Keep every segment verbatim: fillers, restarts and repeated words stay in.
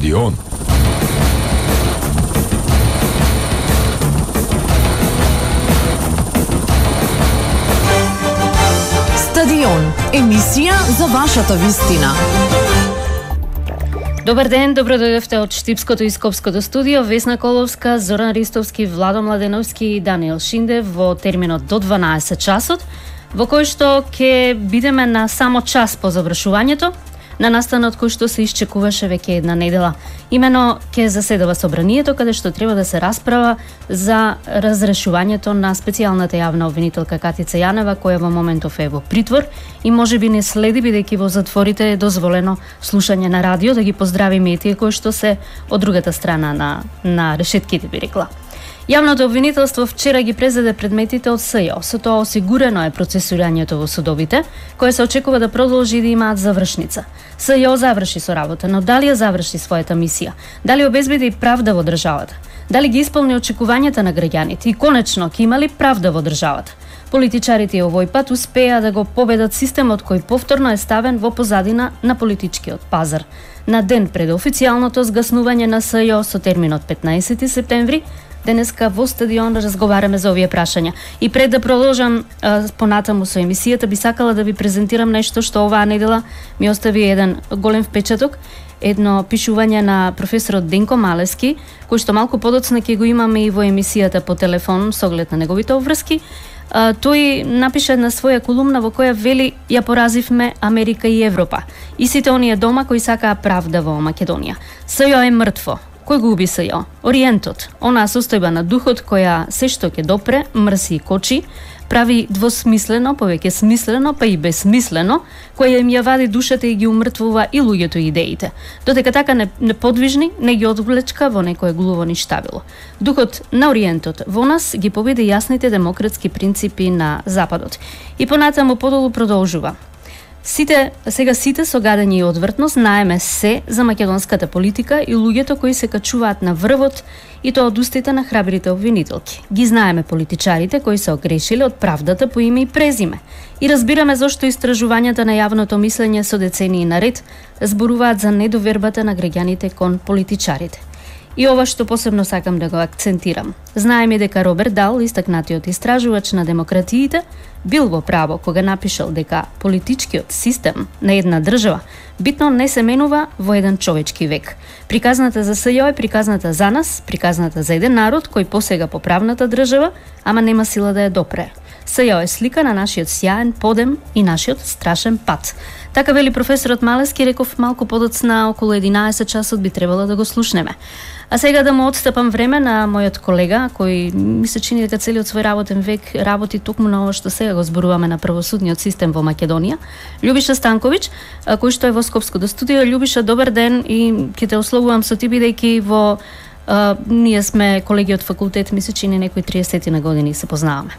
Стадион. Стадион, емисија за вашата вистина. Добар ден, добро дојдовте од Штипското и Скопското студио. Весна Коловска, Зоран Ристовски, Владо Младеновски и Даниел Шиндев во терминот до дванаесет часот, во кој што ќе бидеме на само час по завршувањето на настанот кој што се исчекуваше веќе една недела. Имено ќе заседава собранието каде што треба да се расправа за разрешувањето на специјалната јавна обвинителка Катица Јанева, која во моментов е во притвор и можеби не следи бидејќи во затворите е дозволено слушање на радио. Да ги поздравиме и тие кои што се од другата страна на на решетките, би рекла. Јавното обвинителство вчера ги презеде предметите од СЈО. Со тоа осигурено е процесирањето во судовите, кое се очекува да продолжи и да имаат завршница. СЈО заврши со работа, но дали ја заврши својата мисија? Дали обезбеди правда во државата? Дали ги исполни очекувањата на граѓаните? И конечно, ќе има ли правда во државата? Политичарите овој пат успеа да го победат системот кој повторно е ставен во позадина на политичкиот пазар. На ден пред официјалното згаснување на СЈО со терминот петнаесети септември, денеска во Стадион разговараме за овие прашања. И пред да продолжам а, понатаму со емисијата, би сакала да ви презентирам нешто што оваа недела ми остави еден голем впечаток, едно пишување на професорот Денко Малески, кој што малку подоцна ќе го имаме и во емисијата по телефон со оглед на неговите обврски. А, тој напиша една своја колумна во која вели: ја поразивме Америка и Европа и сите оние дома кои сакаа правда во Македонија. СЈО е мртво. Кој го уби СЈО? Ориентот, онаа состојба на духот која се што ќе допре, мрси и кочи, прави двосмислено, повеќе смислено, па и безсмислено, која им ја вади душата и ги умртвува и луѓето и идеите. Додека така неподвижни, не ги одвлечка во некое глуво ништавило. Духот на Ориентот во нас ги победи јасните демократски принципи на Западот. И понатаму подолу продолжува. Сите, сега сите со гадење и одвртност знаеме се за македонската политика и луѓето кои се качуваат на врвот и тоа од устите на храбрите обвинителки. Ги знаеме политичарите кои се огрешиле од правдата по име и презиме. И разбираме зошто истражувањата на јавното мислење со децении наред зборуваат за недовербата на граѓаните кон политичарите. И ова што посебно сакам да го акцентирам. Знаеме дека Роберт Дал, истакнатиот истражувач на демократиите, бил во право кога напишал дека политичкиот систем на една држава битно не се менува во еден човечки век. Приказната за СЈО е приказната за нас, приказната за еден народ кој посега по правната држава, ама нема сила да ја допре. СЈО е слика на нашиот сјаен подем и нашиот страшен пат. Така вели професорот Малески, реков малку подоцна, околу единаесет часот би требало да го слушнеме. А сега да му отстапам време на мојот колега, кој ми се чини дека целиот свој работен век работи токму на ова што сега го зборуваме на правосудниот систем во Македонија. Љубиша Станковиќ, кој што е во Скопското студио. Љубиша, добар ден и ќе те условувам со ти, бидејќи во а, ние сме колеги од факултет, ми се чини некои триесет на години се познаваме.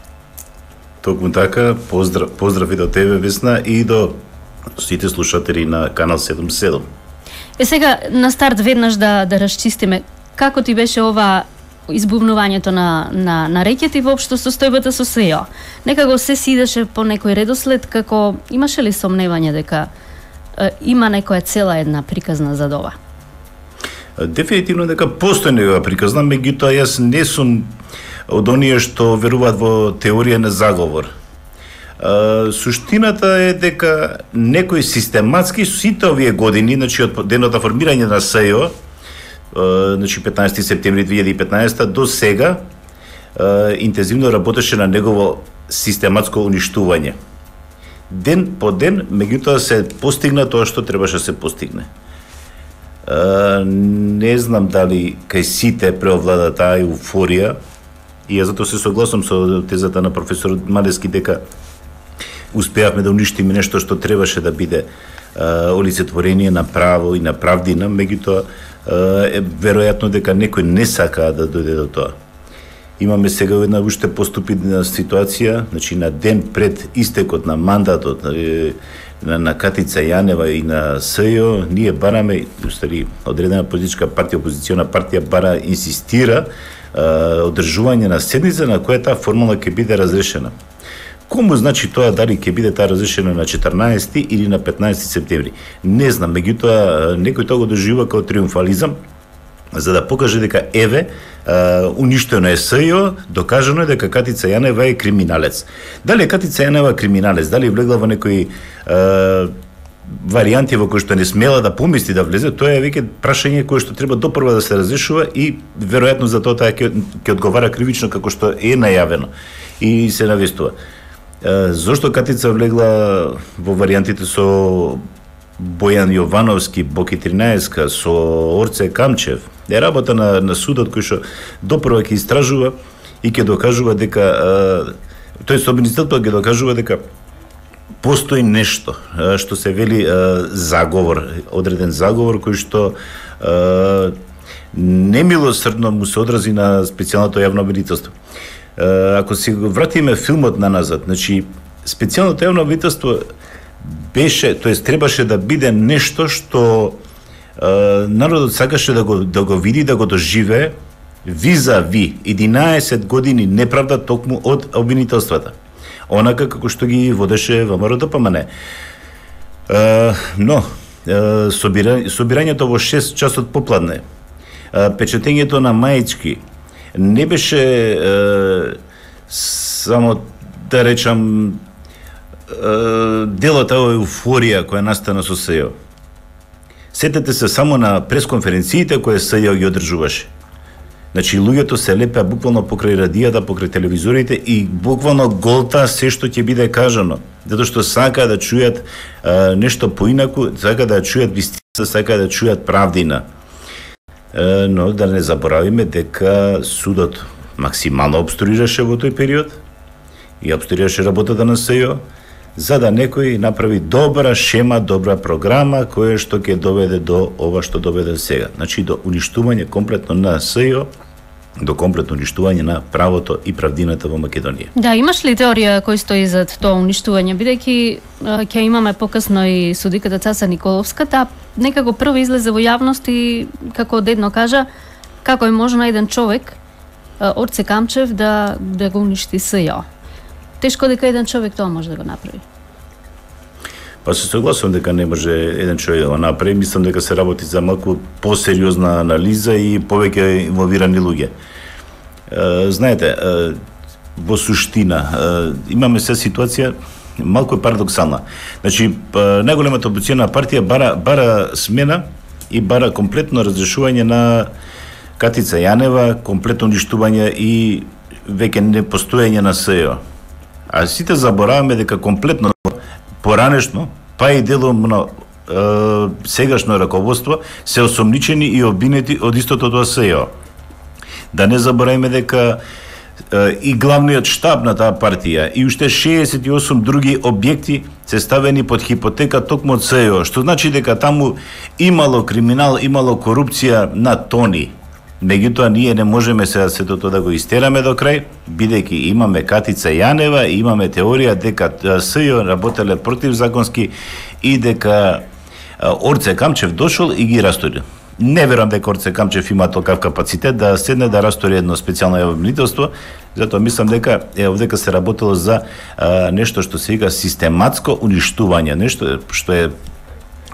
Токму така, поздрав, поздрав и до тебе, Весна, и до сите слушатели на Канал седумдесет и седум. Е сега на старт веднаш да да расчистиме како ти беше ова избувнувањето на на на рекет и воопшто состојбата со СЈО. Некако се сидеше по некој редослед, како имаше ли сомневање дека е, има некоја цела една приказна за ова? Дефинитивно дека постои некоја приказна, меѓутоа јас не сум од оние што веруваат во теорија на заговор. Uh, суштината е дека некој систематски сите овие години, значи од денот на формирање на СЈО, uh, значи петнаесети септември две илјади и петнаесета до сега, uh, интензивно работеше на негово систематско уништување. Ден по ден, меѓутоа се постигна тоа што требаше да се постигне. Uh, не знам дали кај сите преовлада таа еуфорија, и ја затоа се согласам со тезата на професорот Малески дека успеавме да уништиме нешто што требаше да биде а, олицетворение на право и на правдина, меѓутоа е веројатно дека некој не сака да дојде до тоа. Имаме сега една уште поступидна ситуација, значи на ден пред истекот на мандатот на, на Катица Јанева и на СЈО, ние бараме, устари, одредена политичка партија, опозициона партија бара, инсистира а, одржување на седница на која таа формула ќе биде разрешена. Кому значи тоа дали ќе биде таа разрешена на четрнаесети или на петнаесети септември? Не знам, меѓутоа некој тоа го доживува како триумфализам, за да покаже дека еве уништено е СЈО, докажано е дека Катица Јанева е криминалец. Дали е Катица Јанева криминалец, дали влегла во некои е, варијанти во кои што не смела да помисли да влезе, тоа е веќе прашање кое што треба допрва да се разрешува и веројатно за тоа ќе ќе одговара кривично како што е најавено и се навестува. Е, зошто Катица влегла во варијантите со Бојан Јовановски, Боки тринаесетка, со Орце Камчев, е работа на, на судот кој што допрва ќе истражува и ќе докажува дека, тој собствениците ќе докажува дека постои нешто што се вели заговор, одреден заговор кој што немилосрдно му се одрази на специјалното јавно обвинителство. Ако се вратиме филмот на назад, значи специјалното јавно обвинителство беше, тоест требаше да биде нешто што е, народот сакаше да го да го види, да го доживее визави единаесет години неправда токму од обвинителствата. Онака како што ги водеше ВМРО Д П М Н. Е, но е, собира, собирањето во шест часот попладне, е, печатењето на маички не беше е, само да речам дел од таа еуфорија која настана со СЈО. Сетете се само на пресконференциите кои СЈО ги одржуваше. Значи, луѓето се лепеа буквално покрај радијата, покрај телевизорите и буквално голта се што ќе биде кажано. Затоа што сака да чујат а, нешто поинаку, сака да чујат вистина, сака да чујат правдина. А, но да не заборавиме дека судот максимално обструираше во тој период и обструираше работата на СЈО, за да некој направи добра шема, добра програма, која што ќе доведе до ова што доведе сега. Значи, до уништување комплетно на СЈО, до комплетно уништување на правото и правдината во Македонија. Да, имаш ли теорија кој стои зад тоа уништување? Бидејќи ќе имаме покасно и судиката Цаца Николовска, таа некако прво излезе во јавност и, како дедно кажа, како е можно еден човек, Орце Камчев, да, да го уништи СЈО. Тешко дека еден човек тоа може да го направи. Па се согласувам дека не може еден човек да го направи. Мислам дека се работи за малку посериозна анализа и повеќе инволвирани луѓе. Е, знаете, е, во суштина, е, имаме се ситуација малку парадоксална. Значи, најголемата опозициона партија бара, бара смена и бара комплетно разрешување на Катица Јанева, комплетно уништување и веќе непостоење на СЈО. А сите забораваме дека комплетно поранешно, па и деломно е, сегашно раководство се осомничени и обвинети од истото тоа СЈО. Да не забораваме дека е, и главниот штаб на таа партија и уште шеесет и осум други објекти се ставени под хипотека токму од СЈО, што значи дека таму имало криминал, имало корупција на тони. Меѓутоа, ние не можеме сега сето тоа да го истераме до крај, бидејќи имаме Катица Јанева и имаме теорија дека СЈО работеле противзаконски и дека Орце Камчев дошол и ги растори. Не верувам дека Орце Камчев има толкав капацитет да седне да растори едно специјално обвинителство, затоа мислам дека е овдека се работело за а, нешто што се вика систематско уништување, нешто што е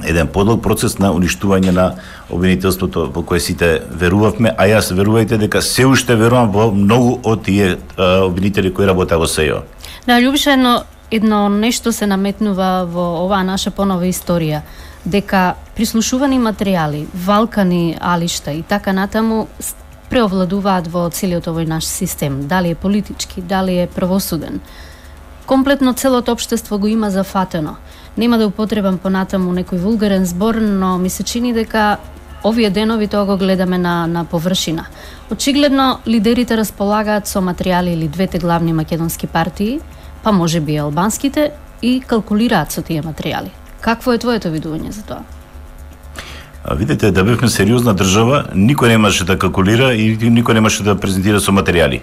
еден подлог процес на уништување на обвинителството во кое сите верувавме, а јас верувајте дека се уште верувам во многу од тие а, обвинители кои работат во СЈО. Да, Љубиша, едно, едно нешто се наметнува во оваа наша понова историја, дека прислушувани материјали, валкани алишта и така натаму преовладуваат во целиот овој наш систем, дали е политички, дали е правосуден. Комплетно целото општество го има зафатено. Нема да употребам понатаму некој вулгарен збор, но ми се чини дека овие денови тоа го гледаме на, на површина. Очигледно, лидерите располагаат со материјали или двете главни македонски партии, па може би албанските, и калкулираат со тие материјали. Какво е твоето видување за тоа? А видите, да бевме сериозна држава, никој немаше да калкулира и никој немаше да презентира со материјали.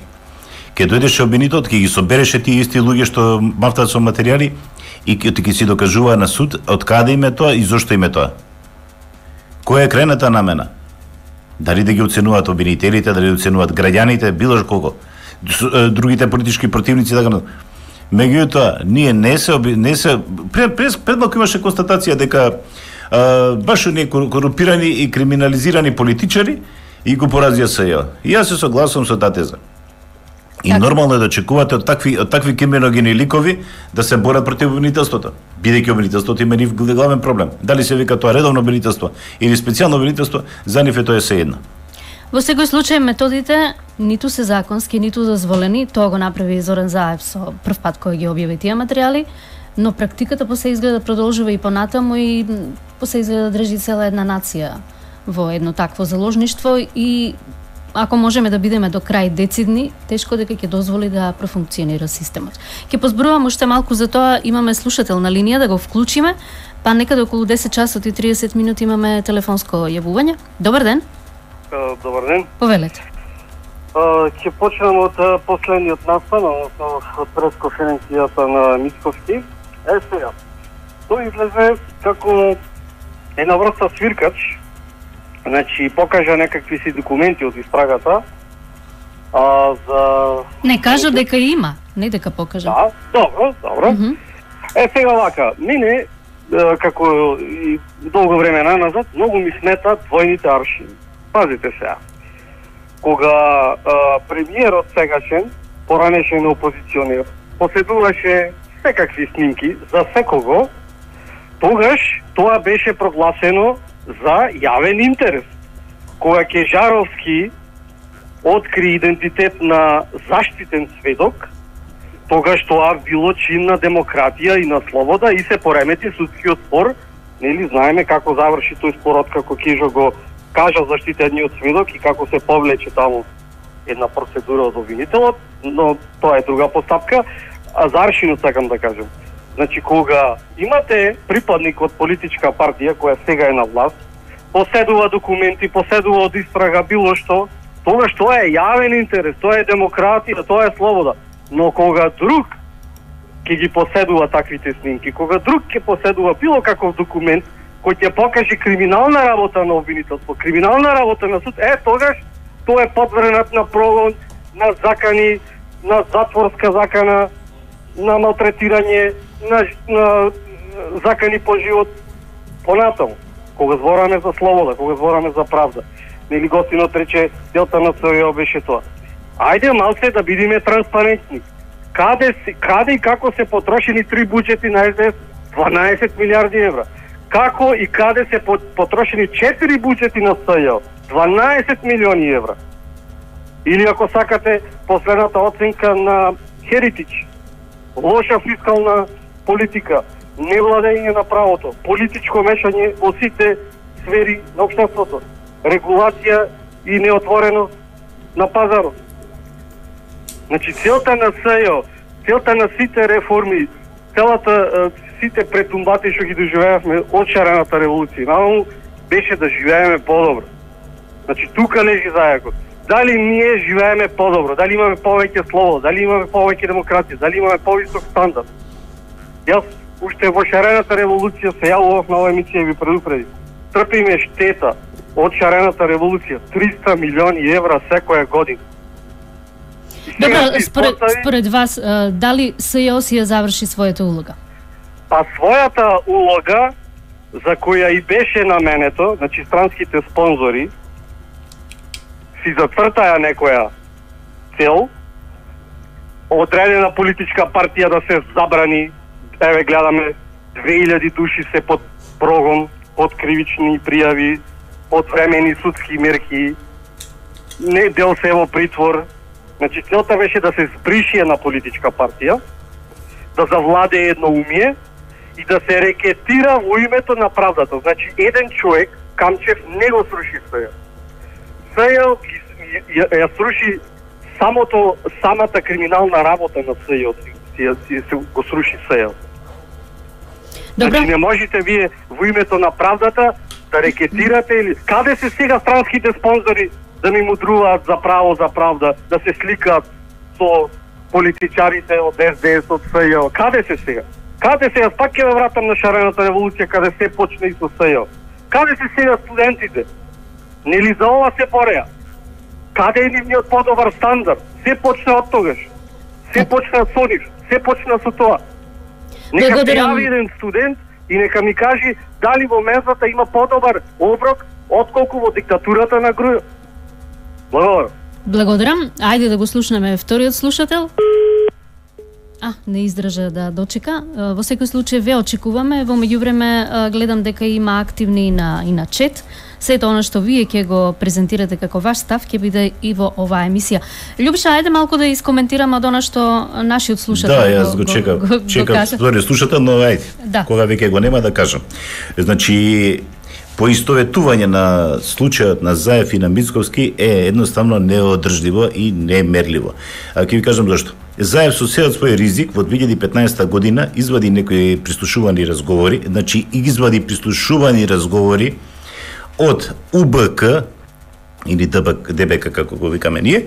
Ке дојдеше обвинитот, ке ги собереше тие исти луѓе што мафтаат со материјали и ке ќе си докажува на суд од каде име тоа и зошто име тоа. Која е крајната намена? Дали да ги оценуваат обвинителите, дали да оценуваат граѓаните, било колко. Другите политички противници, така. Меѓутоа, ние не се не се пред пред, пред малку имаше констатација дека а, баш оние корумпирани и криминализирани политичари и го поразија СЈО. И јас се согласувам со таа теза. И така. Нормално е да очекувате од такви од такви криминогени ликови да се борат против обвинителството, бидејќи обвинителството има нив главен проблем. Дали се вика тоа редовно обвинителство или специјално обвинителство, за нив е тоа сеедно. Во секој случај методите ниту се законски, ниту дозволени, тоа го направи Зоран Заев со прв пат кој ги објави тие материјали, но практиката посе изгледа продолжува и понатаму и посе изгледа држи цела една нација во едно такво заложништво и ако можеме да бидеме до крај децидни, тешко дека ќе дозволи да профункционира системот. Ќе позборувам уште малку за тоа, имаме слушател на линија да го вклучиме, па некаде околу десет часот и триесет минути имаме телефонско јавување. Добар ден. Добар ден. Повелете. Ќе почнем од последниот настан, односно од пресконференцијата на Мицковски. Е сега, тој излезе како една врста свиркач. Значи, покажа некакви си документи од истрагата. А, за... Не кажа дека има, не дека покажа. Да, добро, добро. Mm -hmm. Е, сега вака, мене, како и долго време назад, многу ми смета двојните аршини. Пазите сега. Кога а, премиерот сегашен, поранешен опозиционер, поседуваше секакви снимки за секого, тогаш тоа беше прогласено за јавен интерес. Кога Кежаровски откри идентитет на заштитен сведок, тогаш тоа било чин на демократија и на слобода и се поремети судскиот спор. Нели знаеме како заврши тој спор откако Кежо го кажа заштитениот сведок и како се повлече таму една процедура од обвинителот, но тоа е друга постапка. А за аршинот сакам да кажам. Значи, кога имате припадник од политичка партија која сега е на власт, поседува документи, поседува од истрага, било што, тогаш тоа е јавен интерес, тоа е демократија, тоа е слобода. Но кога друг ќе ги поседува таквите снимки, кога друг ќе поседува било каков документ кој ќе покаже криминална работа на обвинителство, криминална работа на суд, е, тогаш тоа е подвренат на прогон, на закани, на затворска закана, на малтретирање, на, на закани по живот, понатаму. Кога збораме за слобода, кога збораме за правда. Нели гостинот рече, целта на СЈО беше тоа. Ајде малце да бидеме транспарентни. Каде, каде и како се потрошени три буџети на ес де ес? дванаесет милиарди евра. Како и каде се потрошени четири буџети на СЈО? дванаесет милиони евра. Или ако сакате, последната оценка на Heritage. Лоша фискална политика, невладење на правото, политичко мешање во сите сфери на општеството, регулација и неотвореност на пазарот. Значи, целта на СЈО, целта на сите реформи, целата сите претумбати што ги доживеавме од шарената револуција, наваму беше да живееме подобро. Значи, тука лежи зајакот. Дали ние живееме подобро, дали имаме повеќе слобода, дали имаме повеќе демократија, дали имаме повисок стандард. Јас уште во шарената револуција се јавував на оваа емисија и ви предупреди. Трпиме штета од шарената револуција триста милиони евра секоја година. Добро, според, според вас, дали СЈО си ја заврши својата улога? Па својата улога, за која и беше наменето, значи странските спонзори, си зацртаја некоја цел, одредена политичка партија да се забрани, еве гледаме две илјади души се под прогон, под кривични пријави, под времени судски мерки, не дел се во притвор. Значи целта беше да се збриши една политичка партија, да завладе едноумие и да се рекетира во името на правдата. Значи еден човек, Камчев, не го сруши СЈО. СЈО ја, ја сруши самото, самата криминална работа на СЈО, си, си, си го сруши СЈО. Значи не можете вие во името на правдата да рекетирате или... Каде се сега странските спонзори да ми мудруваат за право, за правда, да се сликаат со политичарите од ес де ес, од СЈО? Каде се сега? Каде се? Јас пак ќе ве вратам на шарената револуција, каде се почне и со СЈО. Каде се сега студентите? Нели за ова се бореа? Каде е нивниот подобар стандард? Се почне од тогаш. Се почне со нив. се почна со тоа. Нека Благодарам. пријави еден студент и нека ми кажи дали во мензата има подобар оброк отколку во диктатурата на Грујо. Благодарам. Благодарам. Ајде да го слушнеме вториот слушател. А, не издржа да дочека. Во секој случај ве очекуваме. Во меѓувреме гледам дека има активни и на и на чет. Сето она што вие ќе го презентирате како ваш став ќе биде и во оваа емисија. Љубша, ајде малку да искоментираме од она што нашиот слушател Да, јас го чекам. го, го, чекам го втори слушател, но ајде. Да. Кога веќе го нема да кажам. Значи, поистоветување на случајот на Заев и на Мицковски е едноставно неодржливо и немерливо. А ќе ви кажам зашто. Заев со сеот свој ризик во две илјади и петнаесета година извади некои прислушувани разговори, значи извади прислушувани разговори од У Б К или Д Б К како го викаме ние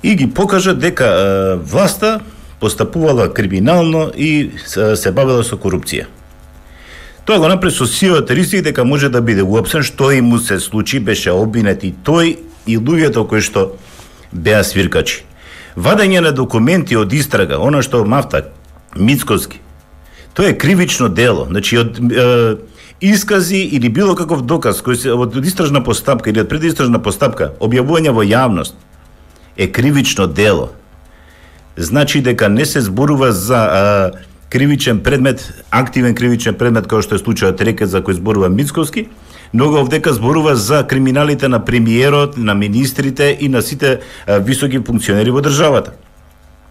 и ги покажа дека е, власта постапувала криминално и се, се бавела со корупција. Тоа го направи со сиот ризик дека може да биде уапсен, што и му се случи, беше обвинет и тој и луѓето кои што беа свиркачи. Вадење на документи од истрага, она што мафта Мицковски, тоа е кривично дело. Значи од е, искази или било каков доказ кој се од истражна постапка или од предистражна постапка, објавување во јавност е кривично дело. Значи дека не се зборува за а, кривичен предмет, активен кривичен предмет кој што е случајот Рекет за кој зборува Мицковски, но овдека зборува за криминалите на премиерот, на министрите и на сите а, високи функционери во државата.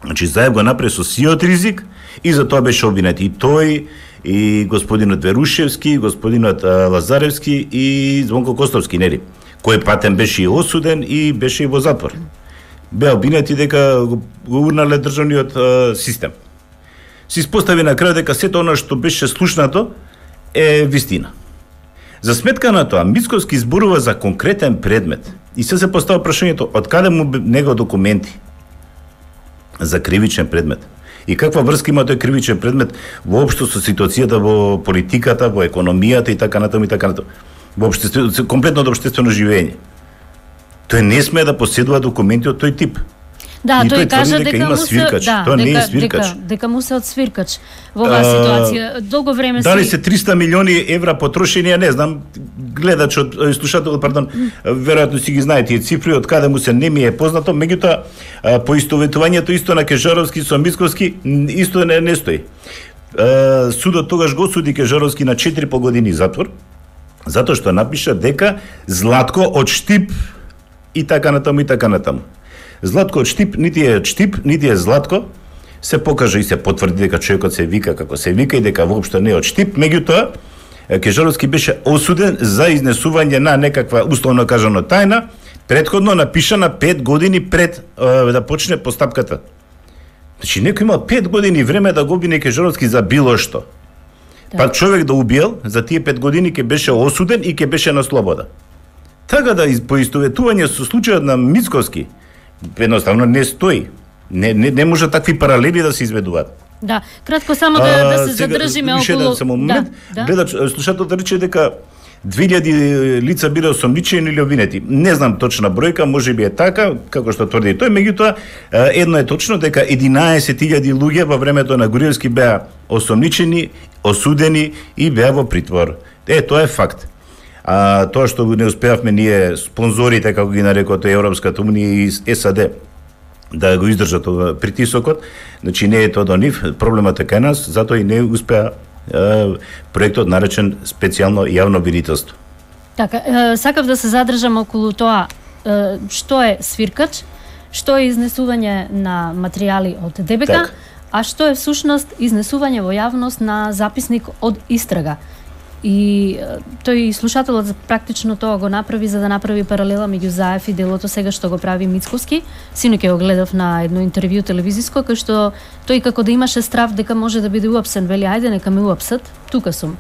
Значи Заев го направи со сиот ризик и за тоа беше обвинет и тој, и господинот Верушевски, господинот а, Лазаревски и Звонко Костовски, нели, кој патен беше и осуден и беше и во затвор. Беа обвинети дека го, го урнале државниот а, систем. Се испостави на крај дека сето она што беше слушнато е вистина. За сметка на тоа, Мицковски зборува за конкретен предмет и се се поставува прашањето од каде му него документи за кривичен предмет. И каква врска има тој кривичен предмет воопшто со ситуацијата во политиката, во економијата и така натаму и така натаму. Во општествено, комплетното општествено живење. Тој не смее да поседува документи од тој тип. Да, и тој, тој кажа дека, дека дека има му се, свиркач. да, Тоа дека, не е свиркач. Дека, дека му се од свиркач во оваа ситуација. Долго време Дали си... се триста милиони евра потрошени, не знам, гледачот, слушателот, пардон, веројатно си ги знае тие цифри, од каде му се не ми е познато, меѓутоа поистоветувањето исто на Кежаровски со Мицковски исто не, не стои. Судот тогаш го суди Кежаровски на четири и пол години затвор, затоа што напиша дека Златко од Штип и така натаму и така натаму. Златко од Штип, нити е Штип, нити е Златко, се покажа и се потврди дека човекот се вика како се вика и дека воопшто не е од Штип, меѓутоа Кежаровски беше осуден за изнесување на некаква условно кажано тајна, претходно напишана пет години пред е, да почне постапката. Значи некој има пет години време да го обвини Кежаровски за било што. Да. Пак човек да убиел, за тие пет години ќе беше осуден и ќе беше на слобода. Така да поистоветување со случајот на Мицковски едноставно не стои. Не, не, не може такви паралели да се изведуваат. Да, кратко само да, да се задржиме околу... Уште само момент, да, да. Гледач, слушателот рече дека две илјади лица бира осомничени или обвинети. Не знам точна бројка, може би е така, како што тврди тој, меѓутоа едно е точно дека единаесет илјади луѓе во времето на Груевски беа осомничени, осудени и беа во притвор. Е, тоа е факт. А тоа што не успеавме ние спонзорите, како ги нарекоа Европската унија и С А Д, да го издржат притисокот, значи не е тоа до нив, проблемот е кај нас, затоа и не успеа е, проектот наречен специјално јавно обвинителство. Така, е, сакав да се задржам околу тоа е, што е свиркач, што е изнесување на материјали од Д Б К, так. А што е всушност изнесување во јавност на записник од истрага. И тој слушателот практично тоа го направи за да направи паралела меѓу Заев и делото сега што го прави Мицковски. Синоќ го гледав на едно интервју телевизиско кај што тој како да имаше страв дека може да биде уапсен, вели ајде нека ме уапсат, тука сум.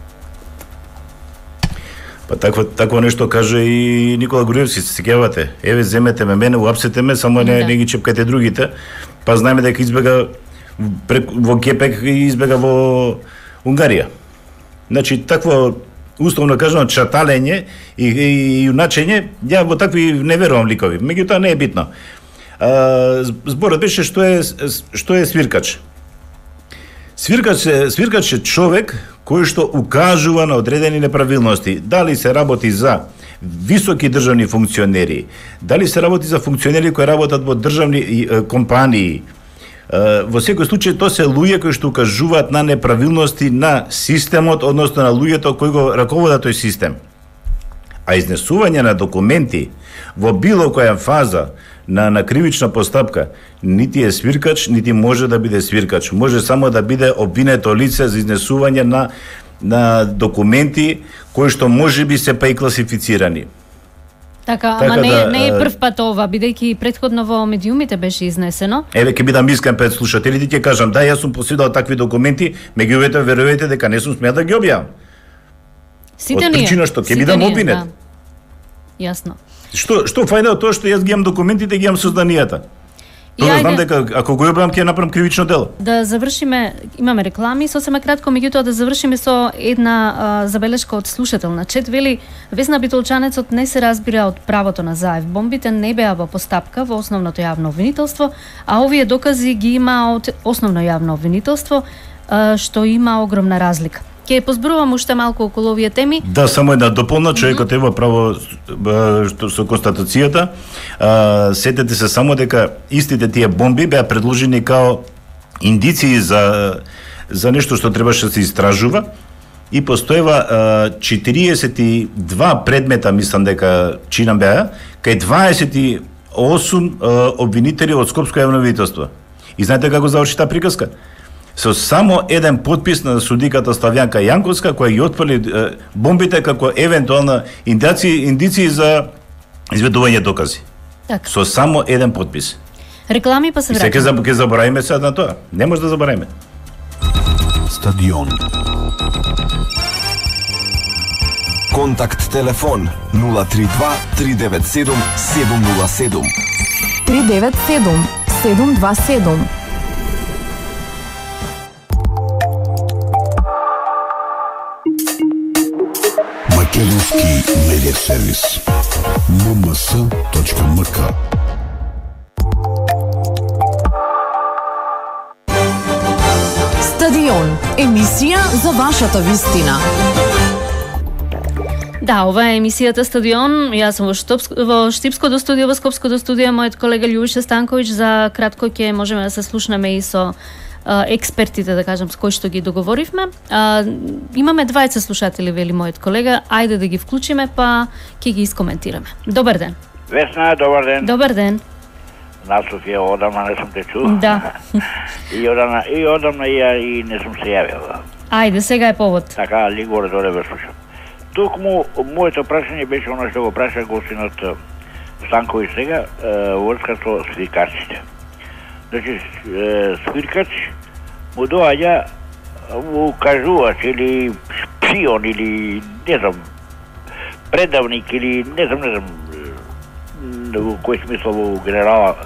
Па такво такво нешто каже и Никола Груевски, се сеќавате. Еве земете ме мене, уапсете ме, само не, да. не ги чепкате другите. Па знаеме дека избега во Кепек и избега во Унгарија. Значи, такво, условно кажано, чаталење и, и, и юначење, ја во такви не верувам ликови. Меѓутоа не е битно. А, зборот беше што е што е свиркач. Свиркач е, свиркач е човек кој што укажува на одредени неправилности. Дали се работи за високи државни функционери, дали се работи за функционери кои работат во државни е, компании. Е, во секој случај тоа се луѓе кои што укажуваат на неправилности на системот, односно на луѓето кои го раководат тој систем. А изнесување на документи во било која фаза на, на кривична постапка нити е свиркач, нити може да биде свиркач. Може само да биде обвинето лице за изнесување на, на документи кои што може би се па и класифицирани. Така, Така ама не, да, не е прв пат ова, бидејќи предходно во медиумите беше изнесено. Еве ќе бидам искрен пред слушателите, ќе кажам да, јас сум поседал такви документи, меѓутоа верувате дека не сум смеа да ги објавам. Сите Од ние. причина што ќе сите бидам ние, обвинет. Да. Јасно. Што што фајда од тоа што јас ги имам документите, ги имам созданијата. И Тоа знам ајде дека ако го објавам ќе направам кривично дело. да завршиме, имаме реклами, сосема кратко, меѓутоа да завршиме со една а, забелешка од слушател на чет. Вели, Весна Битолчанецот не се разбира од правото на заев. Бомбите не беа во постапка во основното јавно обвинителство, а овие докази ги има од основно јавно обвинителство, а, што има огромна разлика. Ќе позборувам уште малку околу овие теми. Да, само една дополна, човекот има право ба, што со констатацијата. А, сетете се само дека истите тие бомби беа предложени као индиции за за нешто што требаше да се истражува и постоева а, четириесет и два предмета, мислам дека чинам беа, кај дваесет и осум а, обвинители од Скопско јавно обвинителство. И знаете како заврши таа приказка? Со само еден подпис на судиката Славјанка Јанковска, која ги отфрли е, бомбите како евентуална индици, индици за изведување докази. Така. Со само еден подпис. Реклами па се И сега враќаме. ќе заборавиме сега на тоа. Не може да заборавиме. Стадион. Контакт телефон нула три два три девет седум седум нула седум. три девет седум седум два седум. Македонски медиа сервис ем ем ес точка ем ка. Стадион, емисија за вашата вистина. Да, ова е емисијата Стадион. Јас сум во, Штопско, во Штипското студио, во Скопското студио, мојот колега Љубиша Станковиќ. За кратко ќе можеме да се слушнеме и со а, експертите, да кажам, с кои што ги договоривме. А, имаме двајца слушатели, вели мојот колега. Ајде да ги вклучиме, па ќе ги искоментираме. Добар ден. Весна, добар ден. Добар ден. На Софија одамна не сум те чул. Да. и одамна и одамна и, ја- и не сум се јавил. Ајде, сега е повод. Така, ли горе доле ве слушам. Токму моето прашање беше оно што го праша гостинот е, Станковиќ сега, е, во врска со свиркачите. Значи, е, свиркач му доаѓа му кажувач или шпион или не знам предавник или не знам не знам е, во кој смисла во генерала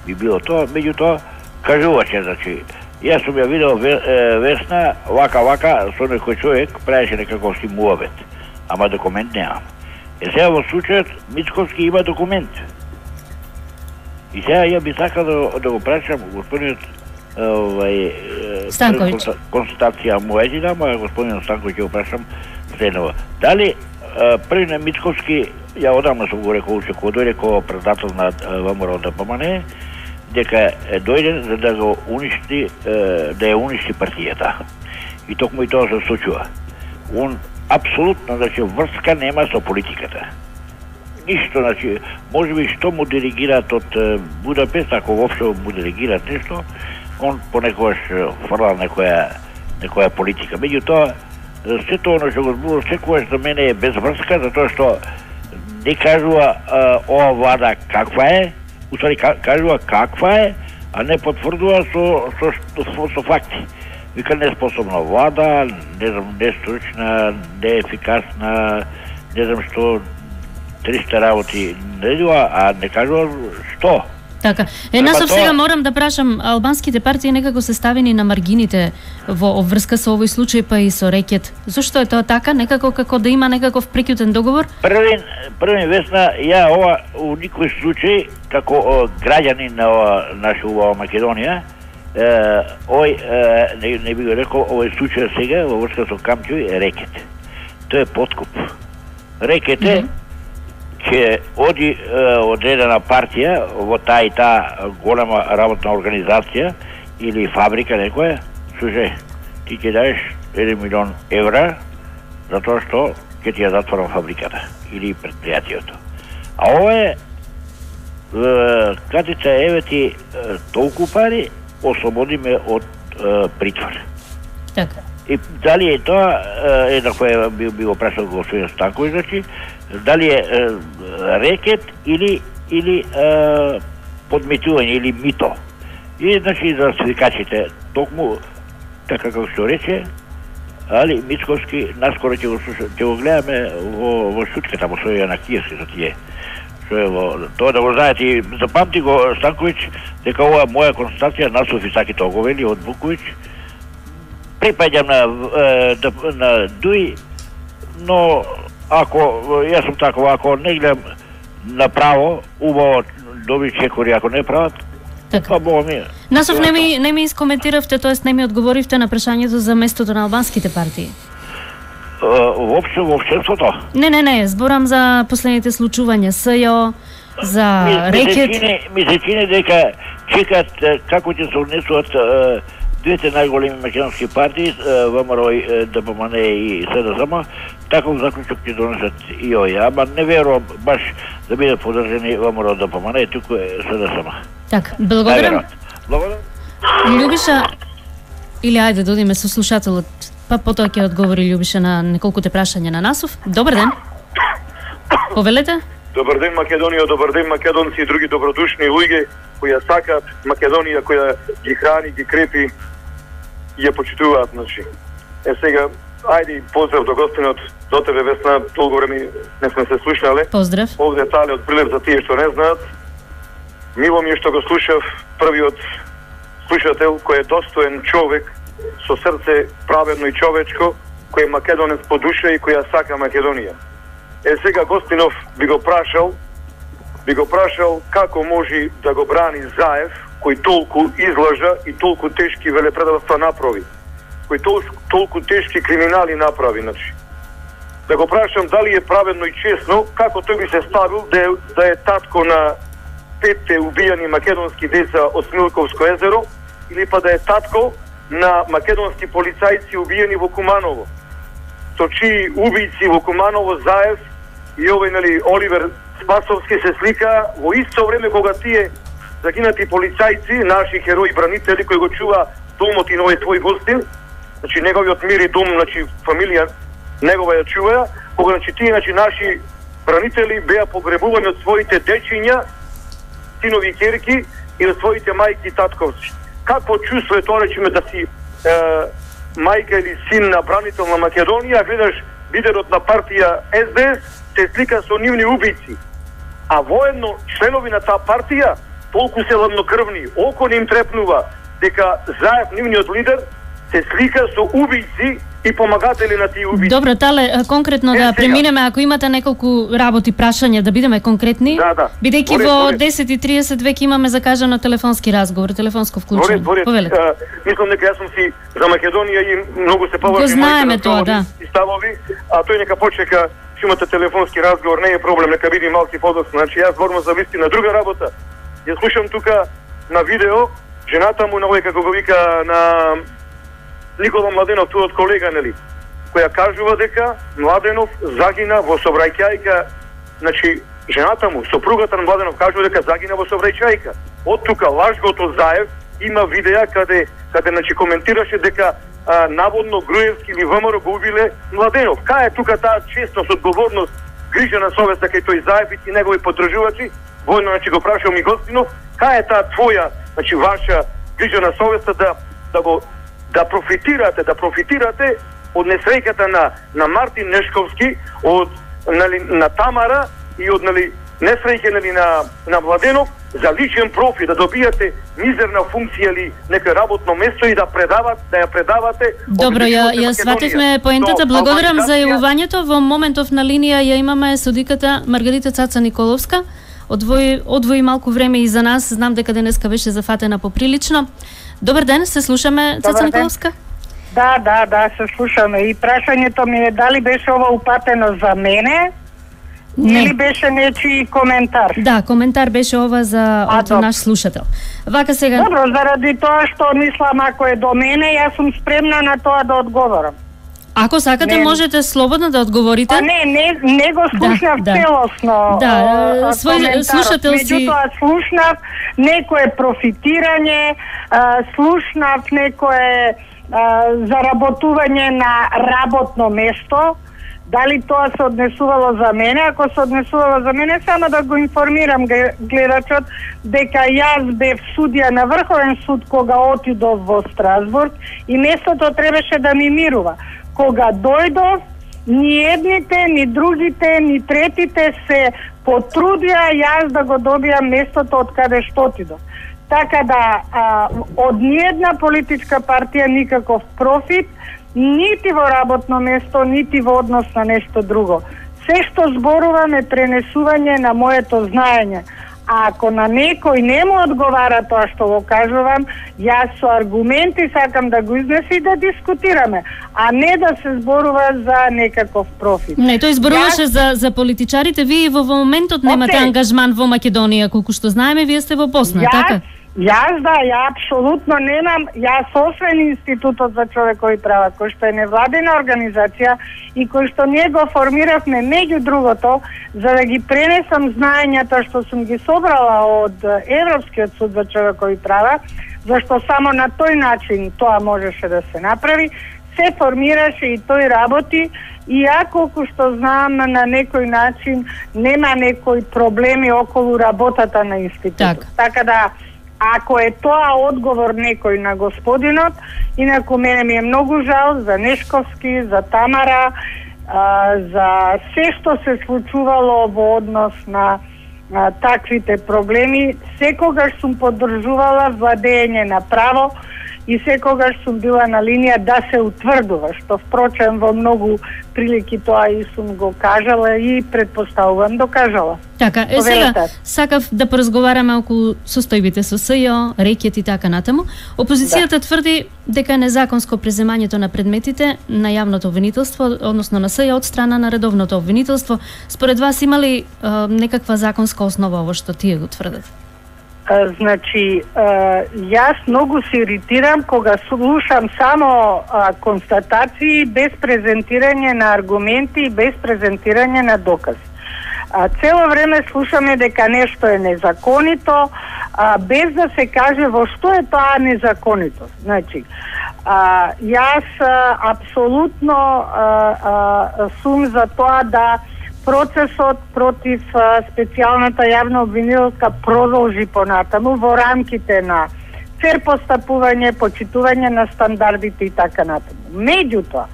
би било тоа, меѓутоа кажувач е, значи јас сум ја видел ве, е, Весна вака вака со некој човек правеше некаков си муабет, ама документ немам. Е сега во случајот Мицковски има документ. И сега ја би сакал да, да го прашам господинот овај е, Станковиќ. конста- констатација моја ти дам, а господинот Станковиќ ќе го прашам следново. Дали е, први на Мицковски ја одамна сум го рекол уште кога дојде како председател на ВМРО да помане, дека е дојден за да го уништи, е, да ја уништи партијата. И токму и тоа се случува. Он апсолутно, значи, врска нема со политиката. Ништо, значи, можеби што му делегираат од е, Будапест, ако воопшто му делегираат нешто, он понекогаш е, фрла некоја некоја политика. Меѓутоа, е, се тоа оно што го зборувам секогаш за мене е без врска, затоа што не кажува е, ова влада каква е, уствари ка- кажува каква е, а не потврдува со со, со, со, со факти. Вика неспособна влада, не знам, нестручна, неефикасна, не знам што, триста работи наредува, а не кажува што. Така. Е, Треба насоп тоа- сега морам да прашам, албанските партии некако се ставени на маргините во обврска со овој случај, па и со рекет. Зошто е тоа така? Некако како да има некаков прекјутен договор? Првин, првин Весна, ја ова у никој случај, како о, граѓанин на ова наша убава Македонија, Ој, не, не би го рекол, овој случај сега во врска со Камчој е рекет. Тоа е подкуп. Рекет е mm -hmm. че оди од едена партија во таа и таа голема работна организација или фабрика некоја, слушај, ти ќе даеш еден милион евра затоа што ќе ти ја затворам фабриката или предпријатието. А ова е катица, еве ти толку пари, ослободи ме од е, притвор. Така. И дали е тоа, е, на која би, би го прашал господин Станковиќ, значи, дали е, е рекет или или е, подметување или мито. И значи за свикачите, токму така како што рече, али Мицковски наскоро ќе го слуша, ќе го гледаме во во шутката во своја на Киевски за тие. Што е во тоа да го знаете и запамти го Станковиќ дека ова моја констатација на Софи Саки тоа го вели од Буковиќ. Припаѓам на на, на Дуи, но ако јас сум таков, ако не гледам направо, убаво доби чекори, ако не прават, така. Па бога ми. Насов не ми не ми искоментиравте, тоест не ми одговоривте на прашањето за местото на албанските партии. Воопшто во општеството? Не, не, не, зборам за последните случувања, СЈО, за ми, рекет. Ми се чини, ми се чини дека чекат како ќе се однесуваат двете најголеми македонски партии, ВМРО, ДПМН и СДСМ, таков заклучок ќе донесат и овие, ама не верувам баш да бидат поддржани ВМРО, ДПМН и туку е СДСМ. Така, благодарам. Благодарам. Љубиша, или ајде да одиме со слушателот, па потоа ќе одговори Љубиша на неколкуте прашања на Насов. Добар ден. Повелете? Добар ден Македонија, добар ден македонци и други добродушни луѓе кои ја сакаат Македонија, која ги храни, ги крепи и ја почитуваат, значи. Е сега, ајде поздрав до гостинот, до тебе Весна, толку време не сме се слушнале. Поздрав. Овде детали од Прилеп за тие што не знаат. Мило ми е што го слушав првиот слушател кој е достоен човек со срце праведно и човечко, кој е македонец по душа и која сака Македонија. Е сега Гостинов би го прашал, би го прашал како може да го брани Заев, кој толку излажа и толку тешки велепредавства направи, кој толку, толку тешки криминали направи, значи. Да го прашам дали е праведно и честно, како тој би се ставил да е, да е татко на петте убијани македонски деца од Смилковско езеро, или па да е татко на македонски полицајци убиени во Куманово. Со чии убијци во Куманово, Заев и овој, нели, Оливер Спасовски се слика во исто време кога тие загинати полицајци, наши херои бранители кои го чува домот и новој твој Гостин, значи неговиот мир и дом, значи фамилија негова ја чува, кога значи тие значи наши бранители беа погребувани од своите дечиња, синови и ќерки и од своите мајки и татковци. Какво чувство е тоа, речеме, да си е, мајка или син на бранител на Македонија, гледаш лидерот на партија Ес Де Ес, се слика со нивни убици. А воедно членови на таа партија толку се ладнокрвни, око не им трепнува дека Заев, нивниот лидер, се слика со убици и помагатели на тие убици. Добро, Тале, конкретно е, да сега преминеме, ако имате неколку работи, прашања, да бидеме конкретни. Да, да. Бидејќи во десет и тридесет веќе имаме закажано телефонски разговор, телефонско вклучување. Повелете. Мислам дека јас сум си за Македонија и многу се поважам. Го знаеме тоа, да. И ставови, а тој нека почека, ќе имате телефонски разговор, не е проблем, нека види малки подоцна. Значи јас зборувам за вистина друга работа. Ја слушам тука на видео жената му, на овој како го вика на Никола Младенов, туот колега, нели, која кажува дека Младенов загина во сообраќајка, значи жената му, сопругата на Младенов кажува дека загина во сообраќајка. Од тука лажгото Заев има видеа каде каде значи коментираше дека а, наводно Груевски или ВМРО го убиле Младенов. Кај е тука таа честност, одговорност, грижа на совеста кај тој Заев и негови поддржувачи? Војно, значи го прашал ми Гостинов, кај е таа твоја, значи ваша грижа на совеста да да го да профитирате, да профитирате од несреќата на на Мартин Нешковски, од нели на Тамара и од нели несреќа нели на на Младенов за личен профит, да добијате мизерна функција или нека работно место и да предават, да ја предавате. Добро, ја ја свативме поентата. Благодарам за јавувањето. Во моментов на линија ја имаме судиката Маргарита Цаца Николовска. Одвои одвои малку време и за нас. Знам дека денеска беше зафатена поприлично. Добар ден, се слушаме, Цеца Николовска. Да, да, да, се слушаме. И прашањето ми е дали беше ова упатено за мене, не. Или беше нечи коментар? Да, коментар беше ова за од наш слушател. Вака сега... Добро, заради тоа што мислам ако е до мене, јас сум спремна на тоа да одговорам. Ако сакате, не. Можете слободно да одговорите. А не, не, не го слушнав да, целосно. Да, да свој слушател си... Меѓутоа слушнав некое профитирање, слушнав некое заработување на работно место. Дали тоа се однесувало за мене? Ако се однесувало за мене, само да го информирам гледачот дека јас бев судија на Врховен суд кога отидов во Страсбург и местото требаше да ми мирува. Кога дојдов, ни едните, ни другите, ни третите се потрудија јас да го добијам местото од каде што отидов. Така да, а, од ниедна политичка партија никаков профит, нити во работно место, нити во однос на нешто друго. Се што зборувам е пренесување на моето знаење. А ако на некој не му одговара тоа што го кажувам, јас со аргументи сакам да го изнеси и да дискутираме, а не да се зборува за некаков профит. Не, тој зборуваше јас... за, за политичарите. Вие во моментот немате okay. ангажман во Македонија, колку што знаеме, вие сте во Босна, јас... така? Јас да, ја апсолутно немам, јас освен Институтот за човекови права, кој што е невладина организација и кој што ние го формиравме меѓу другото, за да ги пренесам знаењата што сум ги собрала од Европскиот суд за човекови права, зашто само на тој начин тоа можеше да се направи, се формираше и тој работи, и ја колку што знам на некој начин нема некои проблеми околу работата на институтот. Так. Така да ако е тоа одговор некој на господинот, инаку мене ми е многу жал за Нешковски, за Тамара, а, за се што се случувало во однос на а, таквите проблеми. Секогаш сум поддржувала владење на право и секогаш сум била на линија да се утврдува, што впрочем во многу прилики тоа и сум го кажала и предпоставувам докажала. Така, е сега сакав да поразговараме околу состојбите со СЈО, рекет и така натаму. Опозицијата да. тврди дека е незаконско преземањето на предметите на јавното обвинителство, односно на СЈО од страна на редовното обвинителство. Според вас има ли е, некаква законска основа ово што тие го тврдат? Значи, јас многу се иритирам кога слушам само констатации без презентирање на аргументи и без презентирање на докази. Цело време слушаме дека нешто е незаконито, без да се каже во што е тоа незаконито. Значи, јас апсолутно сум за тоа да процесот против специјалната јавна обвинителка продолжи понатаму во рамките на фер постапување, почитување на стандардите и така натаму. Меѓутоа,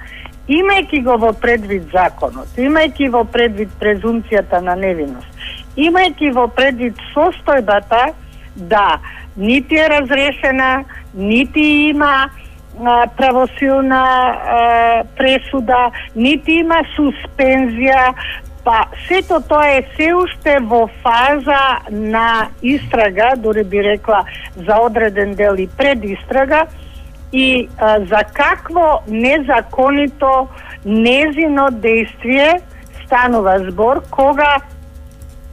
имајќи го во предвид законот, имајќи во предвид презумцијата на невиност, имајќи во предвид состојбата да нити е разрешена, нити има правосилна пресуда, нити има суспензија, па сето тоа е се уште во фаза на истрага, дури би рекла за одреден дел и пред истрага, и а, за какво незаконито незино действие станува збор, кога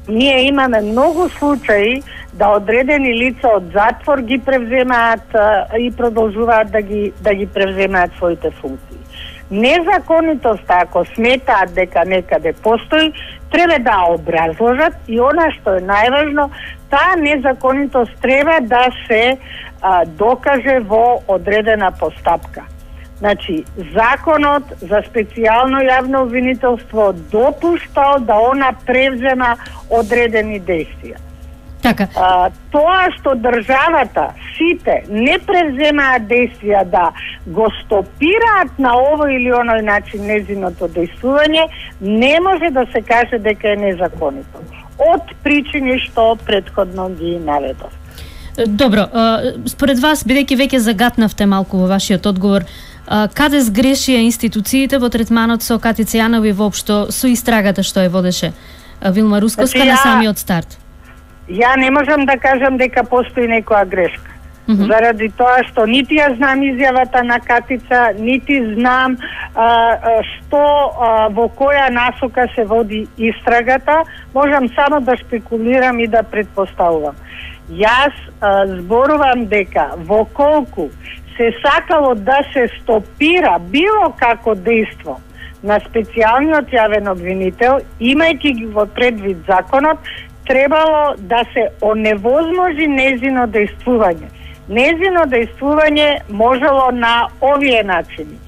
ние имаме многу случаи да одредени лица од затвор ги превземаат а, и продолжуваат да ги да ги превземаат своите функции. Незаконитоста, ако сметаат дека некаде постои, треба да образложат и она што е најважно, таа незаконитост треба да се а, докаже во одредена постапка. Значи, законот за специјално јавно обвинителство допуштал да она превзема одредени действија. Така. А, тоа што државата, сите, не превземаат действија да го стопираат на овој или оној начин незиното действување, не може да се каже дека е незаконито. Од причини што претходно ги наведов. Добро, според вас, бидејќи веќе загатнавте малку во вашиот одговор, каде сгрешија институциите во третманот со Кати Цејанови воопшто со истрагата што ја водеше Вилма Русковска на самиот старт? Ја не можам да кажам дека постои некоја грешка. Mm-hmm. Заради тоа што нити ја знам изјавата на Катица, нити знам а, што а, во која насока се води истрагата, можам само да шпекулирам и да предпоставувам. Јас а, зборувам дека во колку се сакало да се стопира било како дејство на специјалниот јавен обвинител, имајќи ги во предвид законот, требало да се оневозможи незино дејствување. Незино дејствување можело на овие начини.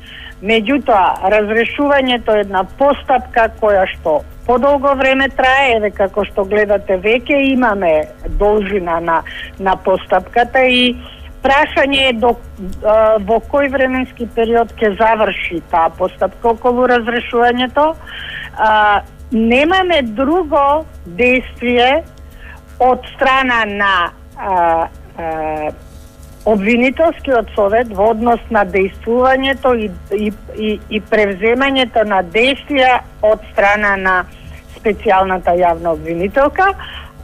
Меѓутоа, разрешувањето е една постапка која што подолго време трае, еве како што гледате веќе имаме должина на, на постапката и прашање е до, а, во кој временски период ќе заврши таа постапка околу разрешувањето. А, немаме друго действие од страна на а, а, обвинителскиот совет во однос на дејствувањето и, и, и, и превземањето на действија од страна на специјалната јавна обвинителка,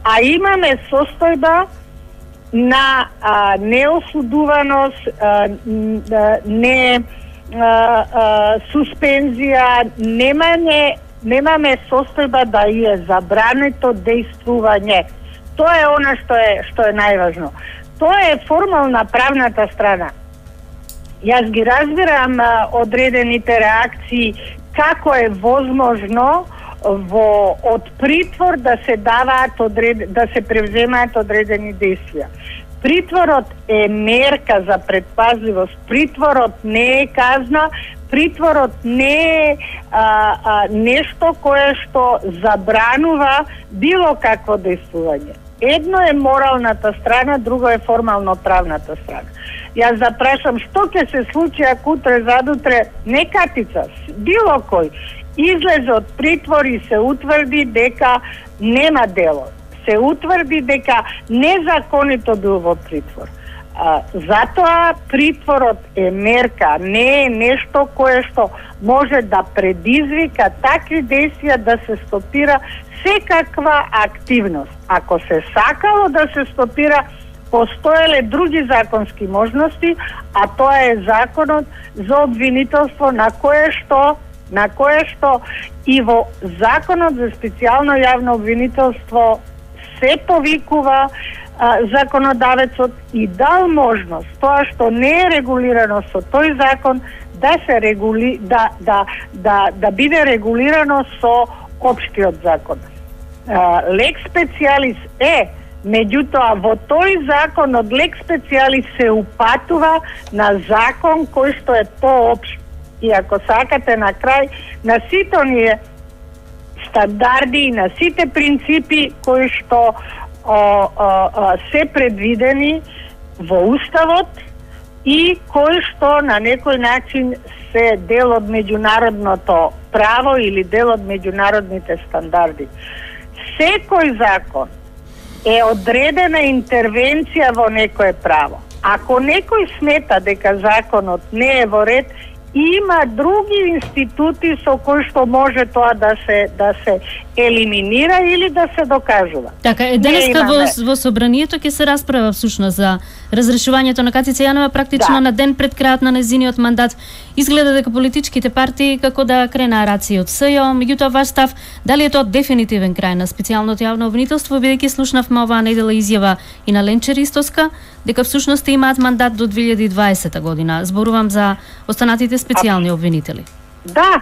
а имаме состојба на а, неосудуваност, а, не а, а, суспензија, немаме, немаме состојба да е забрането дејствување. Тоа е она што е што е најважно. Тоа е формална правната страна. Јас ги разбирам а, одредените реакции како е возможно во од притвор да се даваат одред, да се превземаат одредени действија. Притворот е мерка за предпазливост, притворот не е казна, притворот не е а, а, нешто кое што забранува било какво действување. Едно е моралната страна, друго е формално правната страна. Јас запрашам што ќе се случи ако утре задутре не Катица, било кој излезе од притвор и се утврди дека нема дело, се утврди дека незаконито бил во притвор. А, затоа притворот е мерка, не е нешто кое што може да предизвика такви действија да се стопира секаква активност. Ако се сакало да се стопира, постоеле други законски можности, а тоа е законот за обвинителство на кое што на кое што и во законот за специјално јавно обвинителство се повикува а, законодавецот и дал можност тоа што не е регулирано со тој закон да се регули да да да да биде регулирано со општиот закон. Лекс специалис е, меѓутоа во тој закон од лекс специалис се упатува на закон кој што е поопшт. И ако сакате на крај на сите оние стандарди и на сите принципи кои што о, о, о, се предвидени во Уставот и кои што на некој начин се дел од меѓународното право или дел од меѓународните стандарди. Секој закон е одредена интервенција во некое право. Ако некој смета дека законот не е во ред, има други институти со кои што може тоа да се да се елиминира или да се докажува. Така, е, денеска во, во собранието ќе се расправа всушност за разрешувањето на Катица Јанова практично да. На ден пред крајот на незиниот мандат. Изгледа дека политичките партии како да кренаа раци од СЈО, меѓутоа ваш став, дали е тоа дефинитивен крај на специјалното јавно обвинителство, бидејќи слушнавме оваа недела изјава и на Ленче Ристоска, дека всушност имаат мандат до две илјади и дваесета година. Зборувам за останатите специјални обвинители. Да,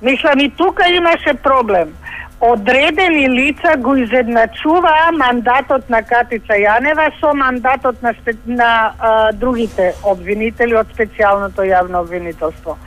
мислам и тука имаше проблем. Одредени лица го изедначуваа мандатот на Катица Јанева со мандатот на, спе... на а, другите обвинители од специјалното јавно обвинителство.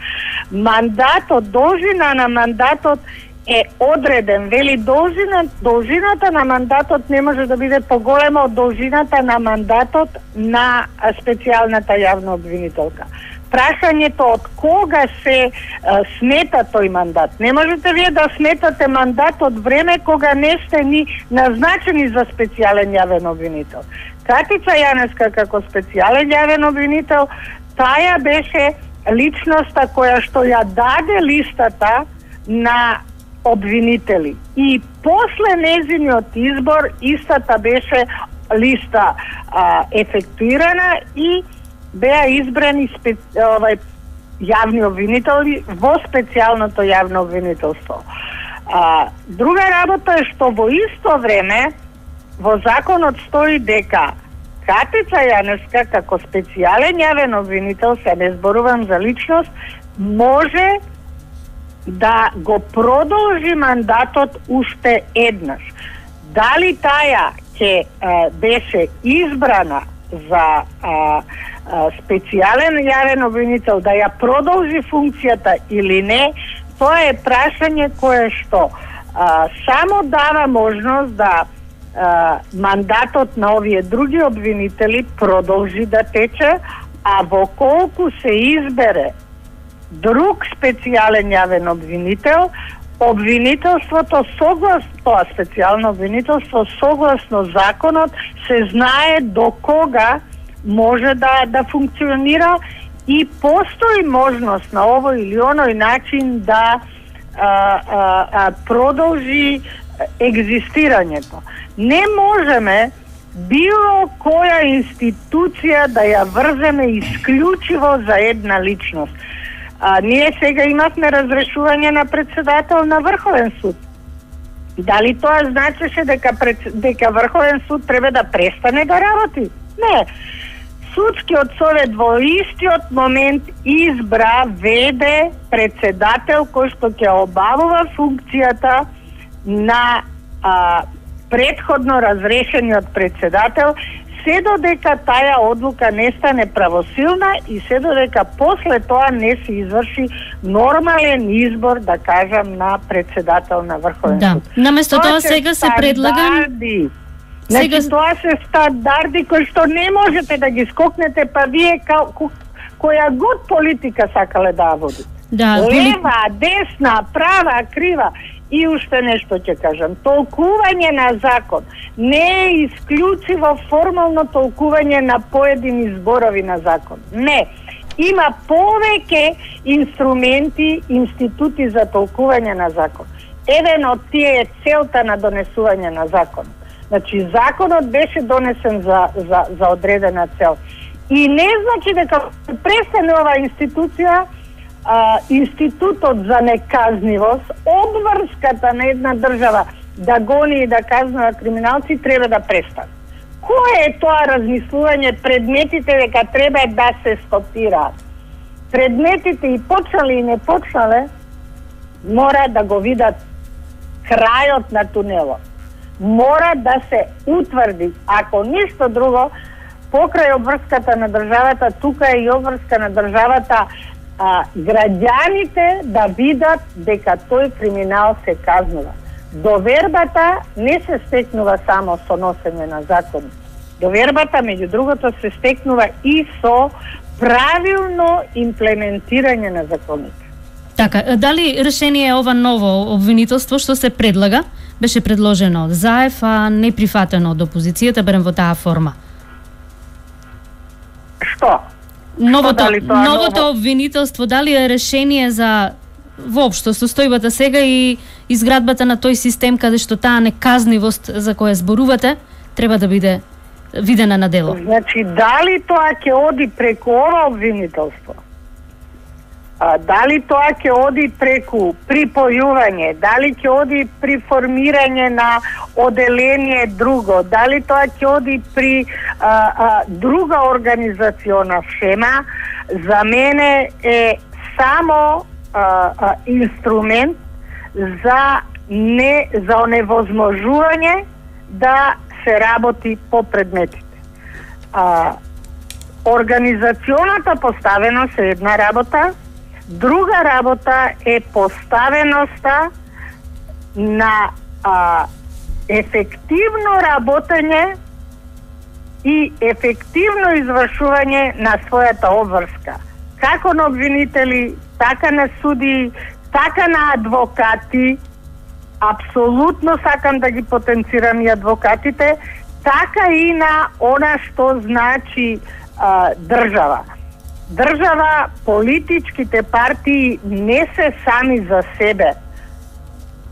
Мандатот, должина на мандатот е одреден, вели должина, должината на мандатот не може да биде поголема од должината на мандатот на специјалната јавна обвинителка. Прашањето од кога се а, смета тој мандат. Не можете вие да сметате мандат од време кога не сте ни назначени за специјален јавен обвинител. Катица Јаневска како специјален јавен обвинител, таја беше личноста која што ја даде листата на обвинители. И после незиниот избор истата беше листа а, ефектуирана и беа избрани спе, овај јавни обвинители во специјалното јавно обвинителство. А, друга работа е што во исто време во законот стои дека Катица Јаневска како специјален јавен обвинител, се не зборувам за личност, може да го продолжи мандатот уште еднаш. Дали таја ќе беше избрана за а, а, специјален јавен обвинител да ја продолжи функцијата или не, тоа е прашање кое што а, само дава можност да а, мандатот на овие други обвинители продолжи да тече, а во колку се избере друг специјален јавен обвинител, обвинителството согласно тоа специјално обвинителство согласно законот се знае до кога може да да функционира и постои можност на овој или оној начин да а, а, а, продолжи екзистирањето. Не можеме било која институција да ја врземе исклучиво за една личност. А, ние сега имавме разрешување на председател на Врховен суд. Дали тоа значеше дека, пред, дека Врховен суд треба да престане да работи? Не. Судскиот совет во истиот момент избра веде председател кој што ќе обавува функцијата на а, предходно разрешениот председател, се додека таја одлука не стане правосилна и се додека после тоа не се изврши нормален избор, да кажам, на председател на Врховен да. суд. Наместо тоа, тоа сега се предлага... Значи, сега... тоа се стандарди кои што не можете да ги скокнете, па вие ка... која год политика сакале да водите. Да, лева, десна, права, крива. И уште нешто ќе кажам. Толкување на закон не е исклучиво формално толкување на поедини зборови на закон. Не. Има повеќе инструменти, институти за толкување на закон. Еден од тие е целта на донесување на закон. Значи, законот беше донесен за, за, за одредена цел. И не значи дека престане оваа институција, А, институтот за неказнивост, обврската на една држава да гони и да казнува криминалци треба да престане. Кое е тоа размислување предметите дека треба да се стопираат? Предметите и почнале и не почнале мора да го видат крајот на тунелот. Мора да се утврди, ако ништо друго, покрај обврската на државата, тука е и обврска на државата, а, граѓаните да видат дека тој криминал се казнува. Довербата не се стекнува само со носење на закони. Довербата, меѓу другото, се стекнува и со правилно имплементирање на законите. Така, дали решение е ова ново обвинителство што се предлага, беше предложено од ЗАЕФ, а не прифатено од опозицијата, барем во таа форма? Што? Новото, Што, новото ново? обвинителство, дали е решение за воопшто состојбата сега и изградбата на тој систем каде што таа неказнивост за која зборувате треба да биде видена на дело? Значи, дали тоа ќе оди преку ова обвинителство? А, дали тоа ќе оди преку припојување? Дали ќе оди при формирање на оделение друго? Дали тоа ќе оди при а, а, друга организациона шема? За мене е само а, а, инструмент за не за оневозможување да се работи по предметите. А, организационата поставеност е една работа, друга работа е поставеноста на а, ефективно работење и ефективно извршување на својата обврска. Како на обвинители, така на суди, така на адвокати, апсолутно сакам да ги потенцирам и адвокатите, така и на она што значи а, држава. Држава, политичките партии не се сами за себе.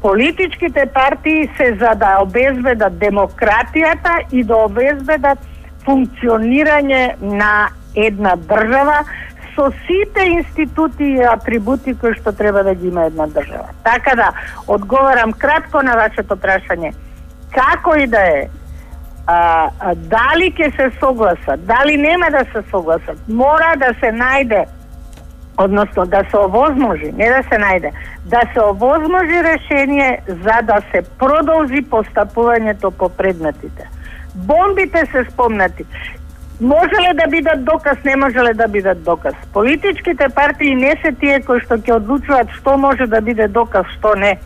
Политичките партии се за да обезбедат демократијата и да обезбедат функционирање на една држава со сите институти и атрибути кои што треба да ги има една држава. Така да, одговарам кратко на вашето прашање. Како и да е, а, а, дали ќе се согласат, дали нема да се согласат, мора да се најде, односно да се овозможи, не да се најде, да се овозможи решение за да се продолжи постапувањето по предметите. Бомбите се спомнати. Можеле да бидат доказ, не можеле да бидат доказ. Политичките партии не се тие кои што ќе одлучуваат што може да биде доказ, што не.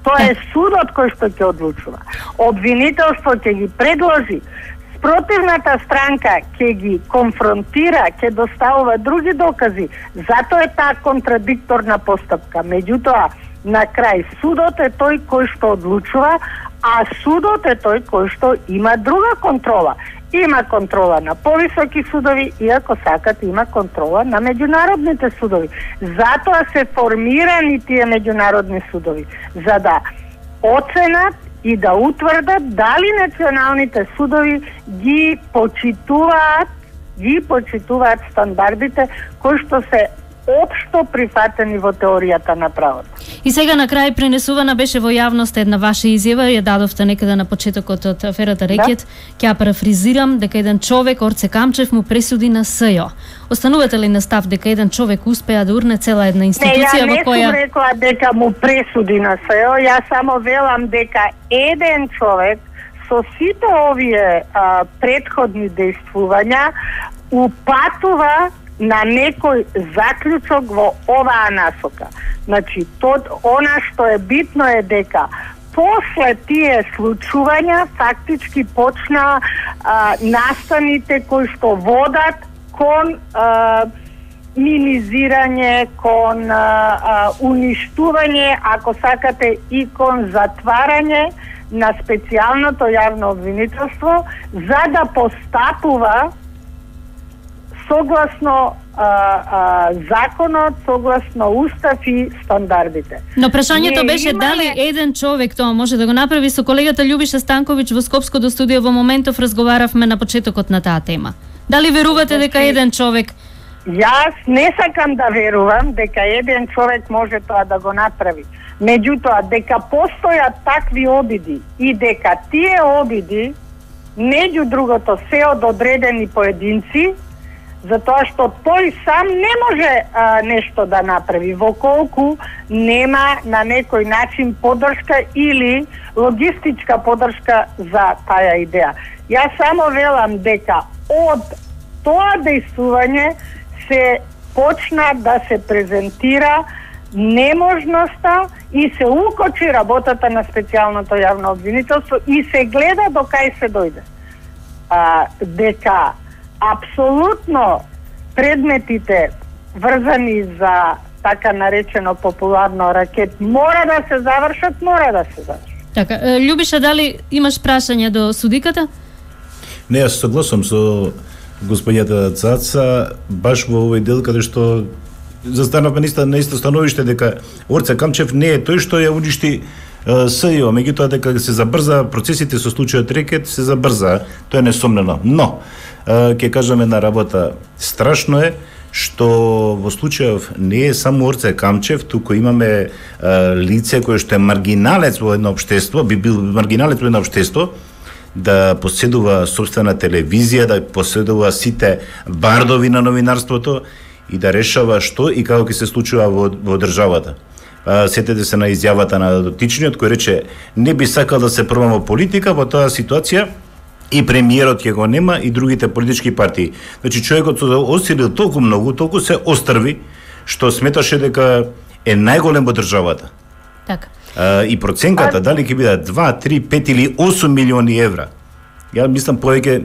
Тоа е судот кој што ќе одлучува. Обвинителство ќе ги предложи, спротивната странка ќе ги конфронтира, ќе доставува други докази. Затоа е таа контрадикторна постапка. Меѓутоа, на крај судот е тој кој што одлучува, а судот е тој кој што има друга контрола. Има контрола на повисоки судови и ако сакат има контрола на меѓународните судови. Затоа се формирани тие меѓународни судови, за да оценат и да утврдат дали националните судови ги почитуваат, ги почитуваат стандардите кои што се општо прифатени во теоријата на правото. И сега на крај пренесувана беше во јавност една ваша изјава, ја дадовте некаде на почетокот од аферата Рекет. Ќе ја парафризирам дека еден човек, Орце Камчев, му пресуди на СЈО. Останувате ли на став дека еден човек успеа да урне цела една институција во која... Не, ја не сум рекла дека му пресуди на СЈО, ја само велам дека еден човек со сите овие а, предходни действувања упатува на некој заклучок во оваа насока. Значи, тод, она што е битно е дека после тие случувања фактички почна а, настаните кои што водат кон а, минизирање, кон а, а, уништување, ако сакате и кон затварање на специјалното јавно обвинителство, за да постапува согласно а, а, законот, согласно устав и стандардите. Но прашањето беше имаме... дали еден човек тоа може да го направи. Со колегата Љубиша Станковиќ во Скопското студио во моментов разговаравме на почетокот на таа тема. Дали верувате дека еден човек... Јас не сакам да верувам дека еден човек може тоа да го направи. Меѓутоа, дека постојат такви обиди и дека тие обиди, меѓу другото, се од одредени поединци, затоа што тој сам не може а, нешто да направи, во колку нема на некој начин поддршка или логистичка поддршка за таа идеја. Јас само велам дека од тоа действување се почна да се презентира неможноста и се укочи работата на специјалното јавно обвинителство и се гледа до кај се дојде. А, дека апсолутно предметите врзани за така наречено популарно Ракет мора да се завршат, мора да се завршат. Така, Љубиша, дали имаш прашање до судиката? Не, јас согласувам со господјата Цаца, баш во овој дел каде што застанавме на исто становиште дека Орце Камчев не е тој што ја уништи СЈО, меѓутоа дека се забрза процесите со случајот Рекет, се забрза, тоа е несомнено. Но ќе кажеме на работа, страшно е што во случајов не е само Орце Камчев, туку имаме а, лице кое што е маргиналец во едно општество, би бил маргиналец во едно општество, да поседува собствена телевизија, да поседува сите бардови на новинарството и да решава што и како ќе се случува во, во државата. А, сетете се на изјавата на дотичниот кој рече не би сакал да се пробам во политика во таа ситуација и премиерот ќе го нема и другите политички партии. Значи човекот се осилил толку многу, толку се острви што сметаше дека е најголем во државата. Така. А, и проценката а... дали ќе бидат два, три, пет или осум милиони евра. Ја мислам повеќе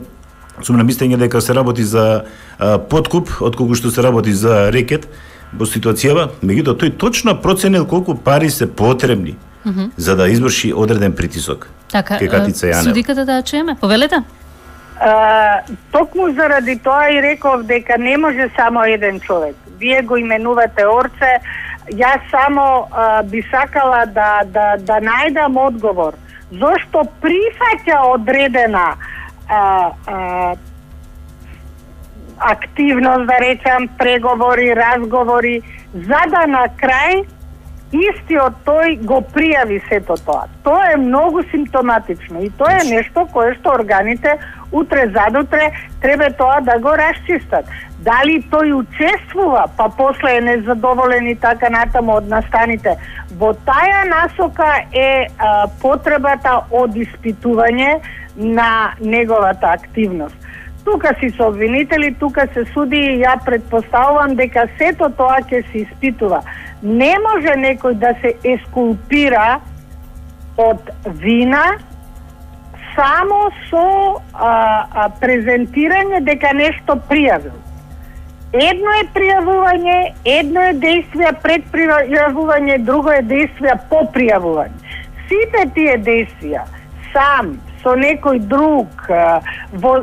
сум на мислење дека се работи за а, подкуп отколку што се работи за Рекет во ситуацијава, меѓутоа тој точно проценил колку пари се потребни mm -hmm. за да изврши одреден притисок. Така, судиката да чуеме, повелете? А, токму заради тоа и реков дека не може само еден човек. Вие го именувате Орце, Јас само а, би сакала да, да, да најдам одговор. Зошто прифаќа одредена а, а, активност, да речам, преговори, разговори, за да на крај истиот тој го пријави сето тоа. Тоа е многу симптоматично и тоа е нешто кое што органите утре задутре треба тоа да го расчистат. Дали тој учествува, па после е незадоволен и така натаму од настаните. Во таа насока е а, потребата од испитување на неговата активност. Тука си со обвинители, тука се суди и ја предпоставувам дека сето тоа ќе се испитува. Не може некој да се ескулпира од вина само со а, а, презентирање дека нешто пријавил. Едно е пријавување, едно е действие пред пријавување, друго е действие по пријавување. Сите тие действија сам, со некој друг, во,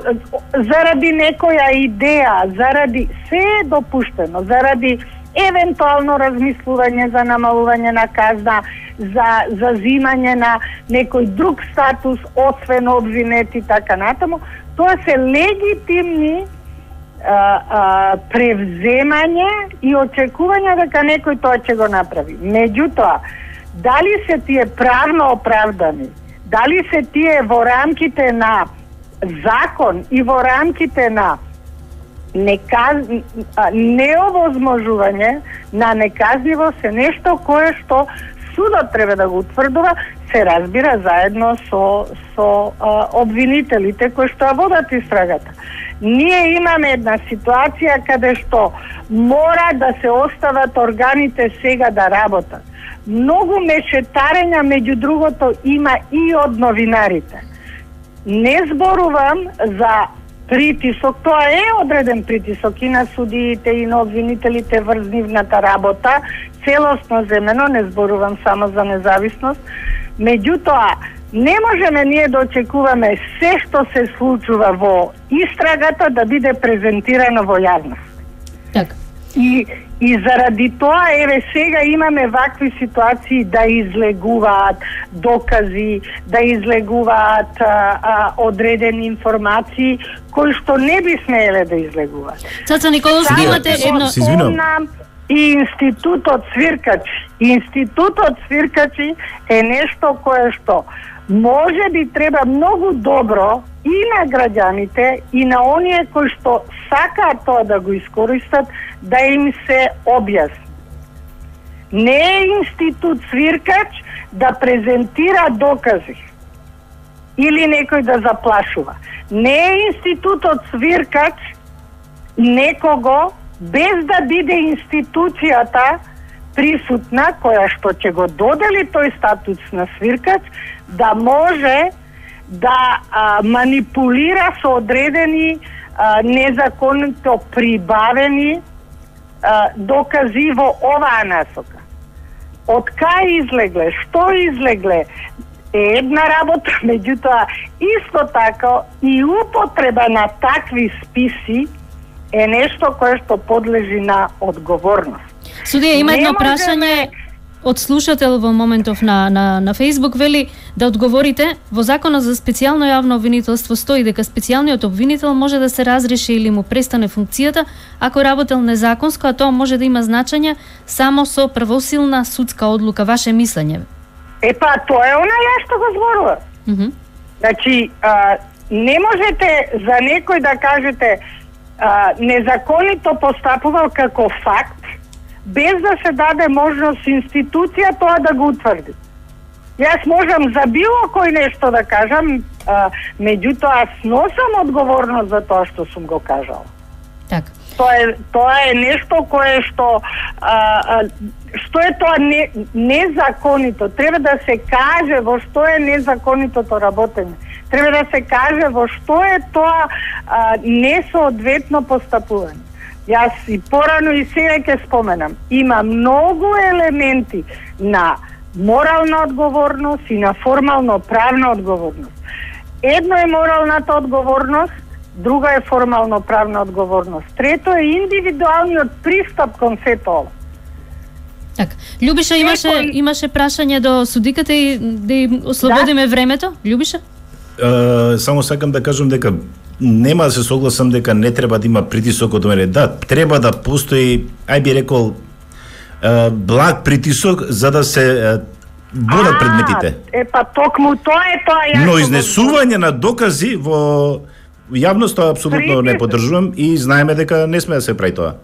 заради некоја идеја, заради се е допуштено, заради евентуално размислување за намалување на казна, за за земање на некој друг статус, освен обвинет и така натаму, тоа се легитимни а, а, превземање и очекување дека некој тоа ќе го направи. Меѓутоа, дали се тие правно оправдани, дали се тие во рамките на закон и во рамките на неказ... неовозможување на неказнивост е нешто кое што судот треба да го утврдува, се разбира заедно со, со а, обвинителите кои што ја водат истрагата. Ние имаме една ситуација каде што мора да се остават органите сега да работат. Многу мешетарења, меѓу другото, има и од новинарите. Не зборувам за притисок, тоа е одреден притисок и на судиите и на обвинителите врз нивната работа, целосно земено, не зборувам само за независност. Меѓутоа, не можеме ние да очекуваме се што се случува во истрагата да биде презентирано во јавност. Така. И, и заради тоа, еве сега имаме вакви ситуации да излегуваат докази, да излегуваат а, а, одредени информации кои што не би смееле да излегуваат. Цаца Николовски, имате едно... Се извинувам. И институтот Свиркачи. Институтот Свиркачи е нешто кое што може би треба многу добро и на граѓаните и на оние кои што сакаат тоа да го искористат, да им се објасни. Не е институт Свиркач да презентира докази или некој да заплашува. Не е институтот Свиркач некого без да биде институцијата присутна, која што ќе го додели тој статус на свиркач, да може да а, манипулира со одредени а, незаконито прибавени а, докази во оваа насока. Од кај излегле, што излегле, е една работа, меѓутоа исто така и употреба на такви списи е нешто кое што подлежи на одговорност. Судија, има едно можеме... прашање од слушател во моментов на, на, на Facebook, вели да одговорите, во Законот за специјално јавно обвинителство стои дека специјалниот обвинител може да се разреши или му престане функцијата ако работел незаконско, а тоа може да има значење само со првосилна судска одлука. Ваше мислење? Епа, тоа е она ја што го зборува. Mm -hmm. Значи, а, не можете за некој да кажете а, незаконито постапувал како факт, без да се даде можност институција тоа да го утврди. Јас можам за било кој нешто да кажам, а, меѓутоа сносам одговорност за тоа што сум го кажала. Така. Тоа е, тоа е нешто кое што а, а, што е тоа не, незаконито. Треба да се каже во што е незаконитото работење. Треба да се каже во што е тоа а, несоодветно постапување. Јас и порано и сега ќе споменам. Има многу елементи на морална одговорност и на формално правна одговорност. Едно е моралната одговорност, друга е формално правна одговорност. Трето е индивидуалниот пристап кон сето ова. Така. Љубиша, имаше Некој... имаше прашање до судиката и да им ослободиме да? времето? Љубиша? Uh, само сакам да кажам дека нема да се согласам дека не треба да има притисок од мене. Да, треба да постои, ај би рекол, uh, благ притисок за да се uh, бодат предметите. Е, па токму тоа е тоа. Јас Но изнесување на докази во јавноста апсолутно не поддржувам и знаеме дека не сме да се прави тоа.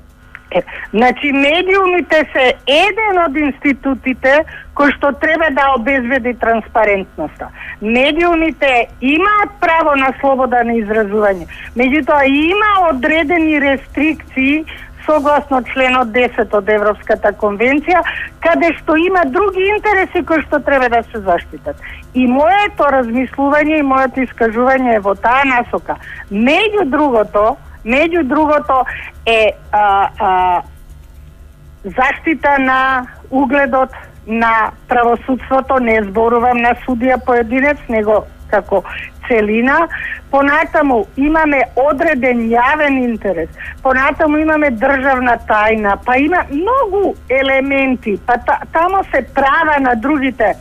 Е, значи, медиумите се еден од институтите кој што треба да обезбеди транспарентноста. Медиумите имаат право на слобода на изразување, меѓутоа има одредени рестрикции согласно членот десет од Европската конвенција, каде што има други интереси кои што треба да се заштитат. И моето размислување и моето искажување е во таа насока. Меѓу другото, меѓу другото е а, а, заштита на угледот на правосудството, не зборувам на судија поединец, него како целина. Понатаму имаме одреден јавен интерес, понатаму имаме државна тајна, па има многу елементи, па та, тамо се права на другите.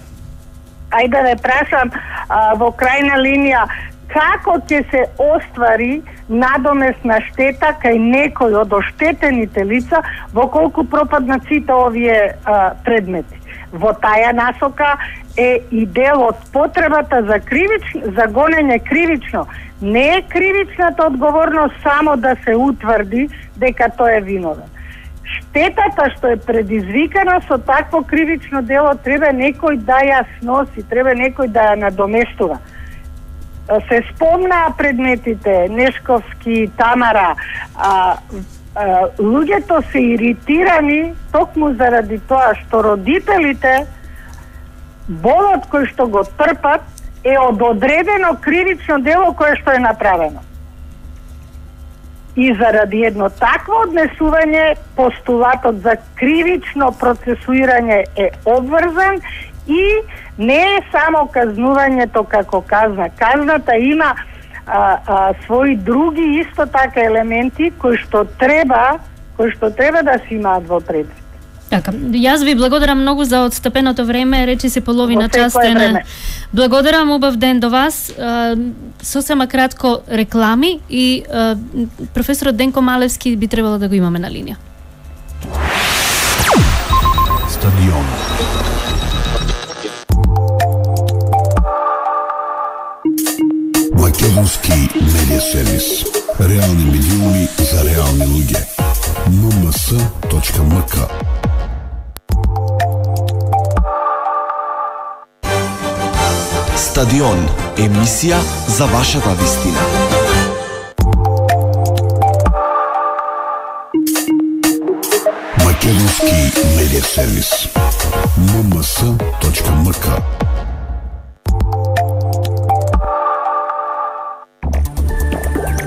Ајде да ве прашам а, во крајна линија, како ќе се оствари надомесна штета кај некој од оштетените лица во колку пропаднат сите овие а, предмети. Во таја насока е и дел од потребата за кривично, за гонење кривично. Не е кривичната одговорност само да се утврди дека тој е виновен. Штетата што е предизвикана со такво кривично дело треба некој да ја сноси, треба некој да ја надоместува. Се спомнаа предметите Нешковски, Тамара, а, а, луѓето се иритирани токму заради тоа што родителите болот кој што го трпат е од одредено кривично дело кое што е направено. И заради едно такво однесување постулатот за кривично процесуирање е обврзан и не е само казнувањето како казна. Казната има а, а, свои други исто така елементи кои што треба, кои што треба да се имаат во предвид. Така, јас ви благодарам многу за отстапеното време, речи се половина час на. Благодарам, убав ден до вас. Сосема кратко реклами и професорот Денко Малевски би требало да го имаме на линија. Стадион. Македонски медиа сервис. Реални медиуми за реални луѓе. ем ем с точка ем к. Стадион, емисија за вашата вистина. Македонски медиа сервис. ем ем с точка ем к.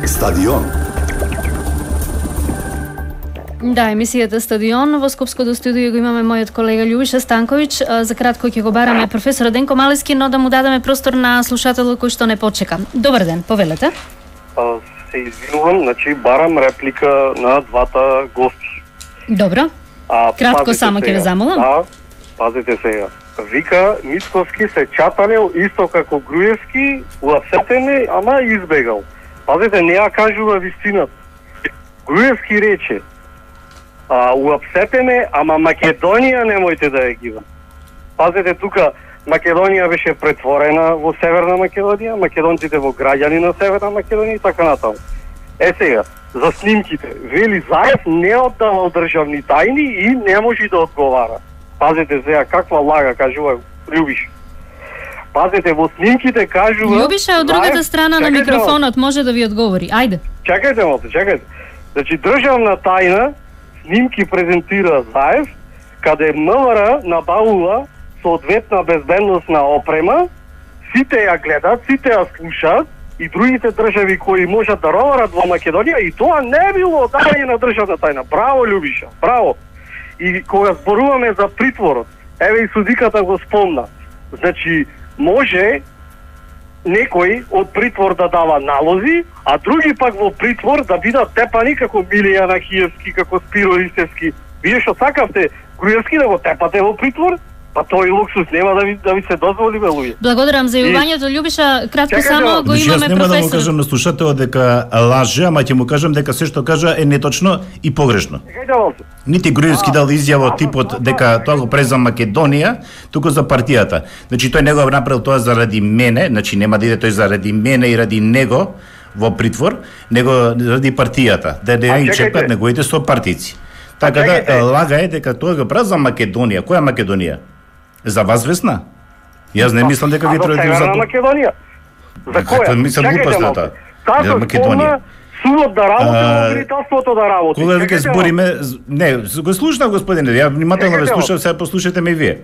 Стадион. Да, емисијата Стадион. Во Скопското студио го имаме мојот колега Љубиша Станковиќ. За кратко ќе го бараме професор Денко Малевски, но да му дадеме простор на слушателот кој што не почека. Добар ден, повелете. А, се извинувам, значи барам реплика на двата гости. Добро. А, кратко само ќе ве замолам. Да, пазите сега. Вика, Мицковски се чаталел исто како Груевски, уапсетене, ама избегал. Пазите, не ја кажува вистината. Груевски рече, а, уапсетеме, ама Македонија немојте да ја гива. Пазите, тука Македонија беше претворена во Северна Македонија, македонците во граѓани на Северна Македонија и така натаму. Е сега, за снимките, вели Заев не оддавал државни тајни и не може да одговара. Пазите сега, каква лага, кажува Љубиш. Пазите, во снимките кажува... Љубиша од другата страна на микрофонот може да ви одговори. Ајде. Чекајте малку, чекајте. Значи, државна тајна, снимки презентира Заев, каде МВР набавува соодветна безбедносна опрема, сите ја гледат, сите ја слушаат и другите држави кои можат да роварат во Македонија и тоа не било одавање на државна тајна. Браво, Љубиша, браво. И кога зборуваме за притворот, еве и судиката го спомна. Значи, може некој од притвор да дава налози, а други пак во притвор да бидат тепани како Милија Нахиевски, како Спиро Истевски. Вие што сакавте Груевски да го тепате во притвор, па тој луксус нема да ви да ви се дозволи, бе, луѓе. Благодарам за јавувањето, Љубиша, кратко Чекайте, само го Значи, имаме јас нема да му професор. кажам на слушателот дека лаже, ама ќе му кажам дека се што кажа е неточно и погрешно. Чекајте малку. Нити Груевски дал изјава типот дека тоа го прави за Македонија, туку за партијата. Значи тој не го направил тоа заради мене, значи нема да иде тој заради мене и ради него во притвор, него заради партијата, да не ги чекат неговите сопартици. Така да лага е дека тоа го прави за Македонија. Која Македонија? За вас Весна? Јас не мислам дека ви тројте за Северна Македонија. За која? Мислам глупостата. Како Македонија. Судот да работи, обвинителството да работи. Кога веќе збориме, не, го слушнав господине, ја внимателно ве слушав, сега послушате ме и вие.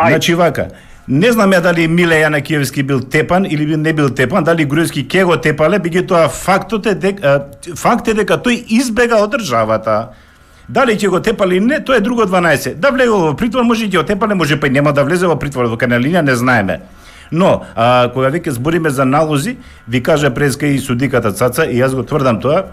Значи вака, не знам ја дали Миле Јанакиевски бил тепан или бил не бил тепан, дали Груевски ке го тепале, меѓутоа фактот е дека факт е дека тој избега од државата. Дали ќе го тепали или не, тоа е друго дванаесет. Да влезе во притвор, може и ќе го тепале, може па и нема да влезе во притвор, во каналинија не знаеме. Но, а, кога веќе збориме за налози, ви кажа преска и судиката Цаца, и јас го тврдам тоа,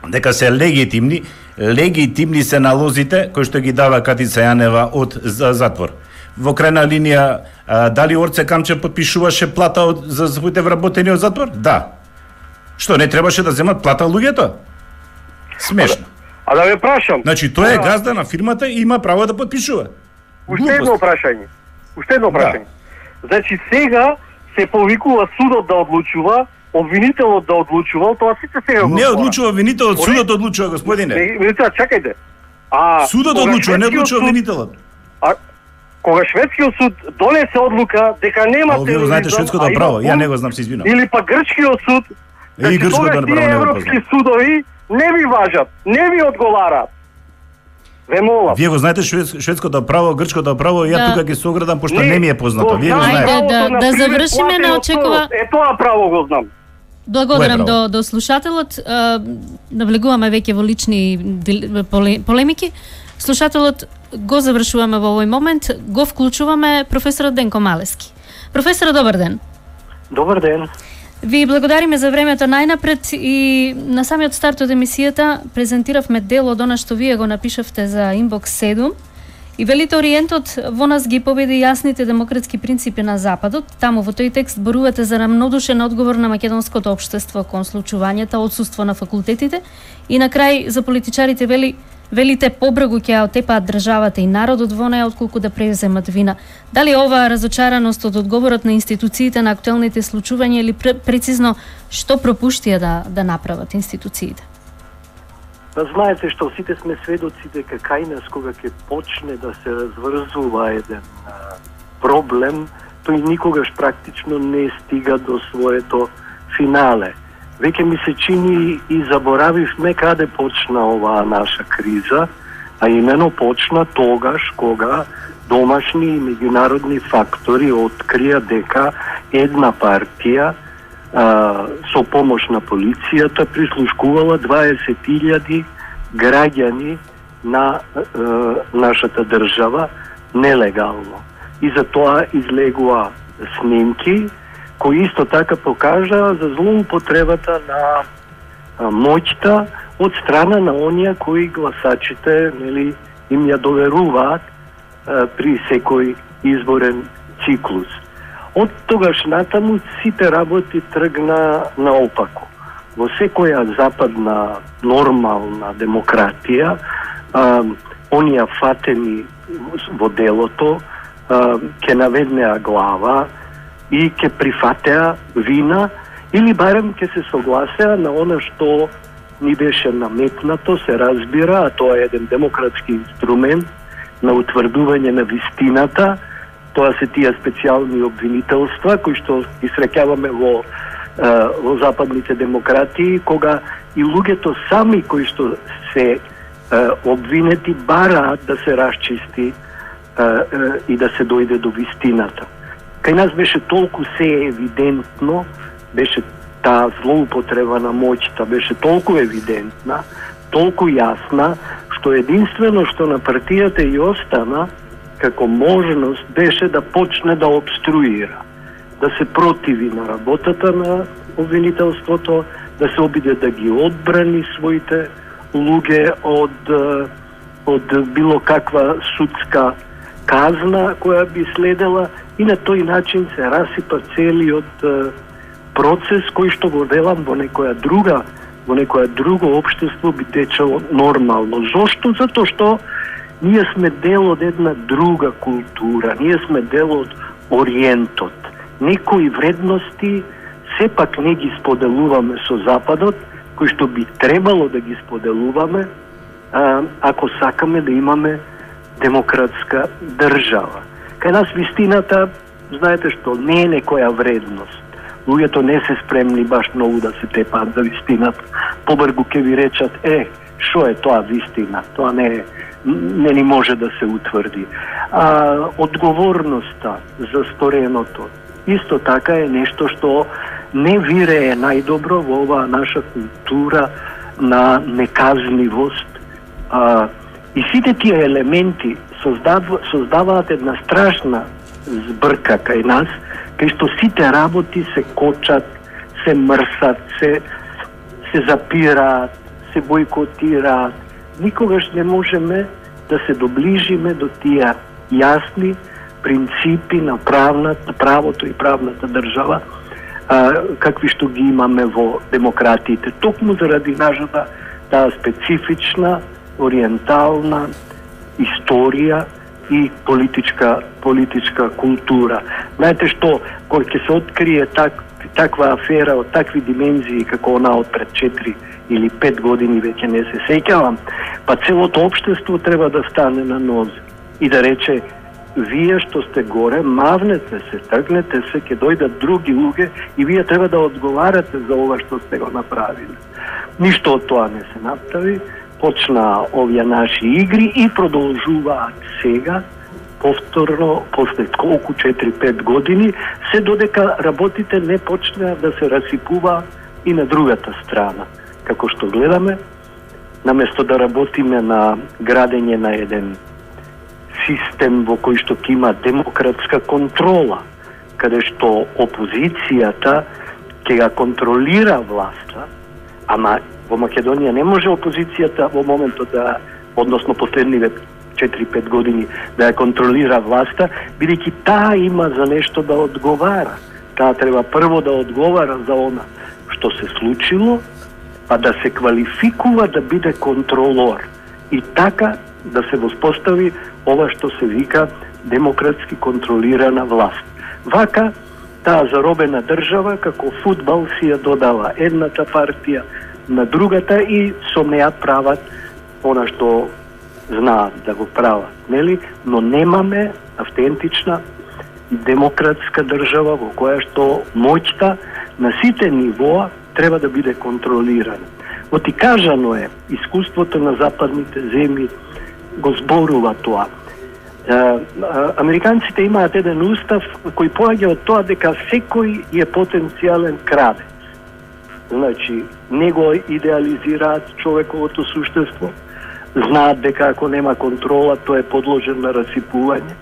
дека се легитимни, легитимни се налозите кои што ги дава Катица Јанева од за затвор. Во крајна линија, а, дали Орце Камчев подпишуваше плата од, за своите вработени од затвор? Да. Што, не требаше да земат плата луѓето? Смешно. А да ве прашам. Значи, тој е газда на фирмата и има право да подпишува. Уште едно прашање. Уште едно прашање. Да. Значи, сега се повикува судот да одлучува, обвинителот да одлучува, тоа сите сега го не одлучува обвинителот, судот одлучува, господине. Не, не, чакајте. А судот одлучува, не одлучува обвинителот. А кога шведскиот суд донесе одлука дека нема тероризам, вие знаете шведското право, ја не го знам, се извинувам. Или па грчкиот суд, и грчкото право не го европски судови не ви важат, не ви одговараат. Ве молам. Вие го знаете швед, шведското право, грчкото право, ја да. Тука ќе се оградам пошто не, не ми е познато. Вие го знаете. Да, да, да завршиме, не очекува. Е тоа право го знам. Благодарам до до слушателот. Навлегуваме веќе во лични полемики. Слушателот го завршуваме во овој момент, го вклучуваме професорот Денко Малески. Професор, добар ден. Добар ден. Ви благодариме за времето најнапред и на самиот старт од емисијата презентиравме дел од она што вие го напишавте за Инбокс седум и велите Ориентот во нас ги победи јасните демократски принципи на Западот. Таму во тој текст зборувате за рамнодушен одговор на македонското општество кон случувањата, отсуство на факултетите и на крај за политичарите вели велите побргу ќе отепаат државата и народот во неја отколку да преземат вина. Дали оваа разочараност од одговорот на институциите на актуелните случувања или прецизно што пропуштија да да направат институциите? Па знаете што сите сме сведоци дека кај нас кога ќе почне да се разврзува еден а, проблем, тој никогаш практично не стига до своето финале. Веќе ми се чини и заборавивме каде почна оваа наша криза, а имено почна тогаш кога домашни и меѓународни фактори открија дека една партија а, со помош на полицијата прислушкувала дваесет илјади граѓани на а, нашата држава нелегално. И за тоа излегува снимки кои исто така покажа за злоупотребата на а, моќта од страна на оние кои гласачите, нели, им ја доверуваат а, при секој изборен циклус. Од тогаш натаму сите работи тргна наопаку. Во секоја западна нормална демократија, а, оние фатени во делото а, ќе наведнеа глава и ќе прифатеа вина или барем ќе се согласеа на она што ни беше наметнато, се разбира, а тоа е еден демократски инструмент на утврдување на вистината. Тоа се тие специјални обвинителства кои што ги среќаваме во, во западните демократии, кога и луѓето сами кои што се обвинети бараат да се расчисти и да се дојде до вистината. Кај нас беше толку се евидентно, беше таа злоупотреба на моќта, беше толку евидентна, толку јасна, што единствено што на партијата и остана како можност беше да почне да обструира, да се противи на работата на обвинителството, да се обиде да ги одбрани своите луѓе од од било каква судска казна која би следела, и на тој начин се расипа целиот процес кој што го велам во некоја друга во некоја друго општество би течело нормално. Зошто? Затоа што ние сме дел од една друга култура, ние сме дел од Ориентот. Некои вредности сепак не ги споделуваме со Западот, кои што би требало да ги споделуваме а, ако сакаме да имаме демократска држава. Кај нас вистината, знаете што, не е некоја вредност. Луѓето не се спремни баш многу да се тепаат за вистината. Побргу ќе ви речат, е, шо е тоа вистина? Тоа не е, не ни може да се утврди. А одговорноста за стореното исто така е нешто што не вирее најдобро во оваа наша култура на неказнивост. А, и сите тие елементи создав, создаваат една страшна збрка кај нас, кај што сите работи се кочат, се мрсат, се, се запираат, се бойкотираат. Никогаш не можеме да се доближиме до тие јасни принципи на правната, правото и правната држава, а, какви што ги имаме во демократиите. Токму заради нашата таа специфична, ориентална историја и политичка политичка култура. Знаете што, кога ќе се открие так, таква афера од такви димензии како она од пред четири или пет години, веќе не се сеќавам, па целото општество треба да стане на нозе и да рече: вие што сте горе, мавнете се, тргнете се, ќе дојдат други луѓе и вие треба да одговарате за ова што сте го направиле. Ништо од тоа не се направи. Почна овие наши игри и продолжуваат сега, повторно, после колку четири-пет години, се додека работите не почнеа да се расипува и на другата страна. Како што гледаме, наместо да работиме на градење на еден систем во кој што ќе има демократска контрола, каде што опозицијата ќе ја контролира власта, ама во Македонија не може опозицијата во моментот да, односно последниве четири-пет години, да ја контролира власта, бидејќи таа има за нешто да одговара. Таа треба прво да одговара за она што се случило, па да се квалификува да биде контролор. И така да се воспостави ова што се вика демократски контролирана власт. Вака, таа заробена држава, како фудбал, си ја додава едната партија на другата и со неа прават она што знаат да го прават, нели? Но немаме автентична демократска држава во која што моќта на сите нивоа треба да биде контролирана. Отикажано е, искуството на западните земји го зборува тоа. Е, американците имаат еден устав кој поаѓа од тоа дека секој е потенцијален крадец. Значи, не го идеализираат човековото суштество, знаат дека ако нема контрола, тој е подложен на расипување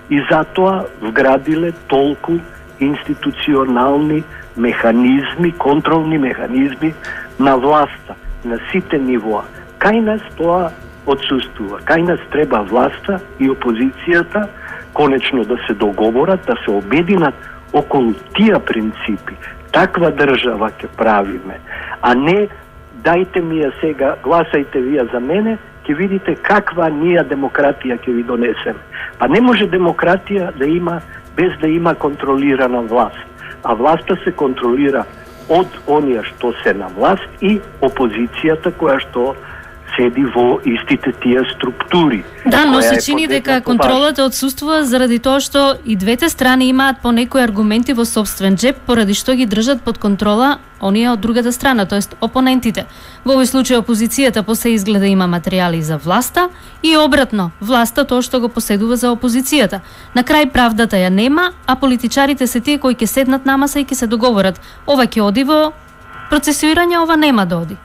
и затоа вградиле толку институционални механизми, контролни механизми на власта, на сите нивоа. Кај нас тоа отсуствува. Кај нас треба власта и опозицијата конечно да се договорат, да се обединат околу тие принципи. Таква држава ќе правиме, а не дајте ми ја сега, гласајте вие за мене, ќе видите каква ние демократија ќе ви донесеме. Па не може демократија да има без да има контролирана власт. А власта се контролира од оние што се на власт и опозицијата која што седи во истите тие структури. Да, но се чини дека контролата отсуствува заради тоа што и двете страни имаат по некои аргументи во собствен джеб, поради што ги држат под контрола оние од другата страна, тоест опонентите. Во овој случај опозицијата после изгледа има материјали за власта и обратно, власта тоа што го поседува за опозицијата. На крај правдата ја нема, а политичарите се тие кои ќе седнат на маса и ќе се договорат. Ова ќе оди во процесуирање, ова нема да оди.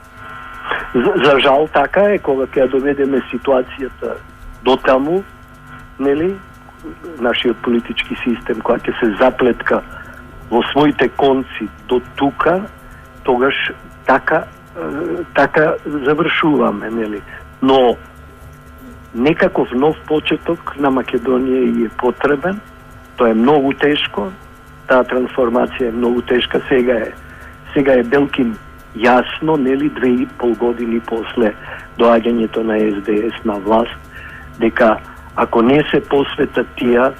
За, за жал така е, кога ќе доведеме ситуацијата до таму, нели, нашиот политички систем која ќе се заплетка во своите конци до тука, тогаш така така завршуваме, нели. Но некаков нов почеток на Македонија и е потребен. Тоа е многу тешко, таа трансформација е многу тешка, сега е сега е Белкин јасно, нели, две и пол години после доаѓањето на Ес Де Ес на власт, дека ако не се посвета тие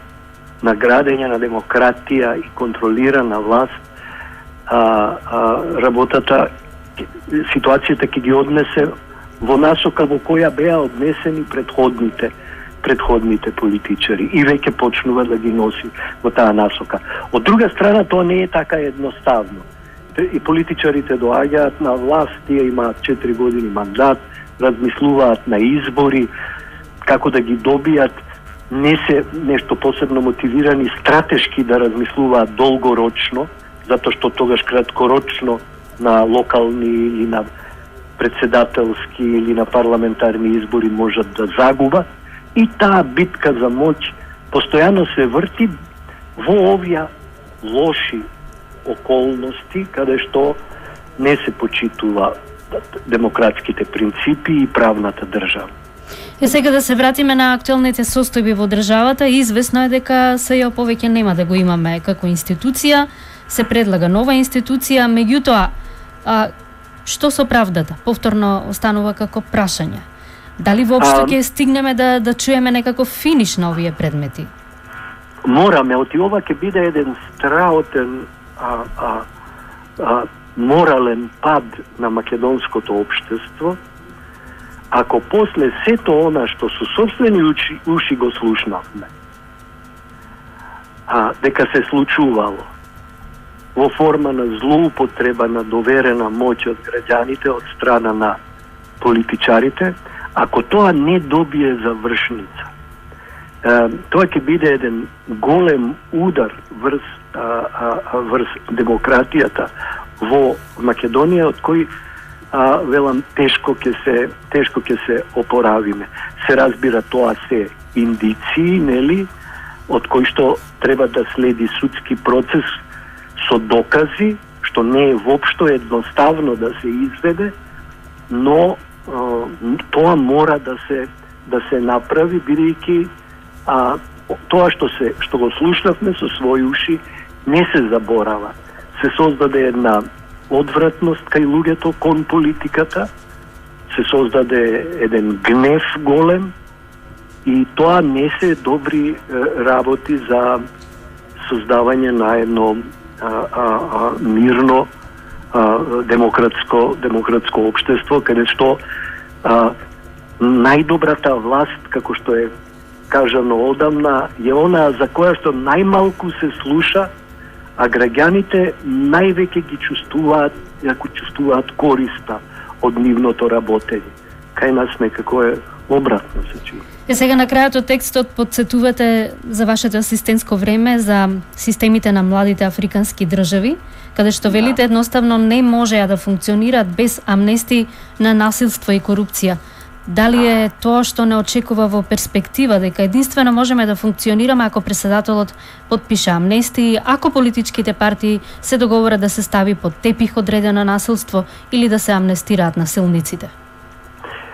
на градење на демократија и контролирана власт, а, а, работата, ситуацијата ќе ги однесе во насока во која беа однесени предходните предходните политичари и веќе почнува да ги носи во таа насока. Од друга страна, тоа не е така едноставно. И политичарите доаѓаат на власт, тие имаат четири години мандат, размислуваат на избори, како да ги добијат, не се нешто посебно мотивирани стратешки да размислуваат долгорочно, затоа што тогаш краткорочно на локални или на председателски или на парламентарни избори можат да загубат. И таа битка за моќ постојано се врти во овие лоши околности, каде што не се почитува демократските принципи и правната држава. И сега да се вратиме на актуелните состојби во државата, известно е дека СЈО повеќе нема да го имаме како институција, се предлага нова институција, меѓутоа, а, што со правдата? Повторно останува како прашање. Дали воопшто ќе стигнеме да да чуеме некаков финиш на овие предмети? Мораме, оти ова ќе биде еден страотен а, а, а, морален пад на македонското општество, ако после сето она што со собствени уши, уши го слушнавме, а, дека се случувало во форма на злоупотреба на доверена моќ од граѓаните од страна на политичарите, ако тоа не добие завршница, е, тоа ќе биде еден голем удар врз, а, а, врз демократијата во Македонија, од кој а, велам тешко ќе се тешко ќе се опоравиме. Се разбира, тоа се индиции, нели, од кои што треба да следи судски процес со докази, што не е воопшто едноставно да се изведе, но тоа мора да се да се направи, бидејќи а тоа што се што го слушнавме со своји уши не се заборава. Се создаде една одвратност кај луѓето кон политиката, се создаде еден гнев голем и тоа не се добри е, работи за создавање на едно а, а, а, мирно а, демократско демократско општество, каде што а, најдобрата власт, како што е кажано одамна, е она за која што најмалку се слуша, а граѓаните највеќе ги чувствуваат, ако чувствуваат користа од нивното работење. Кај нас некако е обратно се чини. Е, сега на крајот од текстот подсетувате за вашето асистентско време за системите на младите африкански држави, каде што велите едноставно не можеа да функционираат без амнести на насилство и корупција. Дали е тоа што не очекува во перспектива, дека единствено можеме да функционираме ако претседателот подпише амнестии, ако политичките партии се договорат да се стави под тепих одредено насилство или да се амнестираат насилниците?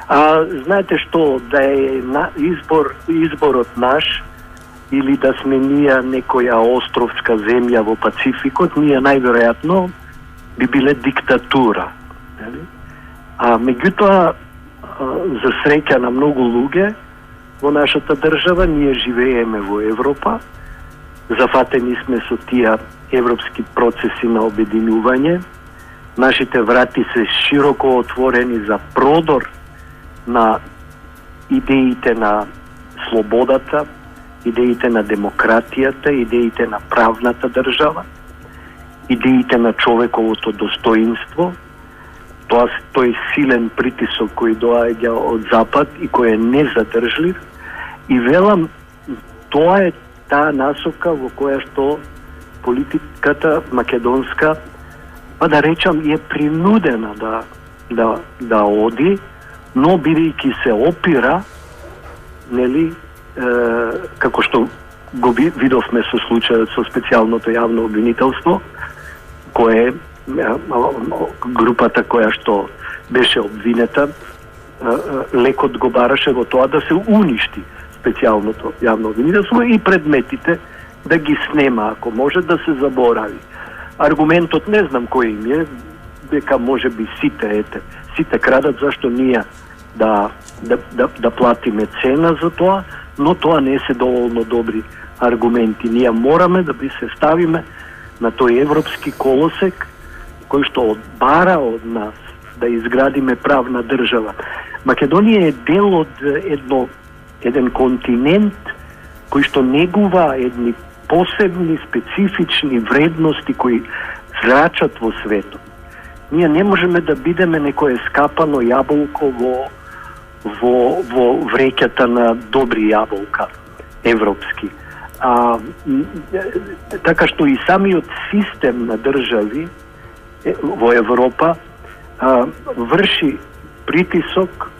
А знаете што, да е на избор изборот наш или да сме ние некоја островска земја во Пацификот, ние најверојатно би биле диктатура. А меѓутоа, за среќа на многу луѓе во нашата држава, ние живееме во Европа, зафатени сме со тие европски процеси на обединување, нашите врати се широко отворени за продор на идеите на слободата, идеите на демократијата, идеите на правната држава, идеите на човековото достоинство. Тоа тој силен притисок кој доаѓа од Запад и кој е незадржлив, и велам, тоа е таа насока во која што политиката македонска, па да речам, е принудена да да да оди, но бидејќи се опира, нели, е, како што го видовме со случајот со специјалното јавно обвинителство, кое е групата која што беше обвинета лекот го бараше во тоа да се уништи специјалното јавно обвинителство и предметите да ги снема, ако може да се заборави. Аргументот не знам кој им е, дека може би сите, ете, сите крадат, зашто ние да, да, да, да платиме цена за тоа, но тоа не се доволно добри аргументи. Ние мораме да би се ставиме на тој европски колосек кој што одбара од нас да изградиме правна држава. Македонија е дел од едно, еден континент кој што негува едни посебни, специфични вредности кои зрачат во светот. Ние не можеме да бидеме некое скапано јаболко во, во, во вреќата на добри јаболка, европски. А, така што и самиот систем на држави во Европа а, врши притисок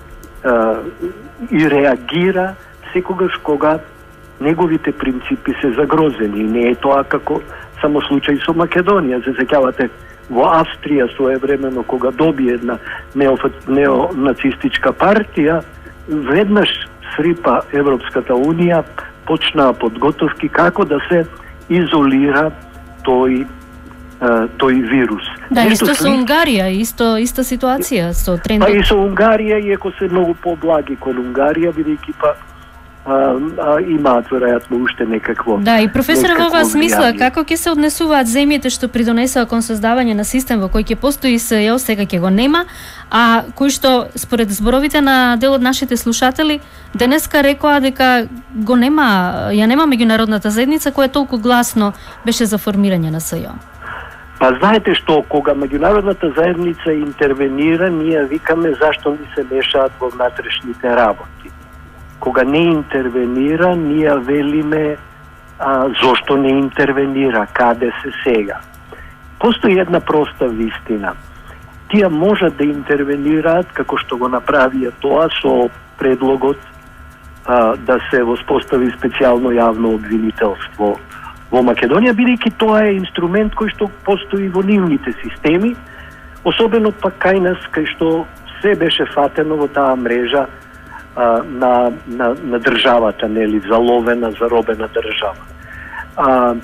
а, и реагира секогаш кога неговите принципи се загрозени. Не е тоа како само случај со Македонија. Се сеќавате во Австрија своевремено кога доби една неонацистичка партија, веднаш срипа Европската унија, почнаа подготовки како да се изолира тој тој вирус. Да, Нешто исто сли... со Унгарија, исто иста ситуација со трендот. Па и со Унгарија, иако се многу поблаги кон Унгарија, бидејќи па а, а, имаат веројатно уште некакво. Да, и професор во оваа смисла, како ќе се однесуваат земјите што придонесоа кон создавање на систем во кој ќе постои СЈО, сега ќе го нема, а кој што според зборовите на дел од нашите слушатели денеска рекоа дека го нема, ја нема меѓународната заедница која толку гласно беше за формирање на СЈО. Па знаете што, кога меѓународната заедница интервенира, ние викаме зашто ни се мешаат во внатрешните работи. Кога не интервенира, ние велиме а, зошто не интервенира, каде се сега. Постои една проста вистина. Тие можат да интервенираат, како што го направија тоа со предлогот а, да се воспостави специјално јавно обвинителство во Македонија, бидејќи тоа е инструмент кој што постои во нивните системи, особено пак кај нас, кај што се беше фатено во таа мрежа а, на, на, на државата, нели, заловена, заробена држава. А,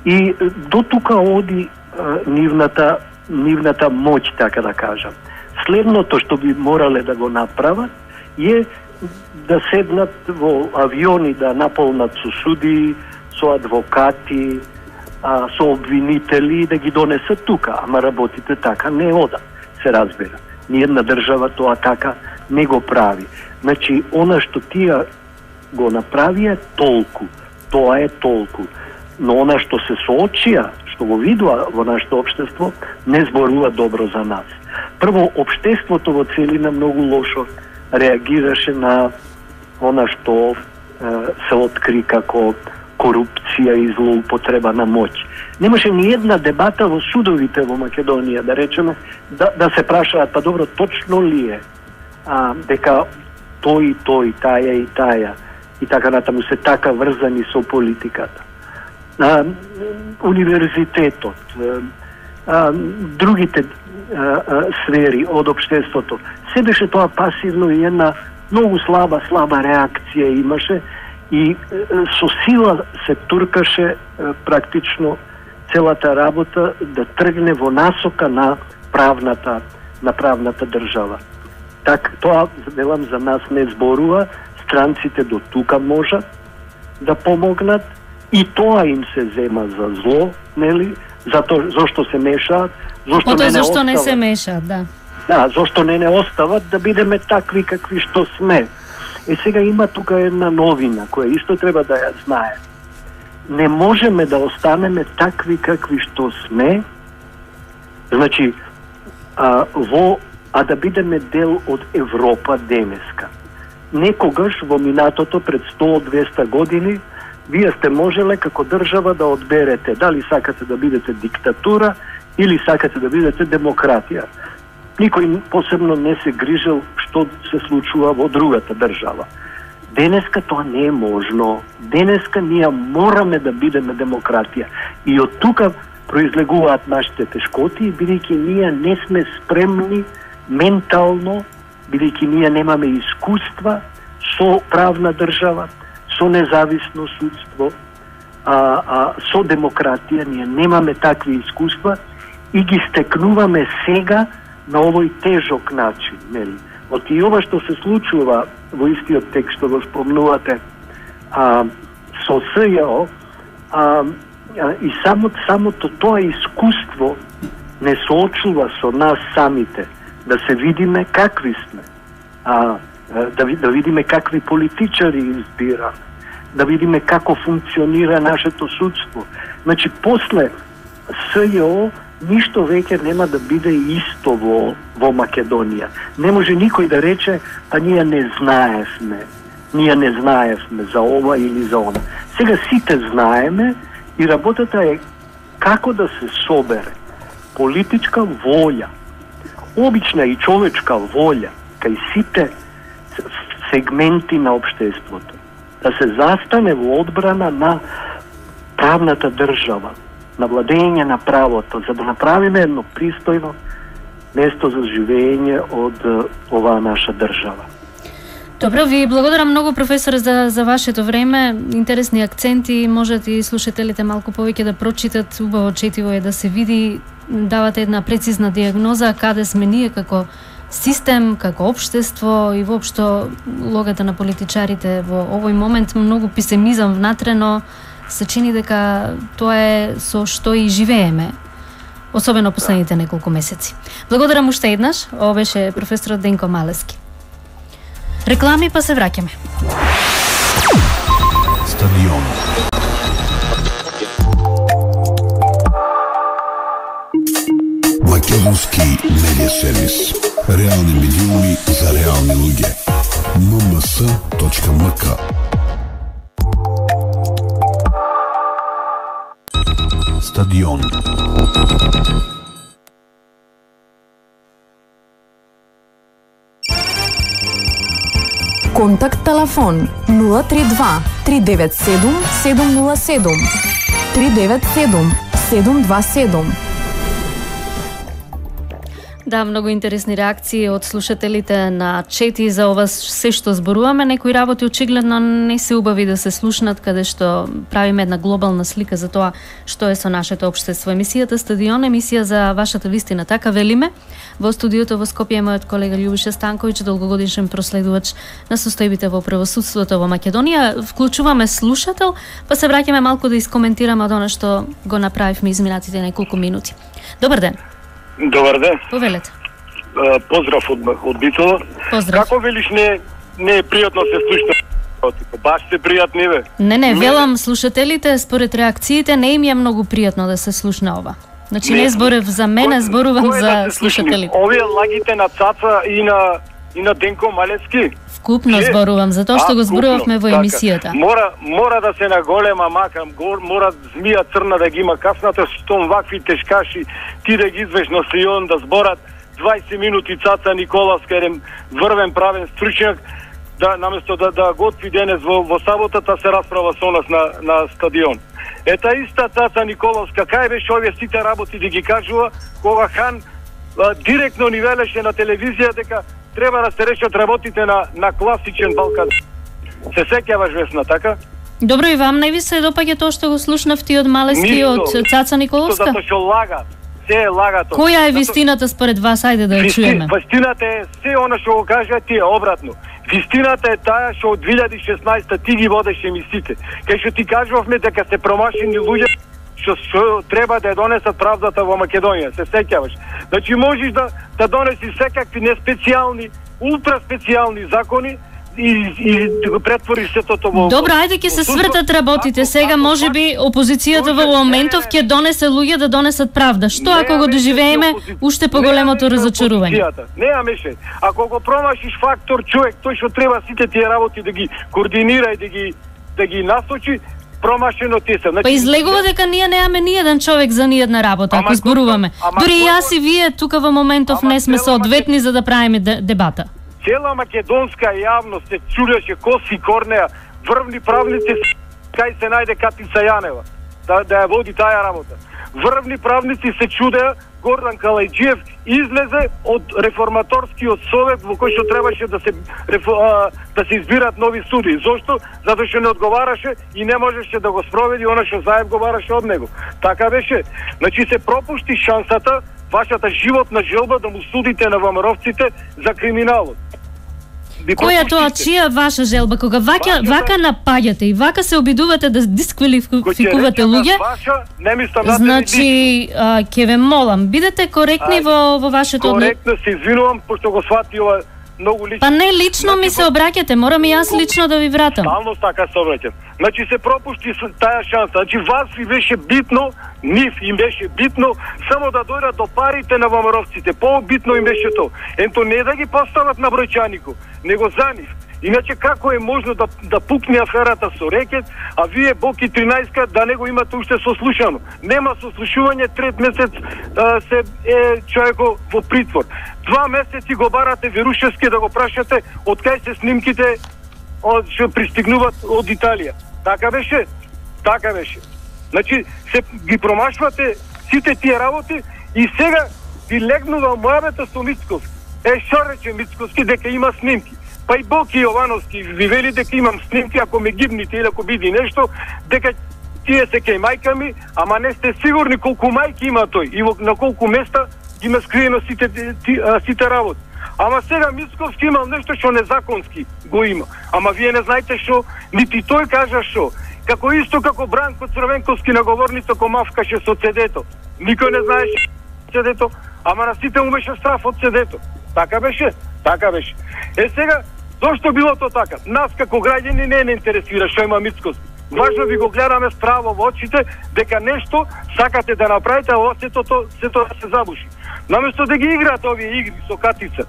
и до тука оди а, нивната, нивната моќ, така да кажам. Следното што би морале да го направат е да седнат во авиони, да наполнат со суди, со адвокати, а, со обвинители, да ги донесат тука. Ама работите така не одат, се разбира. Ниједна држава тоа така не го прави. Значи, она што тие го направија толку, тоа е толку. Но она што се соочија, што го видува во нашето општество, не зборува добро за нас. Прво, општеството во целина многу лошо реагираше на она што е, се откри како корупција и злоупотреба на моќ. Немаше ни една дебата во судовите во Македонија, да речеме, да, да се прашаат, па добро, точно ли е а, дека тој и тој, таја и таја, и така натаму се така врзани со политиката. А, универзитетот, а, другите а, а, сфери од општеството, се беше тоа пасивно и една многу слаба, слаба реакција имаше, и со сила се туркаше практично целата работа да тргне во насока на правната на правната држава. Так, тоа, велам, за нас не зборува, странците до тука можат да помогнат и тоа им се зема за зло, нели? Зато зошто се мешаат, зошто Ото, не не зошто остават. не се мешаат, да. Да, зошто не не остават да бидеме такви какви што сме. Е, сега има тука една новина, која исто треба да ја знае. Не можеме да останеме такви какви што сме, значи, а, во, а да бидеме дел од Европа денеска. Некогаш во минатото пред сто до двесте години, вие сте можеле како држава да одберете дали сакате да бидете диктатура или сакате да бидете демократија. Никој посебно не се грижел што се случува во другата држава. Денеска тоа не е можно. Денеска ние мораме да бидеме демократија. И од тука произлегуваат нашите тешкоти, бидејќи ние не сме спремни ментално бидејќи ние немаме искуства со правна држава, со независно судство, а, а, со демократија, ние немаме такви искуства и ги стекнуваме сега на овој тежок начин, нели? Од и ова што се случува во истиот текст што го спомнувате, а, со СЈО, а, а, и само, самото тоа искуство не соочува со нас самите, да се видиме какви сме, а, да, да видиме какви политичари избираме, да видиме како функционира нашето судство. Значи, после СЈО ништо веќе нема да биде исто во, во Македонија. Не може никој да рече, па ние не знаевме, ние не знаевме за ова или за она. Сега сите знаеме и работата е како да се собере политичка волја, обична и човечка волја кај сите сегменти на општеството, да се застане во одбрана на правната држава, на владење на правото, за да направиме едно пристојно место за живење од оваа наша држава. Добро, ви благодарам многу, професоре, за, за вашето време. Интересни акценти, можете и слушателите малку повеќе да прочитат. Убаво четиво е да се види, давате една прецизна диагноза каде сме ние како систем, како општество и воопшто логата на политичарите во овој момент. Многу песимизам внатре, но се чини дека тоа е со што и живееме, особено последните неколку месеци. Благодарам уште еднаш. Ова беше професорот Денко Малески. Реклами, па се враќаме. Стадион. Македонски медиа сервис. Реални медиуми за реални луѓе. ем ем ес точка ем ка. Стадион. Контакт телефон нула три два три девет седум седум нула седум три девет седум седум два седум. Да, многу интересни реакции од слушателите на чети за ова се што зборуваме. Некои работи очигледно не се убави да се слушнат, каде што правиме една глобална слика за тоа што е со нашето општество. Емисијата Стадион, емисија за вашата вистина, така велиме. Во студиото во Скопје е мојот колега Љубиша Станковиќ, долгогодишен проследувач на состојбите во правосудството во Македонија. Вклучуваме слушател, па се враќаме малку да искоментираме од она што го направивме изминатите неколку минути. Добар ден. Добар ден. Повелете. Поздрав од, од Битола. Поздрав. Како велиш, не, не е пријатно се слушна? Баш се пријатни, бе. Не, не, велам слушателите, според реакциите, не им е многу пријатно да се слушна ова. Значи не, не зборев за мене, зборувам за да слушателите. Овие лагите на Цаца и на и на Денко Малески. Вкупно Че? зборувам, затоа што а, го зборувавме во емисијата. Така. Мора мора да се наголема мака, мора змија црна да ги има касната, штом вакви тешкаши ти да ги извеш на Сион да зборат дваесет минути Цаца Николовска, еден врвен правен стручњак, да наместо да да готви денес во, во саботата се расправа со нас на на стадион. Ета иста Цаца Николовска, кај беше овие сите работи да ги кажува, кога Хан а, директно ни велеше на телевизија дека треба да се решат работите на на класичен Балкан. Се сеќаваш, Весна, така? Добро, и вам најви се допаѓа тоа што го слушнавте од Малески, од Цаца Николовска? Затоа што лагат. Се е лагато. Која е вистината според вас? Ајде да ја чуеме. Вистината е се она што го кажа ти е обратно. Вистината е таа што од две илјади и шеснаесета ти ги водеше емисиите. Кај што ти кажувавме дека се промашени луѓе што, што треба да ја донесат правдата во Македонија, се сеќаваш. Значи можеш да да донеси секакви неспецијални, ултра специјални закони и и да го претвориш сето тоа во. Добро, ајде ќе се свртат работите. Сега можеби опозицијата во моментов ќе донесе луѓе да донесат правда. Што ако го доживееме уште поголемото разочарување? Неа меше. Ако го промашиш фактор човек, тој што треба сите тие работи да ги координира и да ги да ги насочи, промашено ти се. Значи, па излегува дека ние немаме ни еден човек за ни една работа, ако зборуваме. Дури и јас и вие тука во моментов не сме соодветни за да правиме дебата. Цела македонска јавност се чудеше Коси Корнеја, врвни правници, кај се најде Катица Јанева. да, да ја води таа работа. Врвни правници се чудеа, Гордан Калајджиев излезе од реформаторскиот совет во кој што требаше да се да се избират нови суди. Зошто? Затоа што не одговараше и не можеше да го спроведи она што Заев го бараше од него. Така беше. Значи се пропушти шансата, вашата животна желба да му судите на ВМРО-вците за криминалот. Која тоа чија ваша желба кога вака вашата... вака напаѓате и вака се обидувате да дисквалификувате луѓе? Ваша, не мислам значи, а, ке ве молам, бидете коректни во во вашето одно... Коректно се извинувам пошто го свати ова многу лично. Па не лично значи, ми се обраќате, морам и јас лично да ви вратам. Стално така се обраќам. Значи се пропушти таа шанса. Значи вас ви беше битно, нив им беше битно само да дојдат до парите на ВМРО-вците. По-битно им беше тоа. Ето не да ги постават на бројчанико, него за нив. Иначе како е можно да да пукне аферата со рекет, а вие Боки тринаесет да не го имате уште сослушано. Нема сослушување, трет месец а, се е човеко во притвор. Два месеци го барате Верушевски да го прашате од кај се снимките од што пристигнуваат од Италија. Така беше? Така беше. Значи се ги промашвате сите тие работи и сега ви легнува мојавето со Мицковски. Е, што рече Мицковски дека има снимки? Па и Боки Јовановски ви вели дека имам снимки, ако ме гибните или ако биде нешто, дека тие се кај мајка ми, ама не сте сигурни колку мајки има тој и на колку места ги има скриено сите, ти, а, сите работи. Ама сега Мицковски имал нешто што незаконски го има. Ама вие не знаете што, нити тој кажа што. Како исто како Бранко Црвенковски на говорница комавкаше со цедето. Никој не знаеше цедето, ама на сите му беше страф од цедето. Така беше, така беше. Е сега, зошто било то така? Нас како граѓани не не интересира што има Мицковски. Важно ви го гледаме справо во очите дека нешто сакате да направите, а ова сето то сето да се забуши. Наместо да ги играат овие игри со катица.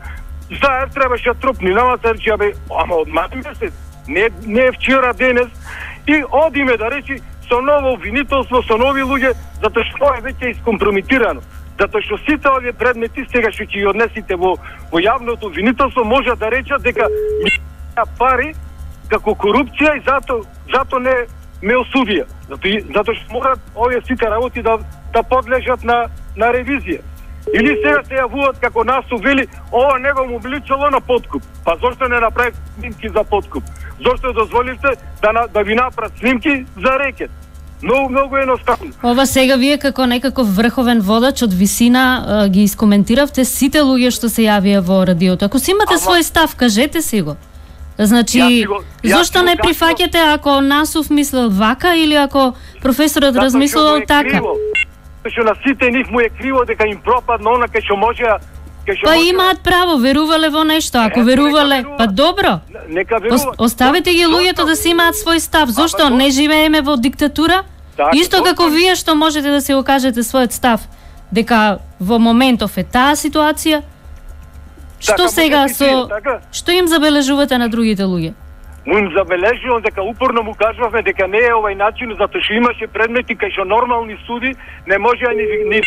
Заев требаше трупни, нама се речи, абе, ама од мат месец, не, не е вчера, денес, и одиме да речи со ново обвинителство, со нови луѓе, затоа што е веќе искомпромитирано. Затоа што сите овие предмети сега што ќе ги однесите во, во јавното обвинителство може да речат дека пари како корупција и зато зато не ме осудија. Затоа зато што морат овие сите работи да да подлежат на на ревизија. Или сега се јавуваат како нас вели, ова него му бличало на подкуп. Па зошто не направи снимки за подкуп? Зошто дозволивте да да ви направат снимки за рекет? Многу, многу едноставно. Ова сега вие како некаков врховен водач од висина ги искоментиравте сите луѓе што се јавија во радиото. Ако си имате Ама... свој став, кажете си го. Значи, го, зошто не прифаќате ако Насов мислел вака или ако професорот размислувал така? Што на сите нив му е криво дека им пропадна она кај што можеа. Па може... имаат право, верувале во нешто. Ако е, верувале, па добро. Нека веруваат. Оставете ги луѓето да си имаат свој став. Зошто не живееме во диктатура? Так, Исто како вие што можете да се го кажете својот став, дека во моментов е таа ситуација. Што така, сега со така? Што им забележувате на другите луѓе? Му им забележувам дека упорно му кажуваме дека не е овај начин, затоа што имаше предмети кај што нормални суди не можеа ни ни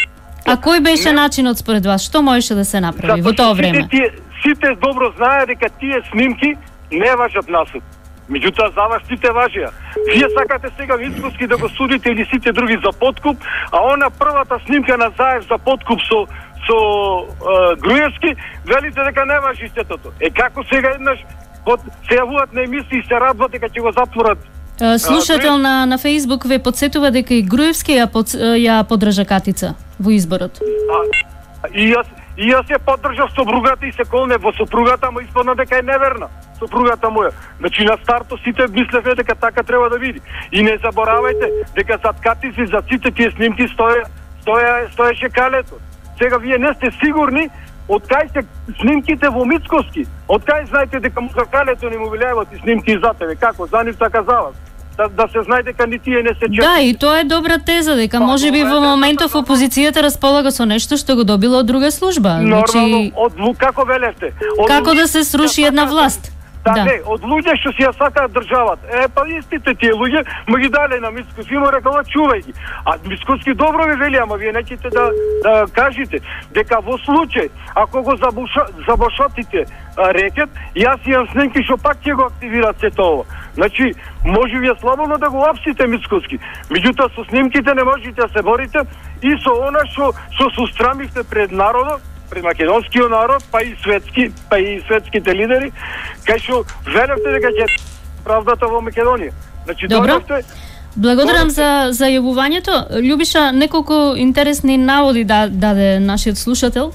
А кој беше не... начинот според вас? Што можеше да се направи во тоа време? Сите, тие, сите добро знаеа дека тие снимки не важат насуд. Меѓутоа за вас сите важеа. Вие сакате сега Мицковски да го судите или сите други за подкуп, а она првата снимка на Заев за подкуп со со е, Груевски, велите дека не важи сетото. Е како сега еднаш под се јавуваат на емисии и се радват дека ќе го затворат. Слушател на на Facebook ве подсетува дека и Груевски ја под, ја поддржа катица во изборот. А, и јас и јас ја поддржав сопругата и се колне во сопругата, ама испадна дека е неверна сопругата моја. Значи на старто сите мислеве дека така треба да види. И не заборавајте дека зад катици за сите тие снимки стоја стоја стоеше калето. Сега вие не сте сигурни од кај се снимките во Мицковски. Од кај знаете дека му за калето не му влијават и снимки за тебе? Како? За нив така за вас. Да, да се знае дека ни тие не се чекат. Да, и тоа е добра теза, дека може би во моментов опозицијата располага со нешто што го добила од друга служба. Нормално, значи... од како велевте? Од... Како да се сруши една власт? Та Да. не, од луѓе што си ја сакаат државата. Е, па истите тие луѓе ме ги дале на Мицкоски, му рекала чувај ги. А Мицкоски добро ви вели, ама вие неќете да, да кажете дека во случај ако го забуша, забошотите а, рекет, јас имам снимки што пак ќе го активират сето ова. Значи, може вие слободно да го апсите Мицкоски. Меѓутоа со снимките не можете да се борите и со она што што се устрамивте пред народот, пред македонскиот народ, па и светски, па и светските лидери, кај што велевте дека ќе правдата во Македонија. Значи, Добро. дојдовте. Благодарам за за јавувањето. Љубиша неколку интересни наводи да даде нашиот слушател.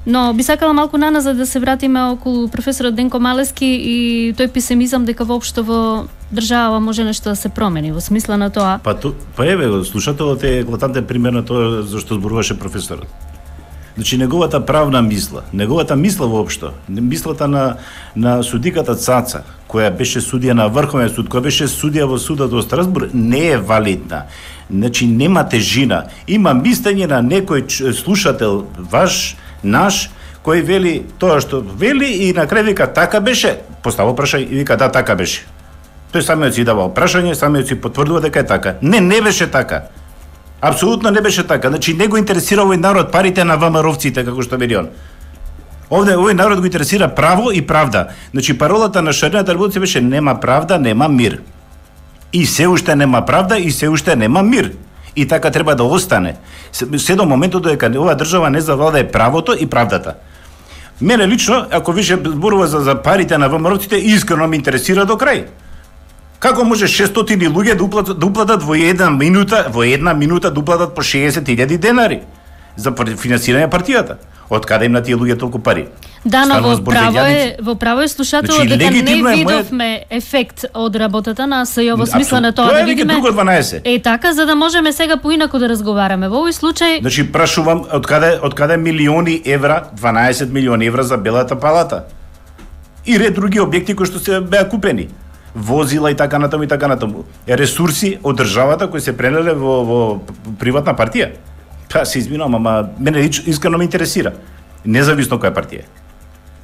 Но би сакала малку наназад да се вратиме околу професорот Денко Малески и тој песимизам дека воопшто во држава може нешто да се промени во смисла на тоа. Па ту, па еве го слушателот е еклатантен пример на тоа зашто зборуваше професорот. Значи неговата правна мисла, неговата мисла воопшто, мислата на на судиката Цаца, која беше судија на Врховен суд, која беше судија во судот во Страсбург, не е валидна. Значи нема тежина. Има мислење на некој слушател ваш, наш, кој вели тоа што вели и на крај вика така беше, постава прашање и вика да така беше. Тој самиот си дава прашање, самиот си потврдува дека е така. Не, не беше така. Апсолутно не беше така. Значи не го интересира овој народ парите на ВМРО-вците како што вели он. Овде овој народ го интересира право и правда. Значи паролата на Шарината револуција беше нема правда, нема мир. И се уште нема правда и се уште нема мир. И така треба да остане. Се до моментот дека оваа држава не завладее правото и правдата. Мене лично, ако више зборува за, за парите на ВМРО-вците, искрено ме интересира до крај. Како може шестстотини луѓе да уплатат, да уплатат во една минута, во една минута да уплатат по шеесет илјади денари за финансирање партијата? Од каде им на тие луѓе толку пари? Да, но во збор за право е, илјадници. во право е слушателот Значи, дека не легитимно е видовме ефект од работата на СЈО во смисла на тоа Тоа да е веќе видиме. друго дванаесет. Е така за да можеме сега поинаку да разговараме. Во овој случај Значи прашувам од каде од каде милиони евра, дванаесет милиони евра за Белата палата. И ред други објекти кои што се беа купени. Возила и така натаму и така натаму. Ресурси од државата кои се пренеле во во приватна партија. Па се извинувам, ама мене искрено ме интересира. Независно која партија е.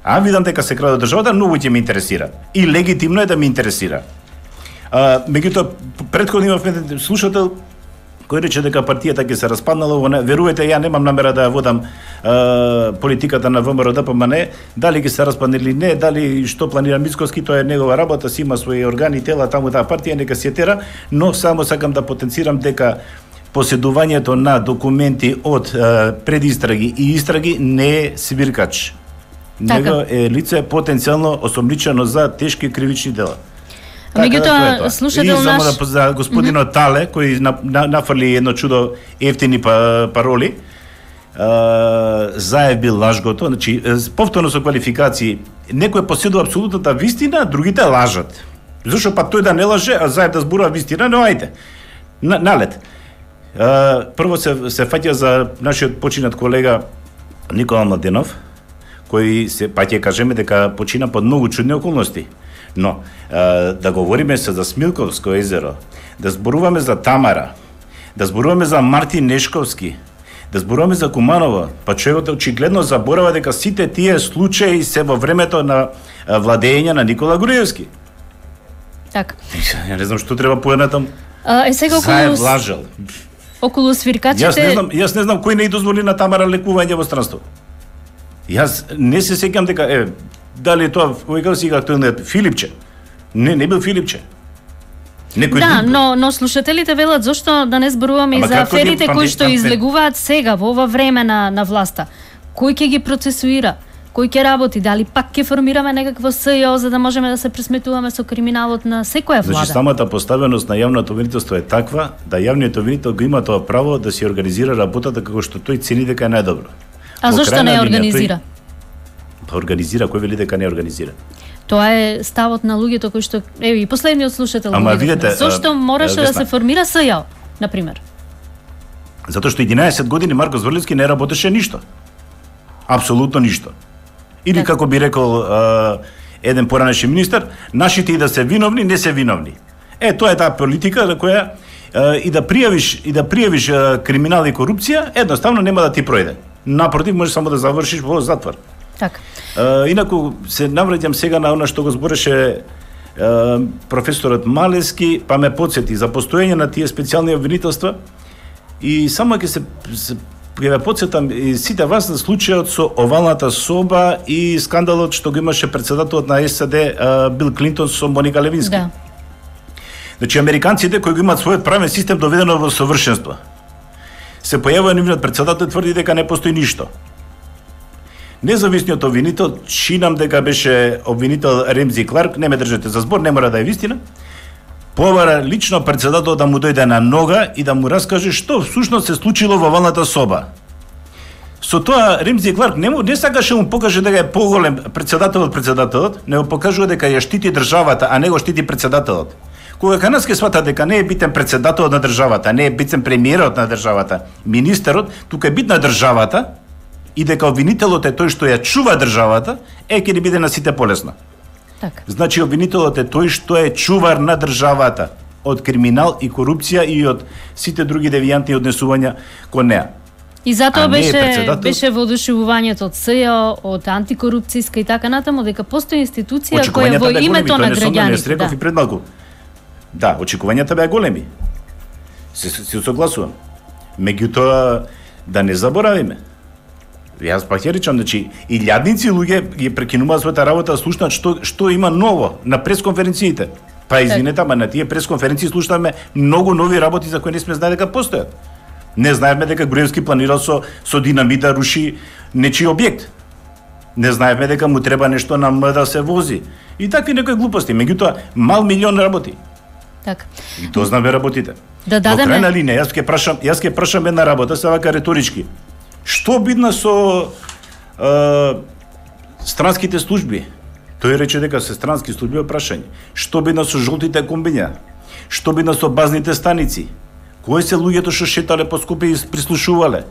А видам дека се краде од државата, многу ќе ме интересира. И легитимно е да ме интересира. А, меѓутоа, претходно имавме слушател кој рече дека партијата ќе се распаднала, во не, верувате, ја немам намера да ја водам а, политиката на ВМРО-ДПМН, дали ќе се распадне или не, дали што планира Мицкоски, тоа е негова работа, си има своји органи, тела, таму таа партија, нека се тера, но само сакам да потенцирам дека поседувањето на документи од а, предистраги и истраги не е свиркач. Него е лице потенцијално осомничено за тешки кривични дела. меѓутоа слушател и само наш да за господинот mm -hmm. Тале кој на, на, нафрли едно чудо ефтини па, пароли. Uh, заев бил лажгото, значи повторно со квалификации, некој поседува апсолутната вистина, другите лажат. Зошто па тој да не лаже, а заев да зборува вистина, но ајде. На, налет. Uh, прво се се фаќа за нашиот починат колега Никола Младенов, кој се па ќе кажеме дека почина под многу чудни околности. Но uh, да говориме се за Смилковско езеро, да зборуваме за Тамара, да зборуваме за Мартин Нешковски, да зборуваме за Куманово, па човекот очигледно заборава дека сите тие случаи се во времето на владење на Никола Груевски. Така. Ја не знам што треба поеднатам. А, е сега околу Заев лажал. околу свиркачите. Јас не знам, јас не знам кој не и дозволи на Тамара лекување во странство. Јас не се сеќам дека е дали тоа кој како си актуелниот Филипче. Не, не бил Филипче. Некој Да, друг. но но слушателите велат зошто да не зборуваме и Ама за како ги аферите кои памти- што памти- излегуваат сега во ова време на на власта. Кој ќе ги процесуира? Кој ќе работи? Дали пак ќе формираме некакво СЈО за да можеме да се пресметуваме со криминалот на секоја влада? Значи самата поставеност на јавното обвинителство е таква да јавниот обвинител го има тоа право да си организира работата како што тој цени дека е најдобро. А Во зошто крајна не ја линија, организира? Тој, па организира, кој вели дека не ја организира? Тоа е ставот на луѓето кои што еве и последниот слушател. Ама го видовме. видете, зошто а, мораше да Весна. се формира СЈО, на пример? Затоа што единаесет години Марко Зврлевски не работеше ништо. Апсолутно ништо. Или Така. како би рекол а, еден поранешен министар, нашите и да се виновни, не се виновни. Е, тоа е таа политика за која а, и да пријавиш и да пријавиш а, криминал и корупција, едноставно нема да ти пројде. Напротив, можеш само да завршиш во затвор. Така. Инаку се навраќам сега на она што го збореше професорот Малески, па ме подсети за постоење на тие специјални обвинителства и само ќе се, се ќе ве подсетам и сите вас на случајот со овалната соба и скандалот што го имаше председателот на САД Бил Клинтон со Моника Левински. Да. Значи американците кои го имаат својот правен систем доведено во совршенство, се појавува нивниот председател и тврди дека не постои ништо. Независниот обвинител, чинам дека беше обвинител Ремзи Кларк, не ме држете за збор, не мора да е вистина, повара лично председател да му дојде на нога и да му раскаже што всушност се случило во овалната соба. Со тоа Ремзи Кларк не, му, не сакаше му покаже дека е поголем председател од председателот, не го покажува дека ја штити државата, а не го штити председателот. Кога кај нас ке свата дека не е битен председателот на државата, не е битен премиерот на државата, министерот, тука е битна државата и дека обвинителот е тој што ја чува државата, е ќе ни биде на сите полесно. Така. Значи обвинителот е тој што е чувар на државата од криминал и корупција и од сите други девијантни однесувања кон неа. И затоа беше председател... беше воодушевувањето од СЈО, од антикорупцијска и така натаму дека постои институција која во името на граѓаните, да. И пред малку. Да, очекувањата беа големи. Се, се согласувам. Меѓутоа, да не заборавиме. Јас пак ја речам, значи, илјадници луѓе ги прекинуваат својата работа да слушнат што, што има ново на пресконференциите. Па извинете, ама на тие пресконференции слушнаме многу нови работи за кои не сме знаели дека постојат. Не знаевме дека Груевски планирал со, со динамит да руши нечи објект. Не знаевме дека му треба нешто на М да се вози. И такви некои глупости. Меѓутоа, мал милион работи. Така. И дознаме работите. Да дадеме... Во крајна линија, јас ќе прашам, јас ќе прашам една работа, се вака риторички. Што бидна со е, странските служби? Тој рече дека се странски служби, прашање. Што бидна со жолтите комбиња? Што бидна со базните станици? Кои се луѓето што шетале по Скопје и прислушувале?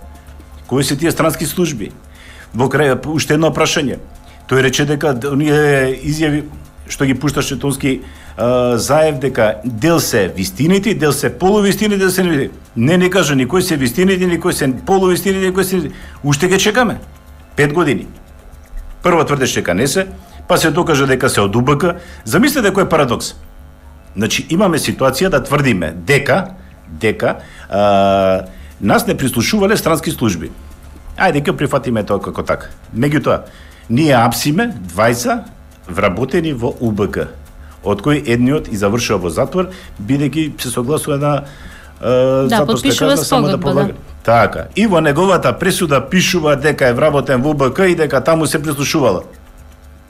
Кои се тие странски служби? Во крај уште едно прашање. Тој рече дека оние изјави што ги пушташе Тонски Заев дека дел се вистините, дел се полувистините, дел се не не не кажа никој се вистините, никој се полувистините, никој се уште ќе чекаме пет години. Прво тврдеше дека не се, па се докаже дека се од У Б К. Замислете кој е парадокс. Значи имаме ситуација да тврдиме дека дека а, нас не прислушувале странски служби. Ајде ќе прифатиме тоа како така. Меѓутоа, ние апсиме двајца вработени во У Б К, од кој едниот и завршува во затвор, бидејќи се согласува на е, да, подпишува спогодба, да. Така. И во неговата пресуда пишува дека е вработен во У Б К и дека таму се прислушувала.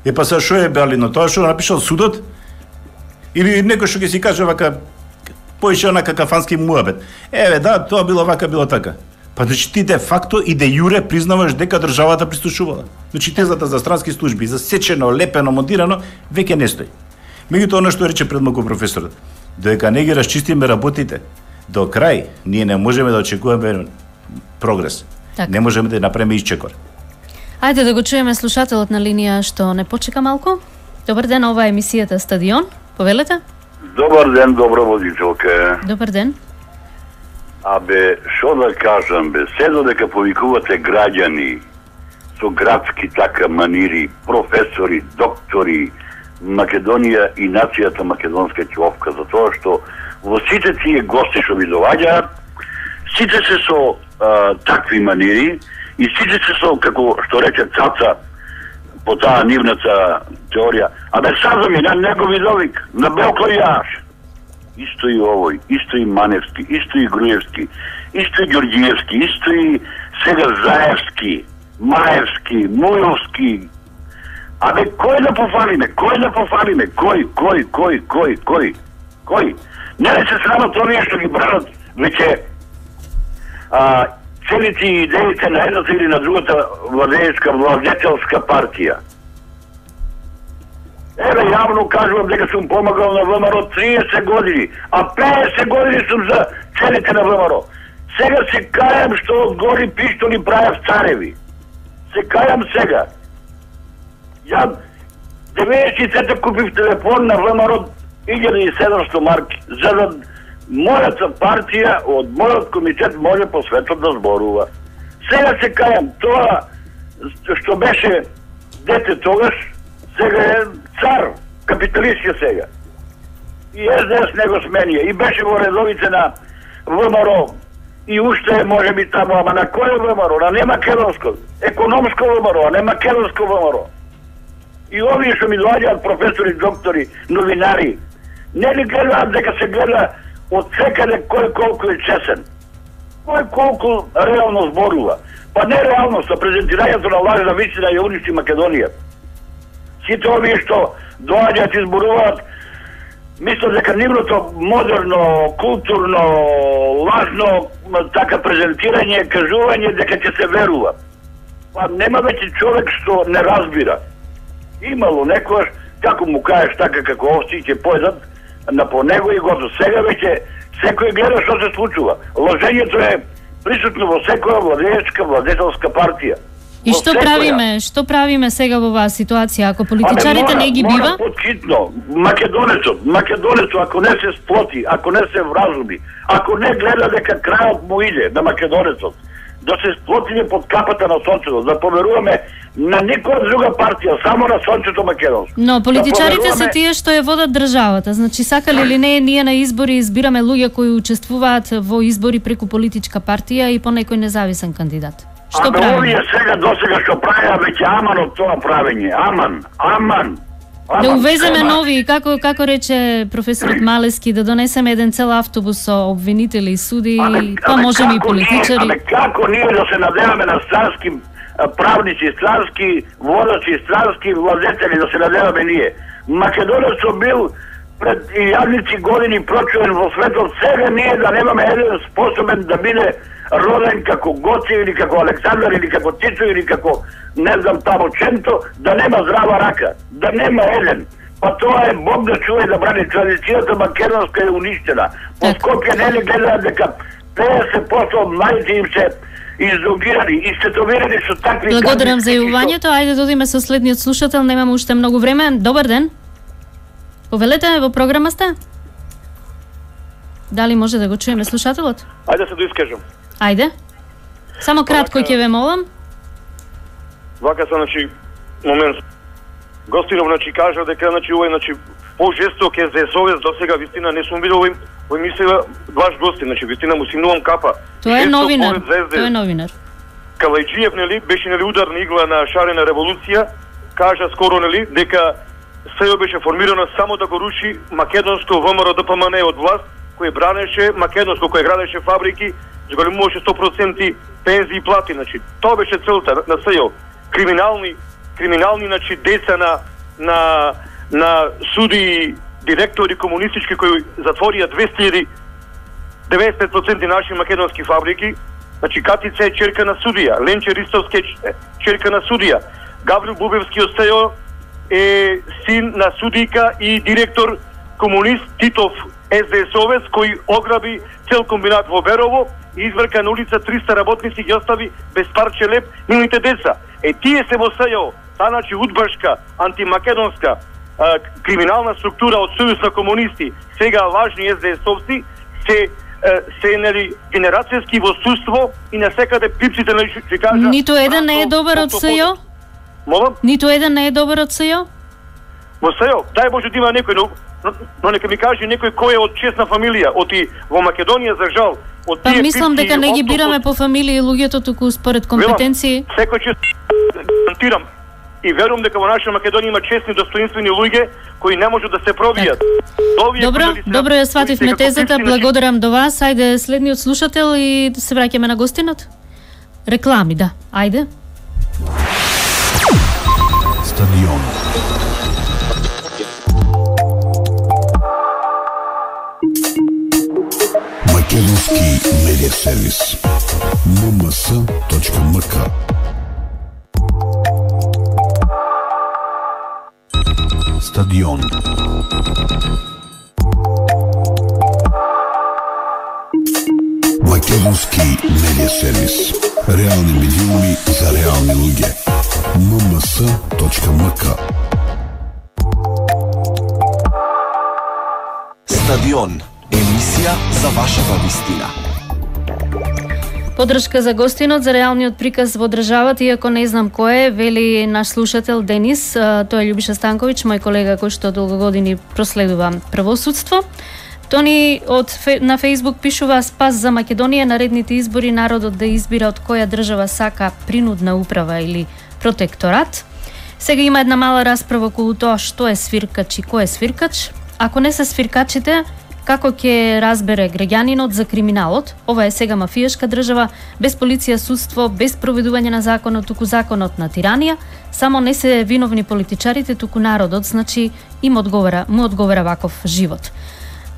Е па са шо е белино, тоа што напишал судот? Или некој што ќе си каже вака поише онака кафански муабет. Еве да, тоа било вака, било така. Па значи ти де факто и де јуре признаваш дека државата прислушувала. Значи тезата за странски служби, за сечено, лепено, монтирано, веќе не стои. Меѓутоа, она што рече пред малку професорот, додека не ги расчистиме работите, до крај ние не можеме да очекуваме прогрес. Так. Не можеме да направиме исчекор. Ајде да го чуеме слушателот на линија што не почека малку. Добар ден, ова е емисијата Стадион. Повелете? Добар ден, добро водителка. Добар ден. Абе, шо да кажам, бе, се додека повикувате граѓани со градски така манири, професори, доктори, Македонија и нацијата македонска ќовка, затоа што во сите тие гости што ви доаѓаат, сите се со а, такви манири и сите се со, како што рече Цаца, по таа нивната теорија, абе сазам е на негови довик, на Белко и јаш. Исто и овој, исто и Маневски, исто и Груевски, исто и Ѓорѓиевски, исто и сега Заевски, Маевски, Мујовски. Абе, кој да пофалиме? Кој да пофалиме? Кој, кој, кој, кој, кој? Кој? Не ли се срамат овие што ги бранат веќе а, целите идеите на едната или на другата владеечка, владетелска партија? Еве, јавно кажувам дека сум помагал на Вэ М Р триесет години, а петдесет години сум за целите на Вэ М Р. Сега се кајам што од гори пиштоли правев цареви. Се кајам сега. Ја деветдесет и трета купив телефон на Вэ М Р илјада и седумстотини марки, за да мојата партија од мојот комитет може по светот да зборува. Сега се кајам, тоа што беше дете тогаш, сега е цар, капиталист е сега. И С Д С не го сменија, и беше во редовите на В М Р О. И уште е, може би, тамо, ама на кој В М Р О? На не македонско, економско В М Р О, а не македонско В М Р О. И овие што ми доаѓаат професори, доктори, новинари, не ли гледаат дека се гледа од секаде кој колку е чесен? Кој колку реално зборува? Па не реалност, а презентирањето на лажна вистина ја уништи Македонија. Сите овие што доаѓаат и зборуваат, мислам дека нивното модерно, културно, лажно така презентирање, кажување дека ќе се верува. Па нема веќе човек што не разбира. Имало некојаш, како му кажеш така како овци ќе појдат на по него и готово. Сега веќе секој гледа што се случува. Лажењето е присутно во секоја владеечка, владетелска партија. И што правиме? Што правиме сега во оваа ситуација ако политичарите не ги бива? Мора поткитно. Македонецот, македонецот ако не се сплоти, ако не се вразуми, ако не гледа дека крајот му иде на македонецот, да се сплотиме под капата на сонцето, да поверуваме на никоја друга партија, само на сонцето македонско. Но политичарите да поверуваме... се тие што ја водат државата. Значи сакали или не, ние на избори избираме луѓе кои учествуваат во избори преку политичка партија и по некој независен кандидат. Што Аме правиме? овие сега досега што правеа веќе аман од тоа правење. Аман, аман. аман Да увеземе сема. нови, како како рече професорот Малески, да донесеме еден цел автобус со обвинители и суди, па можеме и политичари. Аме како ние да се надеваме на странски правници, странски водачи, странски владетели, да се надеваме ние? Македонецот бил пред илјадници години прочувен во светот, сега ние да немаме еден способен да биде роден како Гоце или како Александар или како Тито или како не знам тамо Ченто, да нема здрава рака, да нема еден. Па тоа е Бог да чува и да брани. Традицијата македонска е уништена. По Скопје не ли гледаат дека петдесет проценти од младите им се изолирани, истетовирани со такви... Благодарам за јавувањето. Ајде да одиме со следниот слушател, немаме уште многу време. Добар ден. Повелете, во програма сте? Дали може да го чуеме слушателот? Ајде се доискажам. Ајде. Само кратко ќе ве молам. Вака се, значи, момент. Гостинов, значи, кажа дека, значи, овој, значи, по-жесток е за совест, до сега, вистина, не сум видел овој, овој мисля, ваш гости, значи, вистина, му симнувам капа. Тоа е Жесток новинар, поред тоа е новинар. Калајджиев, нели, беше, нели, ударна игла на шарена револуција, кажа скоро, нели, дека СЈО беше формирано само да го руши македонско В М Р О Д П М Н од власт, кој бранеше македонско, кој градеше фабрики, зголемуваше сто проценти пензии и плати, значи тоа беше целта на СЈО. Криминални криминални значи деца на на на суди, директори комунистички кои затворија двесте илјади деветдесет и пет проценти наши македонски фабрики. Значи Катица е черка на судија, Ленче Ристовски е черка на судија, Гаврил Бубевски од СЈО е син на судика и директор комунист Титов С Д С-овец кој ограби цел комбинат во Берово и изврка на улица триста работници ги остави без парче леп нивните деца. Е тие се во СЈО, та значи удбашка, антимакедонска а, криминална структура од Сојуз на комунисти, сега важни С Д С-овци, се се нели генерацијски во суство и на секаде пипците на ќе кажа. Ниту еден не е добар од СЈО? Молам? Ниту еден не е добар од СЈО? Во СЈО, дај Боже да има некој, но, но нека ми каже некој кој е од честна фамилија, оти во Македонија за жал. Од Па тие мислам пипци, дека не ги оттук, бираме по фамилија луѓето, туку според компетенции. Секој че гарантирам и верувам дека во наша Македонија има честни, достоинствени луѓе кои не можат да се пробијат. Добро, добро ја свативме тезата, благодарам до вас. Ајде следниот слушател и се враќаме на гостинот. Реклами, да. Ајде. Стадион. Македонски медиа сервис. ем ем ес точка ем ка. Стадион. Македонски медиа сервис. Реални медиуми за реални луѓе. ем ем ес точка ем ка. Стадион. Емисија за вашата вистина. Подршка за гостинот за реалниот приказ во државата, иако не знам кој е, вели наш слушател Денис, тој е Љубиша Станковиќ, мој колега кој што долго години проследува правосудство. Тони од на Facebook пишува: спас за Македонија, наредните избори народот да избира од која држава сака принудна управа или протекторат. Сега има една мала расправа околу тоа што е свиркач и кој е свиркач. Ако не се свиркачите, како ќе разбере граѓанинот за криминалот? Ова е сега мафијашка држава, без полиција, судство, без проведување на законот, туку законот на тиранија. Само не се виновни политичарите, туку народот, значи им одговара, му одговара ваков живот.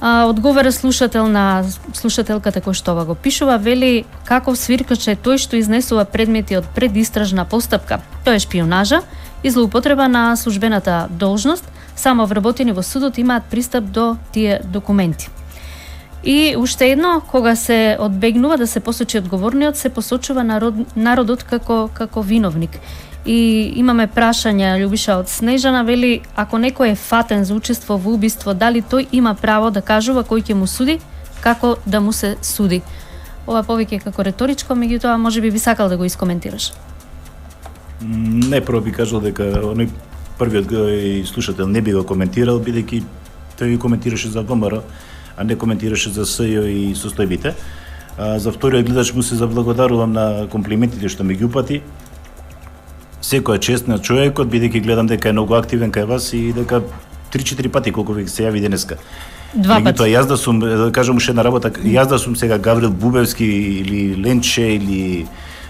А, одговара слушател на слушателката кој што ова го пишува, вели каков свиркач е тој што изнесува предмети од предистражна постапка. Тоа е шпионажа и злоупотреба на службената должност. Само вработени во судот имаат пристап до тие документи. И уште едно, кога се одбегнува да се посочи одговорниот, се посочува народ, народот како како виновник. И имаме прашање, Љубиша, од Снежана, вели ако некој е фатен за учество во убиство, дали тој има право да кажува кој ќе му суди, како да му се суди? Ова повеќе како реторичко, меѓутоа можеби би сакал да го искоментираш. Не, прво би кажал дека оној првиот гој слушател не би го коментирал, бидејќи тој го коментираше за ВМРО, а не коментираше за СЈО и состојбите. А, за вториот гледач му се заблагодарувам на комплиментите што ми ги упати. Секој чест на човекот, бидејќи гледам дека е многу активен кај вас и дека три-четири пати колку ви се јави денеска. Два пати. Тоа јас да сум, да кажам уште една работа, јас да сум сега Гаврил Бубевски или Ленче или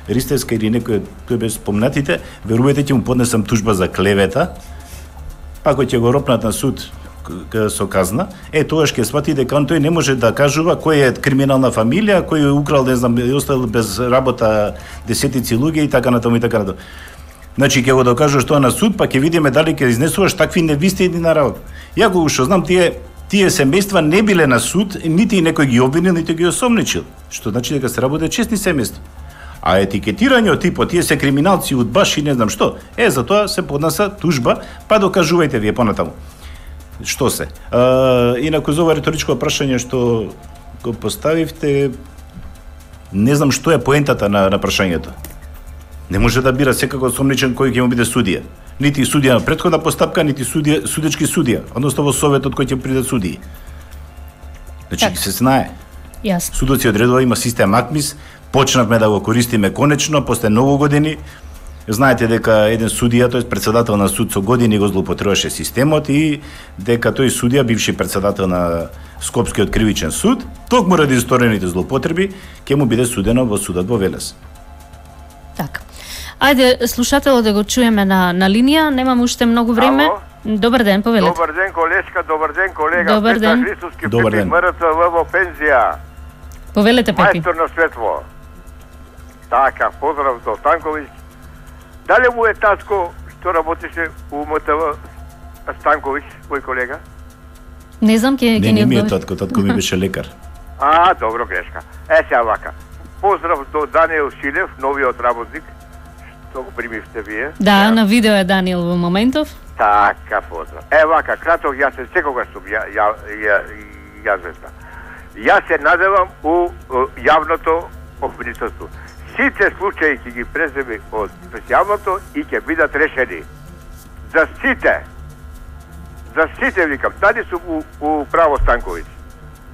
Ристевска или некој кој без спомнатите, верувајте ќе му поднесам тужба за клевета, ако ќе го ропнат на суд со казна, е тогаш ќе свати дека он тој не може да кажува кој е криминална фамилија, кој е украл, не знам, и оставил без работа десетици луѓе и така натаму и така натаму. Значи ќе го докажуваш тоа на суд, па ќе видиме дали ќе изнесуваш такви невистини на работа. Ја го што знам, тие тие семејства не биле на суд, нити некој ги обвинил, нити ги осомничил, што значи дека се работи честни семејства. А етикетирање од типот тие се криминалци, удбаши, не знам што, е за тоа се поднаса тужба, па докажувајте вие понатаму. Што се? А, инаку за ова риторичко прашање што го поставивте, не знам што е поентата на, на прашањето. Не може да бира секако осомничен кој ќе му биде судија. Нити судија на претходна постапка, нити судија, судечки судија, односно во советот кој ќе приде судии. Значи так се знае. Јасно. Судот си одредува, има систем АКМИС, почнавме да го користиме конечно, после многу години. Знаете дека еден судија, тој председател на суд со години го злоупотребуваше системот и дека тој судија, бивши председател на Скопскиот кривичен суд, токму ради исторените злоупотреби, ќе му биде судено во судот во Велес. Така. Ајде, слушателот да го чуеме на, на линија, немаме уште многу време. Ало? Добар ден, повелете. Добар ден, колешка, добар ден, колега. Добар ден. Петар Христовски, Добар Пепи, ден. МРЦВ во пензија. Повелете, Пепи. Мајстор на светло. Така, поздрав до Станковиќ. Дали му е татко што работеше у МТВ Станковиќ, твој колега? Не знам, ке, Не, ке не ни ми е одговори. татко, татко ми беше лекар. А, добро, грешка. Е, сега вака. Поздрав до Даниел Шилев, новиот работник, што го примивте вие. Да, на видео е Даниел во моментов. Така, поздрав. Е, вака, краток, јас се секогаш сум ја, ја, ја, ја звезда. Јас се надевам у, у јавното обвинителство. Сите случаи ќе ги преземе од специјалното и ќе бидат решени. За сите. За сите, викам. Дали сум у, у право Станковиќ?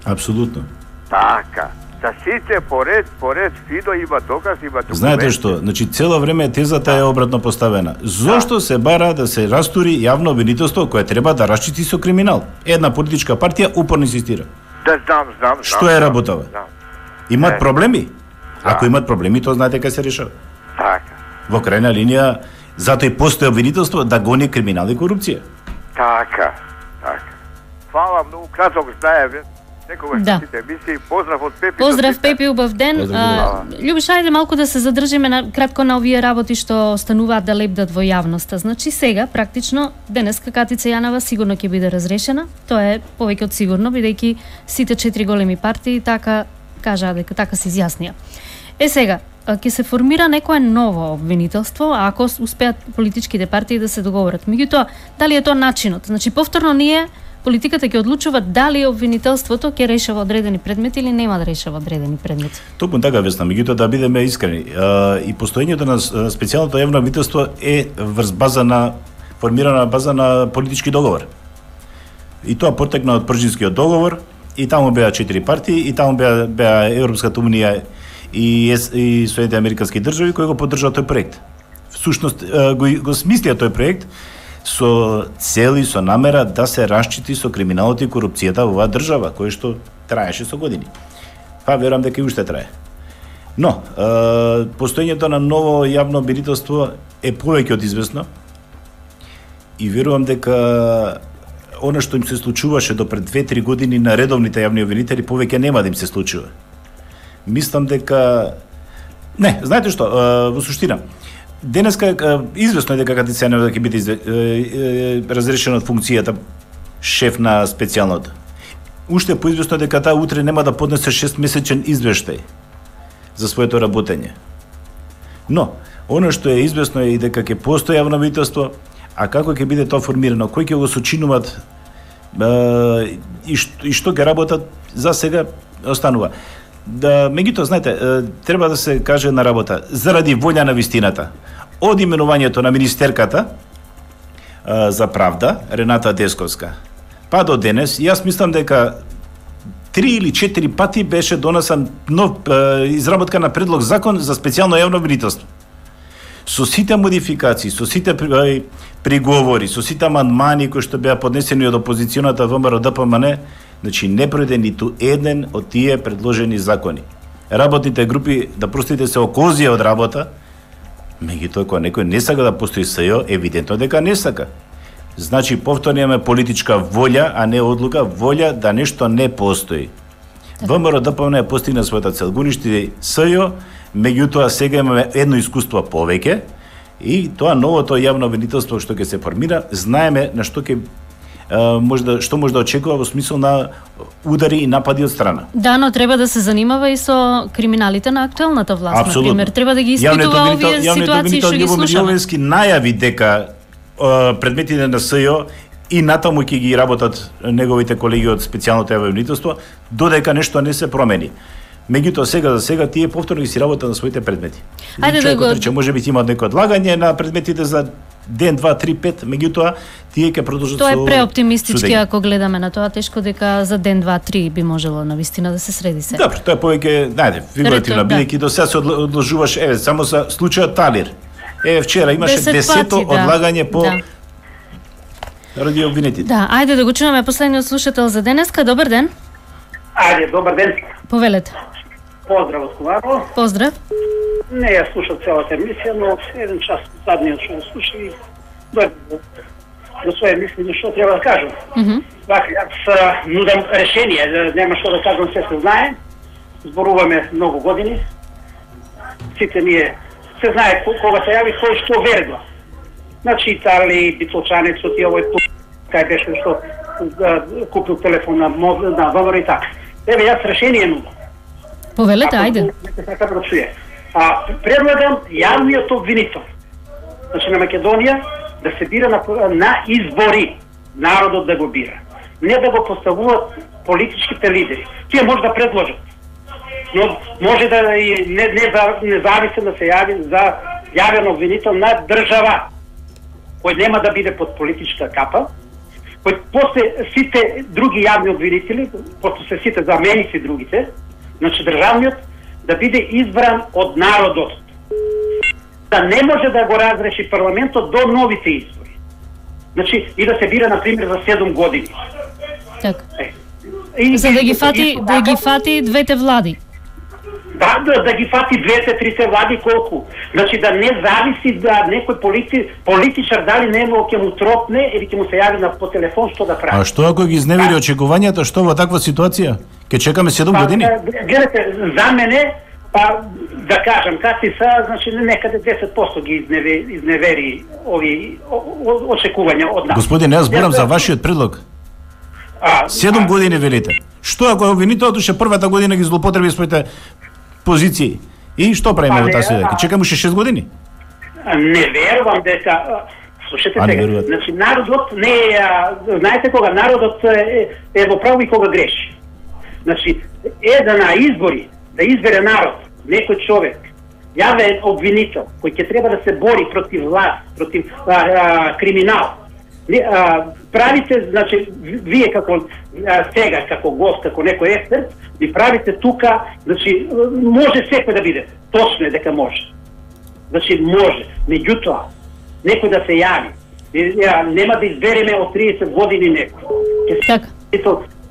Апсолутно. Така. За сите поред, поред, фидо има доказ, има документи. Знаете што, значи цело време тезата е обратно поставена. Зошто се бара да се растури јавно обвинителство кое треба да расчисти со криминал? Една политичка партија упорно инсистира. Да, знам, знам, знам. Што е работава? Знам. Имат Е. проблеми? Ако имат проблеми, тоа знаете кај се решава. Така. Во крајна линија, затоа и постои обвинителство да гони криминал и корупција. Така. Така. Фала многу, краток знаеме. Некогаш Да. сите емисии. Поздрав од Пепи. Поздрав, Пепи, убав ден. Поздрав, А, Љубиш, ајде малку да се задржиме на, кратко на овие работи што остануваат да лепдат во јавноста. Значи сега, практично, денеска Катица Јанова сигурно ќе биде разрешена. Тоа е повеќе од сигурно, бидејќи сите четири големи партии така кажаа дека така се изјаснија. Е сега, ќе се формира некое ново обвинителство, ако успеат политичките партии да се договорат. Меѓутоа, дали е тоа начинот? Значи, повторно ние политиката ќе одлучува дали обвинителството ќе решава одредени предмети или нема да решава одредени предмети. Токму така, Весна, меѓутоа да бидеме искрени, и постоењето на специјалното јавно обвинителство е врз база на формирана база на политички договор. И тоа потекна од Пржинскиот договор, и таму беа четири партии, и таму беа, беа Европската унија и, и Соединените американски држави кои го поддржаа тој проект. Всушност го, го смислија тој проект со цел и со намера да се расчити со криминалот и корупцијата во оваа држава, кој што траеше со години. Па верувам дека и уште трае. Но, е, постоењето на ново јавно обвинителство е повеќе од известно и верувам дека она што им се случуваше до пред две-три години на редовните јавни обвинители повеќе нема да им се случува. Мислам дека не, знаете што, во суштина, денеска известно е дека Катицјанов ќе биде разрешен од функцијата шеф на специјалното. Уште поизвестно е дека таа утре нема да поднесе шестмесечен извештај за своето работење. Но, она што е известно е и дека ќе постои јавно обвинителство, а како ќе биде тоа формирано, кои ќе го сочинуваат и што, и што ќе работат, за сега останува. Да, меѓутоа, знаете, треба да се каже на работа, заради волја на вистината, од именувањето на министерката за правда, Рената Десковска, па до денес, јас мислам дека три или четири пати беше донесен нов изработка на предлог закон за специјално јавно обвинителство. Со сите модификации, со сите приговори, со сите амандмани кои што беа поднесени од опозиционата ВМРО Д П М Н, значи не пројде ниту еден од тие предложени закони. Работните групи, да простите, се окозија од работа, меѓутоа кога некој не сака да постои С Ј О, евидентно дека не сака. Значи, повторно имаме политичка волја, а не одлука, волја да нешто не постои. ВМРО Д П М Н постигна својата цел, го уништи С Ј О, меѓутоа сега имаме едно искуство повеќе и тоа новото јавно обвинителство што ќе се формира, знаеме на што ќе може да, што може да очекува во смисол на удари и напади од страна. Да, но треба да се занимава и со криминалите на актуелната власт, на пример. Треба да ги испитува овие ситуации што ги слушаме. Јавниот најави дека предметите на С Ј О и натаму ќе ги работат неговите колеги од специјалното јавно обвинителство, додека нешто не се промени. Меѓутоа сега за сега тие повторно ги си работат на своите предмети. Ајде да го рече, може би имаат некој одлагање на предметите за ден, два, три, пет, меѓутоа тие ќе продолжат со. Тоа е преоптимистички ако гледаме на тоа, тешко дека за ден, два, три би можело навистина да се среди се. Добро, тоа е повеќе, најде, фигуративно, бидејќи до сега се одложуваш, еве, само за случајот Талир. Еве вчера имаше десето одлагање по ради обвинетите. Да, ајде да го чуваме последниот слушател за денеска. Добар ден. Ајде, добар ден. Повелете. Поздрав од Коварно. Поздрав. Не ја слушав целата емисија, но еден час задниот што ја слушав и дојде до своје мислење што треба да кажам. Mm -hmm. Вака, јас нудам решение, нема што да кажам, се се знае. Зборуваме многу години. Сите ние се знае кога се јави кој што верба. Значи Итали, Битолчанецот и овој тук, кај беше што купил телефон на на ВМРО и така. Еве јас решение нудам. Повелете, ајде. Така да чуе. А предлагам јавниот обвинител, значи на Македонија, да се бира на, на избори, народот да го бира. Не да го поставуваат политичките лидери. Тие може да предложат. Но може да и не, не, не зависе да се јави за јавен обвинител на држава, кој нема да биде под политичка капа, кој после сите други јавни обвинители, после се сите заменици другите, значи државниот, да биде избран од народот. Да не може да го разреши парламентот до новите избори. Значи, и да се бира, например, за седум години. Така. Е. За да ги фати, да ги фати двете влади. Да, да, да ги фати двете, трите влади колку. Значи да не зависи да некој полити, политичар дали нема ќе му тропне или ќе му се јави на по телефон што да прави. А што ако ги изневери да. очекувањата, што во таква ситуација? Ке чекаме седум па, години? Гледате, за мене, па да кажам, кати са, значи некаде десет проценти ги изневери, изневери ови очекувања од нас. Господин, јас зборам за вашиот предлог. А, седум а, години велите. Што ако обвинителот уште првата година ги злоупотреби своите позиции? И што правиме во таа ситуација? Ке чекаме уште шест години? Не верувам дека Слушате сега, значи народот не е, знаете кога народот е, е во право и кога греши. Значи, е да на избори, да избере народ, некој човек, јавен обвинител, кој ќе треба да се бори против власт, против а, а, криминал. А, правите, значи, вие како а, сега, како гост, како некој експерт, ви правите тука, значи, може секој да биде. Точно е дека може. Значи, може. Меѓутоа, некој да се јави. Нема да избереме од триесет години некој. Така.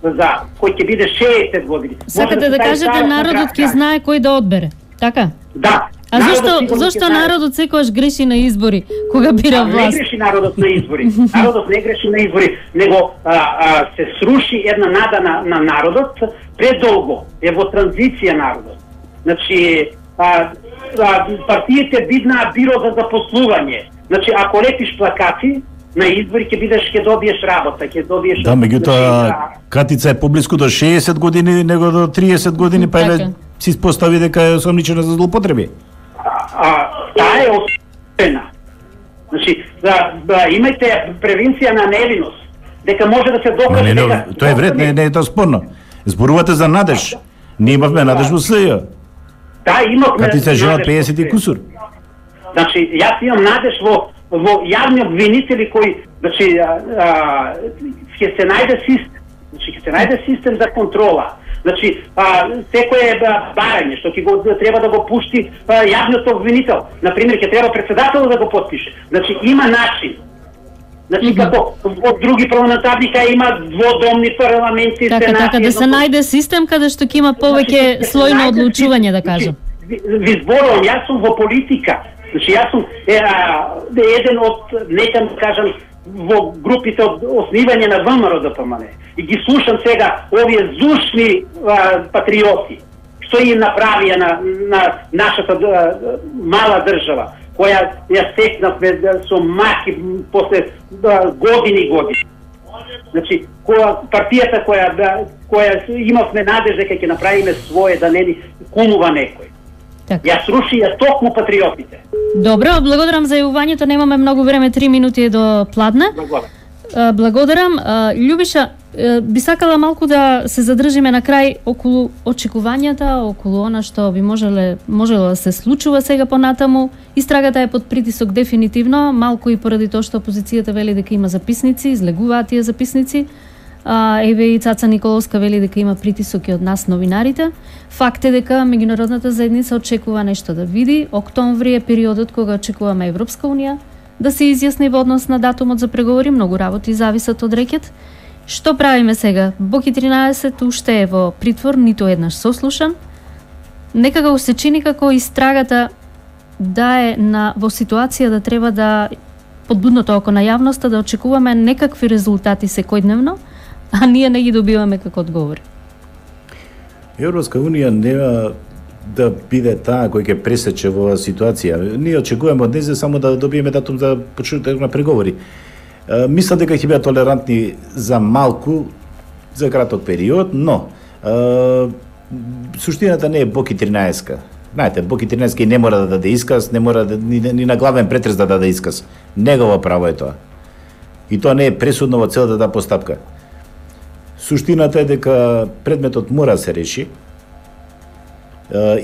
За кој ќе биде шеесет години. Сакате да кажете народот ќе знае кој да одбере, така? Да. А зашто зашто народот секогаш греши на избори кога бира власт? Не греши народот на избори. Народот не греши на избори, него а, а, се сруши една нада на, на народот предолго. Е во транзиција народот. Значи, а, а, партиите биднаа биро за запослување. Значи, ако лепиш плакати на избори ќе бидеш, ќе добиеш работа, ќе добиеш. Да, меѓутоа Катица е поблиску до шеесет години него до триесет години, па е си испостави дека е осомничена за злоупотреби. А, таа е осудена. Значи, да, да имајте превенција на невиност, дека може да се докаже не, не, дека... Тоа е вред, не, не е тоа спорно. Зборувате за надеж. Ние имавме надеж во СЈ. Да, имавме... Катица е жена од пеесет и кусур. Значи, јас имам надеж во, во јавни обвинители кои, значи, а, а, ќе се најде систем. Значи, ќе се најде систем за контрола. Значи, а, секој барање што ќе го треба да го пушти а, јавниот обвинител. Например, ќе треба председателот да го подпише. Значи, има начин. Значи, mm -hmm. како од други парламентарни кај има дводомни парламенти, така, сенати... Така, да се најде систем каде што ќе има повеќе значи, слој на одлучување, да кажам. Ви, ви зборувам, јас сум во политика. Значи, јас сум е, а, еден од, нека да кажам, во групите од основање на ВМРО Д П М Н. И ги слушам сега овие зушни а, патриоти, што им направија на, на нашата а, мала држава, која ја стекнавме со маки после а, години и години. Значи, која, партијата која, да, која имавме надеж дека ќе направиме своје, да не ни кумува некој. Так. Ја сруши ја токму патриотите. Добро, благодарам за јавувањето, немаме многу време, три минути до пладне. Благодарам. Благодарам. Љубиша, би сакала малку да се задржиме на крај околу очекувањата, околу она што би можеле, можело да се случува сега понатаму. Истрагата е под притисок дефинитивно, малку и поради тоа што опозицијата вели дека има записници, излегуваат тие записници. А, еве и Цаца Николовска вели дека има притисоки од нас новинарите. Факт е дека меѓународната заедница очекува нешто да види. Октомври е периодот кога очекуваме Европска унија да се изјасни во однос на датумот за преговори. Многу работи зависат од рекет. Што правиме сега? Боки тринаесет уште е во притвор, ниту еднаш сослушан. Некако се чини како истрагата да е на во ситуација да треба да подбудното око на јавноста да очекуваме некакви резултати секојдневно, а ние не ги добиваме како одговори. Европска унија нема да биде таа кој ќе пресече во оваа ситуација. Ние очекуваме од незе само да добиеме датум за почнување на преговори. Мислам дека ќе бидат толерантни за малку, за краток период, но е, суштината не е Боки тринаесет. Знаете, Боки тринаесет не мора да даде исказ, не мора да, ни, ни на главен претрес да даде исказ. Негово право е тоа. И тоа не е пресудно во целата таа постапка. Суштината е дека предметот мора да се реши.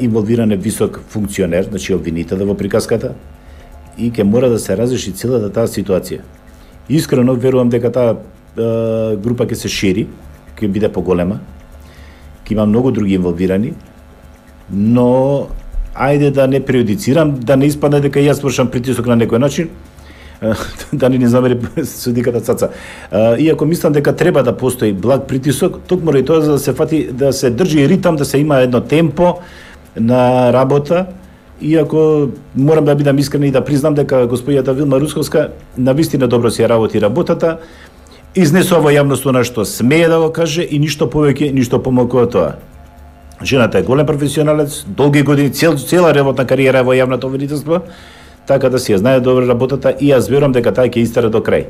Инволвиран е висок функционер, значи обвинител во приказката, и ќе мора да се разреши целата таа ситуација. Искрено верувам дека таа група ќе се шири, ќе биде поголема, ќе има многу други инволвирани, но ајде да не преюдицирам, да не испадне дека јас вршам притисок на некој начин, да не ни замери судиката Цаца. Иако мислам дека треба да постои благ притисок, токму и тоа за да се фати, да се држи ритам, да се има едно темпо на работа. Иако морам да бидам искрен и да признам дека господјата Вилма Русковска навистина добро си работи работата, изнесува во јавност она што смее да го каже и ништо повеќе, ништо помалку од тоа. Жената е голем професионалец, долги години, цел, цела работна кариера во јавното обвинителство, така да си ја знае добро работата и јас верувам дека таа ќе истера до крај.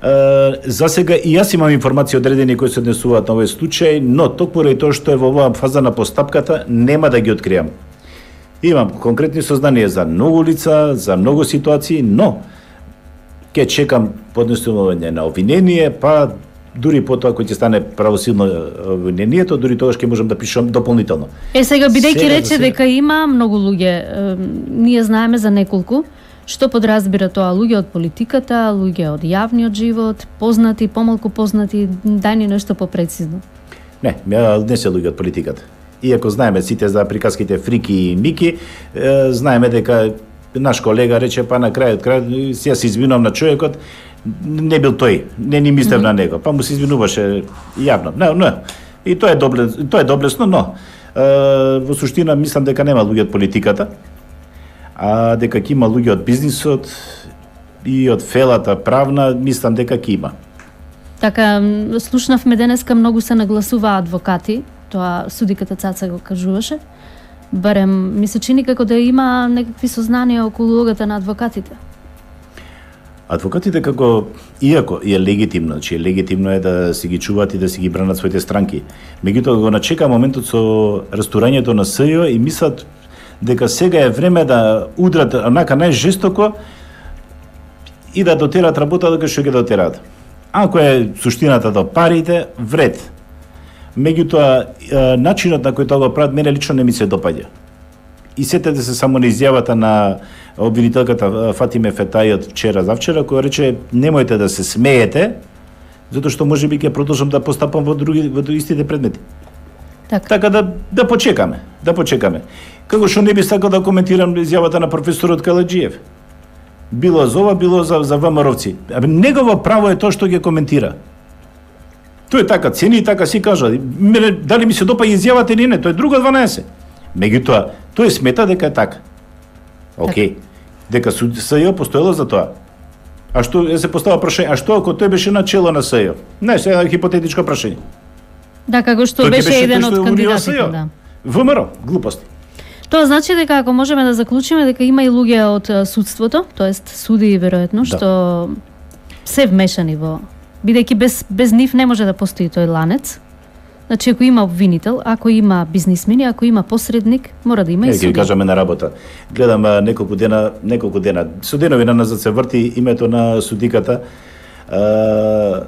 Uh, за сега и јас имам информации одредени кои се однесуваат на овој случај, но токму и тоа што е во оваа фаза на постапката нема да ги откријам. Имам конкретни сознанија за многу лица, за многу ситуации, но ќе чекам поднесување на обвинение, па дури потоа кој ќе стане правосилно обвинението, дури тогаш ќе можам да пишам дополнително. Е сега бидејќи Сега, рече сега... дека има многу луѓе, е, ние знаеме за неколку, што подразбира тоа, луѓе од политиката, луѓе од јавниот живот, познати, помалку познати, дај ни нешто попрецизно. Не, не се луѓе од политиката. Иако знаеме сите за приказките Фрики и Мики, е, знаеме дека наш колега рече, па на крајот крај се се извинувам на човекот, не бил тој, не ни мислев mm -hmm. на него, па му се извинуваше јавно. Не, не. И тоа е добле, тоа е доблесно, но е, во суштина мислам дека нема луѓе од политиката, а дека ќе има луѓе од бизнисот и од фелата правна, мислам дека ќе има. Така, слушнавме денеска многу се нагласува адвокати, тоа судиката Цаца го кажуваше. Барем ми се чини како да има некакви сознанија околу улогата на адвокатите. Адвокатите како, иако е легитимно, значи е легитимно е да си ги чуваат и да си ги бранат своите странки. Меѓутоа го начека моментот со растурањето на СЈО и мислат дека сега е време да удрат онака најжестоко и да дотерат работа дека што ќе дотерат. Ако е суштината до парите, вред. Меѓутоа, начинот на кој тоа го прават, мене лично не ми се допаѓа. И сетете се само на изјавата на обвинителката Фатиме Фетај од вчера завчера, која рече немојте да се смеете, затоа што можеби ќе продолжам да постапам во други во истите предмети. Така, така да да почекаме, да почекаме. Како што не би сакал да коментирам изјавата на професорот Каладжиев. Било за ова, било за за ВМРО-вци. Абе негово право е тоа што ќе коментира. Тој е така цени и така си кажа. Мене, дали ми се допаѓа изјавата или не, тоа е друго дванаесет. Меѓутоа, тој смета дека е така. Океј. Дека СЈО постоело за тоа. А што се постава прашање, а што ако тој беше на чело на СЈО? Не, сега е хипотетичко прашање. Да, како што тој беше, беше еден од што кандидатите, да. ВМРО, глупости. Тоа значи дека ако можеме да заклучиме дека има и луѓе од судството, тоест суди веројатно, Да. што се вмешани во, бидејќи без без нив не може да постои тој ланец. Значи, ако има обвинител, ако има бизнисмени, ако има посредник, мора да има и суди. Ќе ви кажаме на работа. Гледам а, неколку дена, неколку дена. Со денови назад се врти името на судиката, а,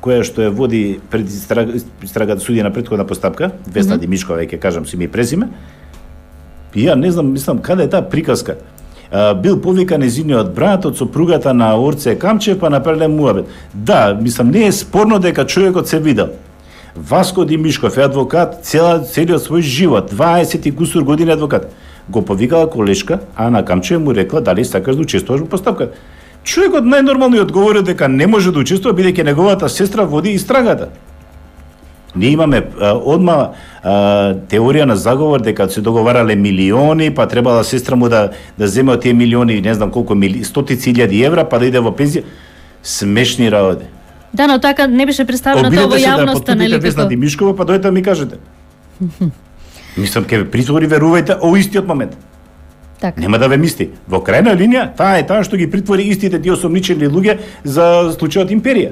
која што ја води пред истрагата судија на претходна постапка, Весна mm -hmm. Димишкова, ќе кажам си ми презиме. И ја не знам, мислам, каде е таа приказка? А, бил повикан незиниот брат од сопругата на Орце Камчев, па направиле муабет. Да, мислам, не е спорно дека човекот се видел. Васко Димишков е адвокат цела, целиот свој живот, дваесет и кусур години адвокат. Го повикала колешка, Ана Камчева му рекла дали сакаш да учествуваш во постапка. Човекот најнормално ја одговорил дека не може да учествува бидејќи неговата сестра води истрагата. Ние имаме а, одма а, теорија на заговор дека се договарале милиони, па требала сестра му да да земе од тие милиони, не знам колку мили, стотици илјади евра, па да иде во пензија. Смешни работи. Да, но така не беше представено тоа во јавноста, нели како? Весна Димишкова, па дојдете ми кажете. Мислам, ке ве притвори, верувајте, о истиот момент. Така. Нема да ве мисли. Во крајна линија, таа е таа што ги притвори истите тие осомничени луѓе за случајот Империја.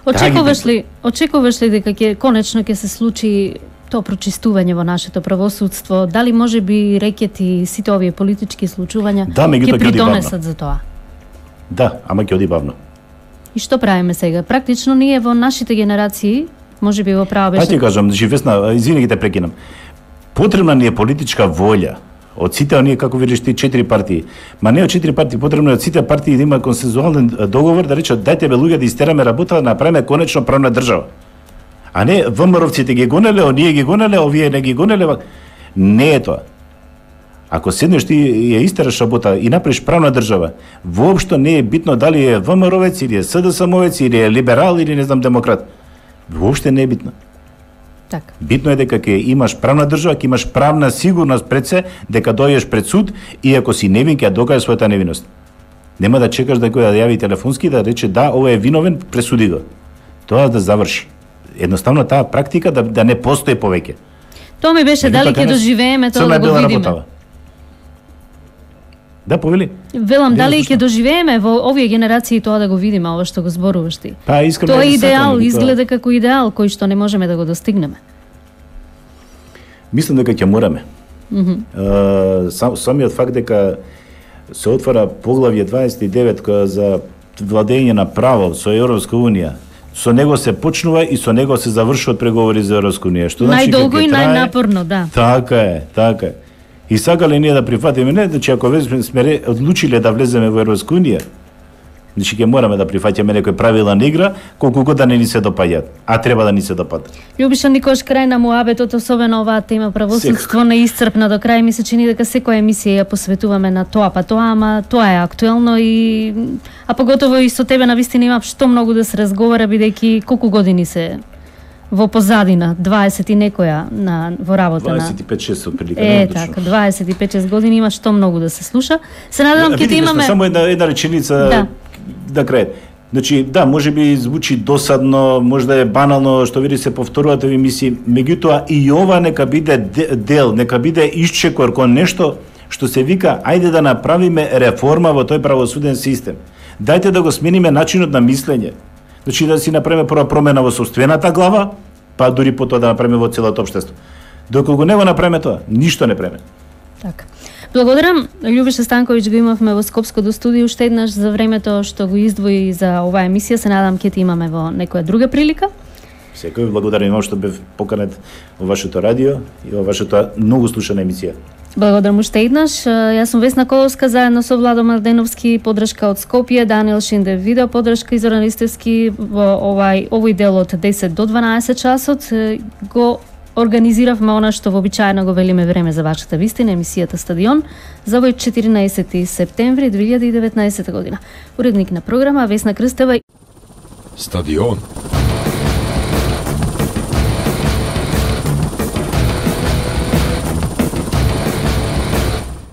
Очекуваш ли, очекуваш ли дека ќе конечно ќе се случи тоа прочистување во нашето правосудство? Дали може би рекети сите овие политички случувања да, ќе придонесат за тоа? Да, ама ќе оди бавно. И што правиме сега? Практично ние во нашите генерации, може би во право беше... Па ти кажам, Весна, извини ги те прекинам. Потребна ни е политичка волја од сите оние, како видиш ти, четири партии. Ма не од четири партии, потребно е од сите партии да има консензуален договор, да речат дајте бе луѓе да истераме работа, да направиме конечно правна држава. А не ВМРО-вците ги гонеле, оние ги гонеле, овие не ги гонеле. Не е тоа. Ако седнеш ти ја истераш работа и направиш правна држава, воопшто не е битно дали е ВМРО-вец или е СДСМ-овец или е либерал или не знам демократ. Воопшто не е битно. Так. Битно е дека ќе имаш правна држава, ќе имаш правна сигурност пред се, дека дојдеш пред суд и ако си невин ќе ја докажеш својата невиност. Нема да чекаш да кој да јави телефонски да рече да, ова е виновен, пресуди го. Тоа да заврши. Едноставно таа практика да, да не постои повеќе. Тоа ми беше дали ќе доживееме тоа да го видиме. Работава. Да, повели. Велам, дали ќе доживееме во овие генерации тоа да го видиме, ова што го зборуваш ти. Па, искрено тоа е идеал, изгледа како идеал кој што не можеме да го достигнеме. Мислам дека ќе мораме. Mm -hmm. uh, сам, самиот факт дека се отвара поглавје дваесет и девет за владење на право со Европска унија. Со него се почнува и со него се завршуваат преговори за Европска унија. Што значи најдолго и најнапорно, да. Така е, така е. И сакале ние да прифатиме, не, значи ако сме одлучиле да влеземе во Европска унија, значи ќе мораме да прифаќаме некои правила на игра, колку год да не ни се допаѓаат, а треба да ни се допадат. Љубиша, никош крај на муабетот, особено оваа тема правосудство не исцрпна до крај, ми се чини дека секоја емисија ја посветуваме на тоа, па тоа, ама тоа е актуелно и а поготово и со тебе навистина има што многу да се разговара, бидејќи колку години се во позадина, дваесет и некоја на во работа на дваесет и пет шест отприлика. Е, така, дваесет и пет шест години има што многу да се слуша. Се надевам ќе да имаме само една една реченица да, да крај. Значи, да, може би звучи досадно, може да е банално, што види се повторуваат овие емисии, меѓутоа и ова нека биде дел, нека биде исчекор кон нешто што се вика ајде да направиме реформа во тој правосуден систем. Дајте да го смениме начинот на мислење. Значи да си направиме прва промена во собствената глава, па дури потоа да направиме во целото општество. Доколку не го направиме тоа, ништо не преме. Така. Благодарам, Љубиша Станковиќ го имавме во Скопското студио уште еднаш за времето што го издвои за оваа емисија. Се надам ќе ти имаме во некоја друга прилика. Секој благодарам што бев поканет во вашето радио и во вашата многу слушана емисија. Благодарам уште еднаш. Јас сум Весна Коловска заедно со Владо Младеновски, подршка од Скопје, Даниел Шиндев видео подршка и Зоран Ристевски во овај овој дел од десет до дванаесет часот го организиравме она што вообичаено го велиме време за вашата вистина, емисијата Стадион за овој четирнаесети септември две илјади и деветнаесета година. Уредник на програма Весна Крстева. Стадион.